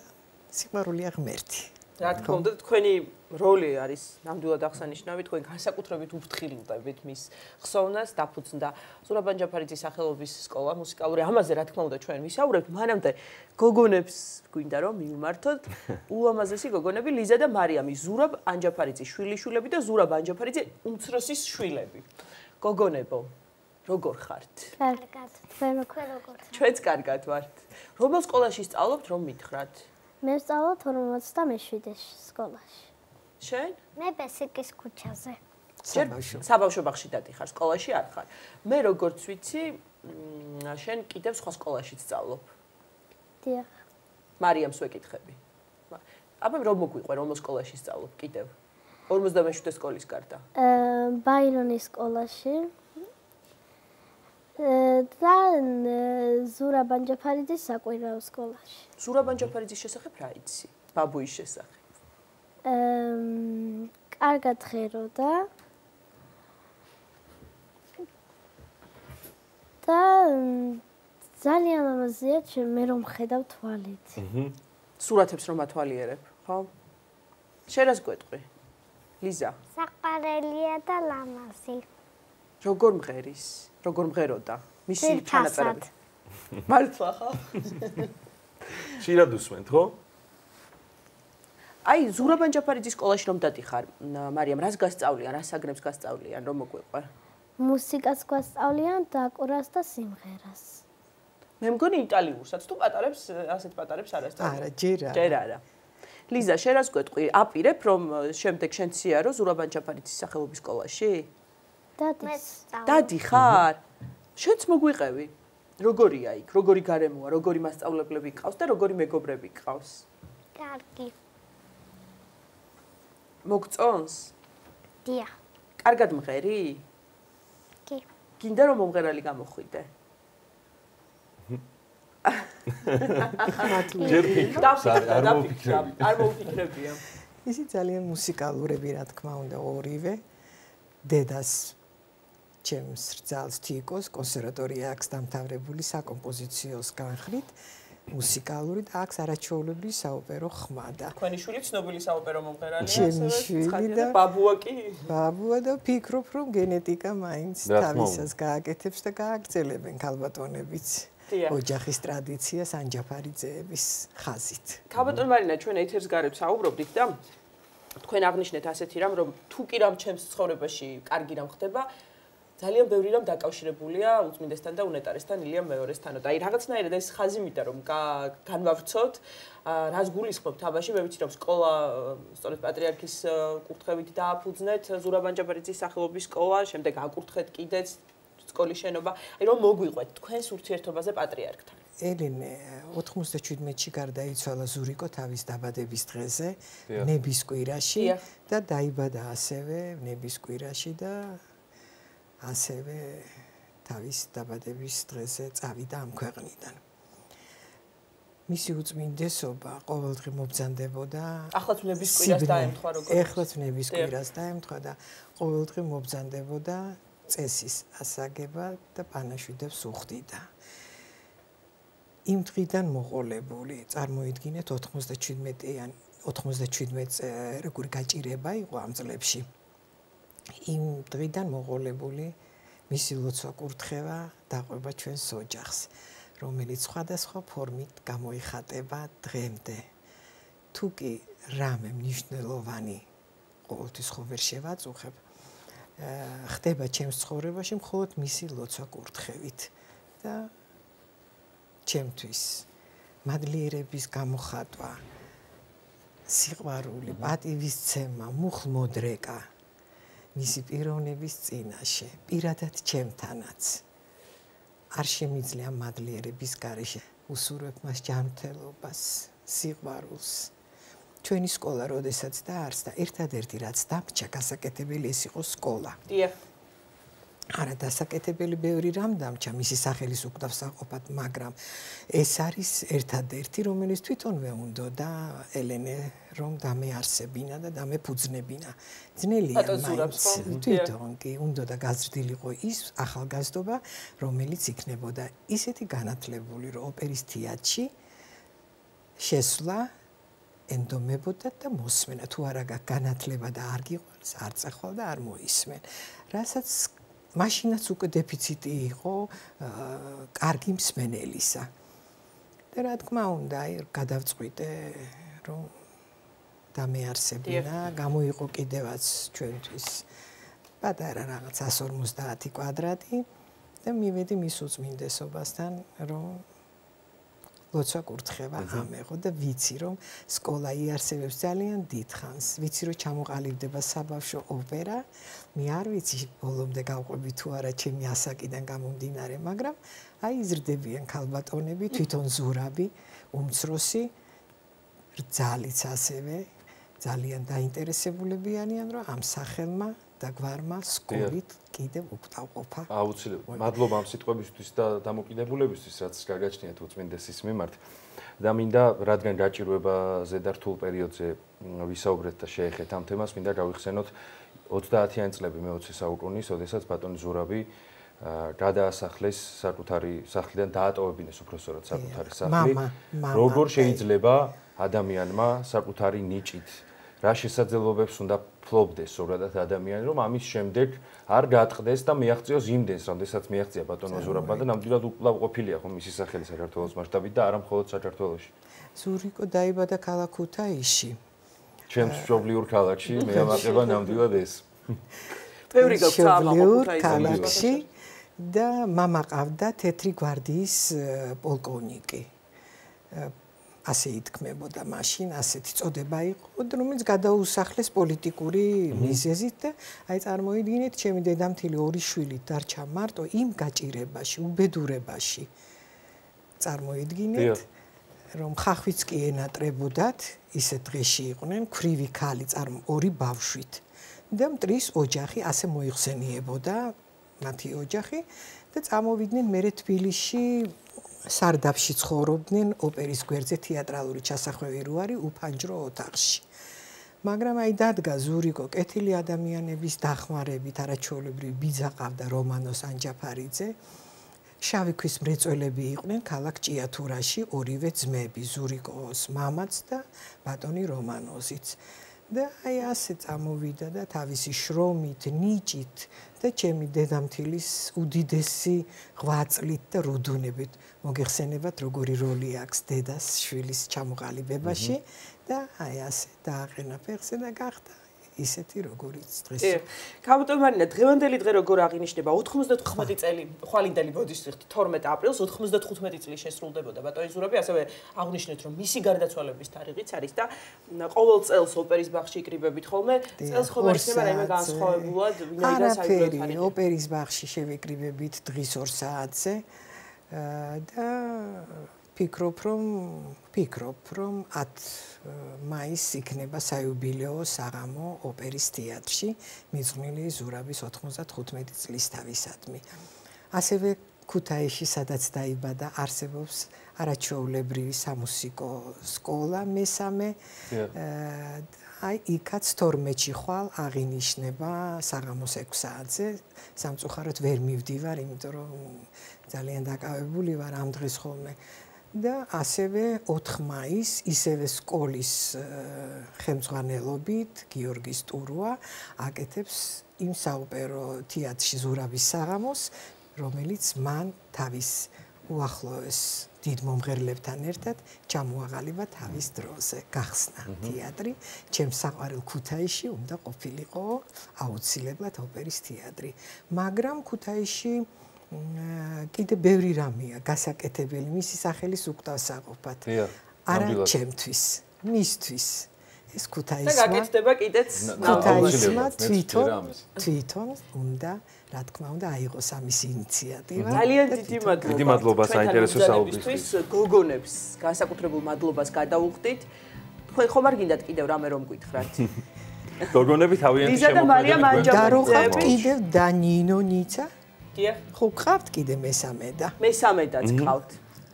სიყვარულია ღმერთი. რა თქმა უნდა, თქვენი როლი არის ნამდვილად აღსანიშნავი, თქვენ განსაკუთრებით უფრთხილდებით მის ხსოვნას, დაფუძნდა ზურაბ ანჯაფარიძის სახელობის სკოლა მუსიკალური. ამაზე რა თქმა უნდა ჩვენ ვისაუბრებთ, მანამდე გოგონებს გვინდა რომ მივმართოთ. ულამაზესი გოგონები ლიზა და მარიამი, ზურაბ ანჯაფარიძის შვილიშვილები და ზურაბ ანჯაფარიძე უმცროსის შვილები. გოგონებო, როგორ ხართ? კარგად. თქვენ როგორ? ჩვენც კარგად ვართ. რომელ სკოლაში სწავლობთ, რომ მითხრათ? მე ვსწავლობ 47 სკოლაში. შენ? მე ბესიკის ქუჩაზე. საბავშვო ბაღში დადიხარ, სკოლაში არ ხარ. მე როგორც ვიცი, შენ კიდევ სხვა სკოლაში სწავლობ. დიახ. მარიამს ვეკითხები. აბა რომ მოგვიყვე რომ სკოლაში სწავლობ კიდევ 47 სკოლის გარდა. ბაირონის სკოლაში. და ზურაბან ჯაფარიძის საკვირაო სკოლაში. ზურაბან ჯაფარიძის შესახებ რა იცი? ბაბუის შესახებ. კარგად ღეროდა. და ძალიან ამაზეა მე რომ ხედავ თვალით. სურათებს რომ ათვალიერებ, ხო? შენ რას გვეტყვი? ლიზა. საყარელია და ლამაზი. როგორ მღერის? როგორ მღეროდა? მისი ჩანაწერები. მართლა ხო? შეიძლება უსმენთ, ხო? აი, ზურაბან ჯაფარიძის სკოლაში რომ დადიხარ, მარიამ, რას გასწავლიან, რა საგნებს გასწავლიან, რომ მოგვიყვე? მუსიკას გვასწავლიან და კურას და სიმღერას. მე მგონი იტალიურსაც თუ პატარებს, ასეთ პატარებს არ ასწავლიან. არა, ჯერ არა. ჯერ არა. ლიზა, შენ რას გვეტყვი? აპირებ რომ შემდეგ შენ ციარო ზურაბან ჯაფარიძის სახელობის სკოლაში? დადიხარ? შენც მოგვიყევი? როგორია იქ? როგორი გარემოა? როგორი მასწავლებლები გყავს და როგორი მეგობრები გყავს? კარგი. მოგწონს? დია. კარგად მღერი? კი. გინდა რომ მომღერალი გამოხვიდე? არ მოვფიქრებია. ისი ძალიან მუსიკალურები, რა თქმა უნდა, ორივე. დედას ჩემს რძალს თიკოს კონსერვატორია აქვს დამთავრებული საკომპოზიციოს განხრით, მუსიკალური და აქვს არაჩვეულებრივი საოპერო ხმა და. თქვენი შვილი ცნობილი საოპერო მომღერალია, ჩემი შვილი და ბაბუა კი? ბაბუა და ფიქრობ რომ გენეტიკა მაინც თავისას გააკეთებს და გააგრძელებენ ქალბატონებიც. ოჯახის ტრადიციას ანჯაფარიძეების ხაზით. ქალბატონ მარინა, ჩვენ ეთერს გარეთ საუბრობდით და თქვენ აღნიშნეთ ასეთი რამ, რომ თუ კი რამ ჩემს ცხოვრებაში კარგი რამ ხდება, ძალიან ბევრი რამ დაკავშირებულია უწმინდესთან და უნეტარესთან ილიამ მეორესთან. და აი რაღაცნაირად ეს ხაზი მითხრა რომ განვავრცოთ, რას გულისხმობთ აბაში, მე ვიცი რომ სკოლა სწორედ პატრიარქის კურთხევით დააფუძნეთ ზურაბან ჯაფარიძის სახელობის სკოლა, შემდეგ აკურთხეთ კიდეც სკოლის შენობა. აი რომ მოგვიყვეთ თქვენს ურთიერთობაზე პატრიარქთან. ელენე 97-ში გარდაიცვალა ზურიკო თავის დაბადების დღეზე, ნების კვირაში და დაიბადა ასევე ნების კვირაში და ასევე თავის დაბადების დღეზე წავიდა ამ ქვეყნიდან. მისი უწმინდესობა ყოველდღე მობრძანდებოდა. ახლაც ნების კვირას დაემთხვა როგორც. ახლაც ნების კვირას დაემთხვა და ყოველდღე მობრძანდებოდა წესის ასაგება და პანაშვიდებს უხდიდა. იმ დღიდან მოყოლებული, წარმოიდგინეთ 97 როგორი გაჭირება იყო ამ წლებში. იმ დღიდან მოყოლებული მისი ლოცვა კურთხევა დაყვება ჩვენს ოჯახს, რომელიც სხვადასხვა ფორმით გამოიხატება დღემდე. თუ კი რამე მნიშვნელოვანი ყოველთვის ხო ვერ შევაწუხებ, ხდება ჩემს ცხოვრებაში მხოლოდ მისი ლოცვა კურთხევით და ჩემთვის მადლიერების გამოხატვა, სიყვარული, პატივისცემა, მუხლმოდრეკა მისი პიროვნების წინაშე, პირადად ჩემთანაც არ შემიძლია მადლიერების გარეშე უსურვებ მას ჯანმრთელობას, სიყვარულს. ჩვენი სკოლა როდესაც დაარსდა, ერთადერთი რაც დამჭა გასაკეთებელი ეს იყო სკოლა. დიახ. არა დასაკეთებელი ბევრი რამ დამჭა მისი სახელის უკვდავსაყოფად, მაგრამ ეს არის ერთადერთი, რომელიც თვითონვე უნდა ელენე რომ დამეარსებინა და დამეფუძნებინა. ძნელია მაინც თვითონ კი უნდა და გაზრდილიყო ის ახალგაზრდობა, რომელიც იქნებოდა ისეთი განათლებული, რომ ოპერის თეატრში შესვლა ენდომებოდა და მოსმენა. თუ არა განათლება და არ გიყვარს, არ წახვალ და არ მოისმენ. რასაც მაშინაც უკვე დეფიციტი იყო კარგი მსმენელისა. და რა თქმა უნდა, გადავწყვიტე რომ დამეარსებინა, გამოიყო კიდევაც ჩვენთვის პატარა რაღაც 150 კვადრატი და მივედი მის უწმინდესობასთან, რომ ლოცვა კურთხევა ამეღო და ვიცი რომ სკოლა იარსებებს ძალიან დიდხანს. ვიცი რომ ჩამოყალიბდება საბავშვო ოპერა. მე არ ვიცი ბოლომდე გავყვები თუ არა ჩემი ასაკიდან გამომდინარე, მაგრამ აი იზრდებიან ქალბატონები, თვითონ ზურაბი, უმცროსი რძალიც ასევე ძალიან დაინტერესებულები არიან, რომ ამ სახელმა და გვარმა სკოლით კიდევ უკტავყოფა. აუცილებლად. მადლობა ამ სიტყვებისთვის და დამოკიდებულებისთვის, რაც გაგაჩნიათ უწმინდესის მიმართ. და მინდა, რადგან გაჭირვებაზე და რთულ პერიოდზე ვისაუბრეთ და შეეხეთ ამ თემას, მინდა გავიხსენოთ 30-იანი წლები მე-20 საუკუნის, როდესაც ბატონი ზურაბი გადაასახლეს საკუთარი სახლიდან, დაატოვებინეს უბრალოდ საკუთარი სახლი. როგორ შეიძლება ადამიანმა საკუთარი ნიჭით რა შესაძლებლობებს უნდა ფლობდეს ზოგადად ადამიანი, რომ ამის შემდეგ არ გაატყდეს და მიაღწიოს იმდენს, რამდენსაც მიაღწია ბატონმა ზურაბმა და ნამდვილად უკვლავ ყოფილია ხო მისი სახელი საქართველოს მასშტაბით და არა მხოლოდ საქართველოში. ზურიკო დაიბადა ქალაქ ქუთაისში. ჩემს მშობლიურ ქალაქში მე ამაყება ნამდვილად ეს. ბევრი მშობლიურ ქალაქში და მამა ყავდა თეთრი გვარდიის პოლკოვნიკი. ასე ითქმებოდა მაშინ, ასეთი წოდება იყო, რომელიც გადაუსახლეს პოლიტიკური მიზეზით და აი წარმოიდგინეთ, ჩემი დედამთილი ორი შვილი დარჩა მარტო იმ გაჭირებაში, უბედურებაში. წარმოიდგინეთ, რომ ხახვიც კი ენატრებოდათ, ისე დღეში იყვნენ, ქვრივი ქალი ორი ბავშვით და მტრის ოჯახი ასე მოიხსენიებოდა მათი ოჯახი და წამოვიდნენ მერე თბილისში სარდაფში ცხოვრობდნენ ოპერის გვერდზე თეატრალური ჩასახვევი რო არის უფანჯრო ოთახში. მაგრამ აი დადგა ზურიკო კეთილი ადამიანების დახმარებით არაჩვეულებრივი ბიძა ყავდა რომანოს ანჯაფარიძე. შავი ქვის მრეწველები იყვნენ ქალაქ ჭიათურაში ორივე ძმები, ზურიკოს მამაც და ბატონი რომანოზიც. და აი ასე წამოვიდა და თავისი შრომით, ნიჭით და ჩემი დედამთილის უდიდესი ღვაწლით და რუდუნებით მოგეხსენებათ როგორი როლი აქვს დედას შვილის ჩამოყალიბებაში და აი ასე დააყენა ფეხზე და გახდა ისეთი როგორიც დღეს. კაბოტომარინა დღევანდელი დღე როგორ აღინიშნება 95 წელი ხვალინდელი ბოდიშით 12 აპრილს 95 წლის შესრულდებოდა ბატონი ზურაბი, ასევე აღნიშნეთ რომ მისი გარდაცვალების თარიღიც არის და ყოველ წელს ოპერის ბაღში იკრიბებით ხოლმე, წელს ხომ იქნება რაიმე განსხვავებულად ვინაიდან საერთოდ თარიღი ოპერის ბაღში შევიკრიბებით დღის 2 საათზე და ფიქრობ რომ 10 მაისს იქნება საიუბილეო საღამო ოპერის თეატრში მიძღვნილი ზურაბის 95 წლისთავისადმი. ასევე ქუთაისში, სადაც დაიბადა, არსებობს არაჩვეულებრივი სამუსიკო სკოლა მესამე. აი იქაც 12-ში ხვალ აღინიშნება საღამოს 6 საათზე. სამწუხაროდ ვერ მივდივარ, იმიტომ რომ ძალიან დაკავებული ვარ ამ დღეს ხოლმე. და ასევე 4 მაისს ისევე სკოლის ხელმძღვანელობით გიორგის ტურუა აკეთებს იმ საოპერო თეატრში ზურაბის საღამოს, რომელიც მან თავის უახლოეს დიდ მომღერლებთან ერთად ჩამოაყალიბა თავის დროზე. გახსნა თეატრი, ჩემს საყვარელ ქუთაისში უნდა ყოფილიყო აუცილებლად ოპერის თეატრი. მაგრამ ქუთაისში კიდე ბევრი რამეა გასაკეთებელი მისი სახელის უკტავსაყოფად. არა ჩემთვის, მისთვის. ეს ქუთაისმა და გაკეთდება კიდეც ქუთაისმა თვითონ უნდა, რა თქმა უნდა, აიღოს ამის ინიციატივა. ძალიან დიდი მადლობა საინტერესო საუბრისთვის. გოგონებს განსაკუთრებულ მადლობას გადაუხდით. თქვენ ხომ არ გინდათ კიდევ რამე რომ გითხრათ? გოგონები თავიანთი შემოქმედება და რო ხავთ კიდევ და ნინო ნიცა? დიახ. ხო გყავთ კიდე მესამე და? მესამედაც გყავთ.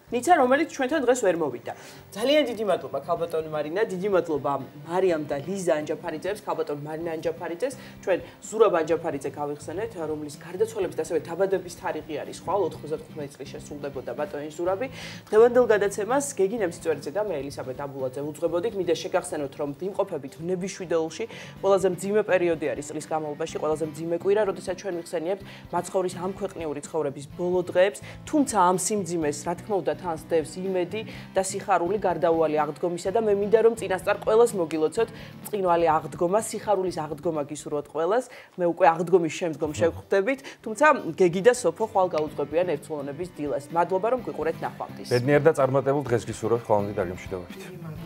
ნიცა, რომელიც ჩვენთან დღეს ვერ მოვიდა. ძალიან დიდი მადლობა ქალბატონი მარინა, დიდი მადლობა მარიამ და ლიზა ანჯაფარიძეებს, ქალბატონ მარინა ანჯაფარიძეს, ჩვენ ზურაბ ანჯაფარიძე გავიხსენეთ, რომლის გარდაცვალების და ასევე დაბადების თარიღი არის ხვალ 95 წლის შესრულდებოდა ბატონი ზურაბი. დღევანდელ გადაცემას გეგი ნემსიწვერიძე და მე ელისაბედ აბულაძე უძღვებოდით. მინდა შეგახსენოთ, რომ ვიმყოფებით ნებიშვიდეულში, ყველაზე მძიმე პერიოდი არის წლის განმავლობაში, ყველაზე მძიმე კვირა, როდესაც ჩვენ ვიხსენიებთ მაცხოვრის ამ ქვეყნიური ცხოვრების ბოლო დღეებს, თუმცა ამ სიმძიმეს, რა თქმა უნდა, თან სდევს იმედი და სიხარული გარდაუვალი აღდგომისა და მე მინდა რომ წინასწარ ყველას მოგილოცოთ წინვალი აღდგომა, სიხარულის აღდგომა გისურვოთ ყველას. მე უკვე აღდგომის შემდგომ შევხვდებით, თუმცა გეგი და სოფო ხვალ გაუძღვებიან ერთწლოვნების დილას. მადლობა რომ გვიყურეთ ნახვამდის. ბედნიერ და წარმატებულ დღეს გისურვებთ, ხვალამდე დაგემშვიდობებით.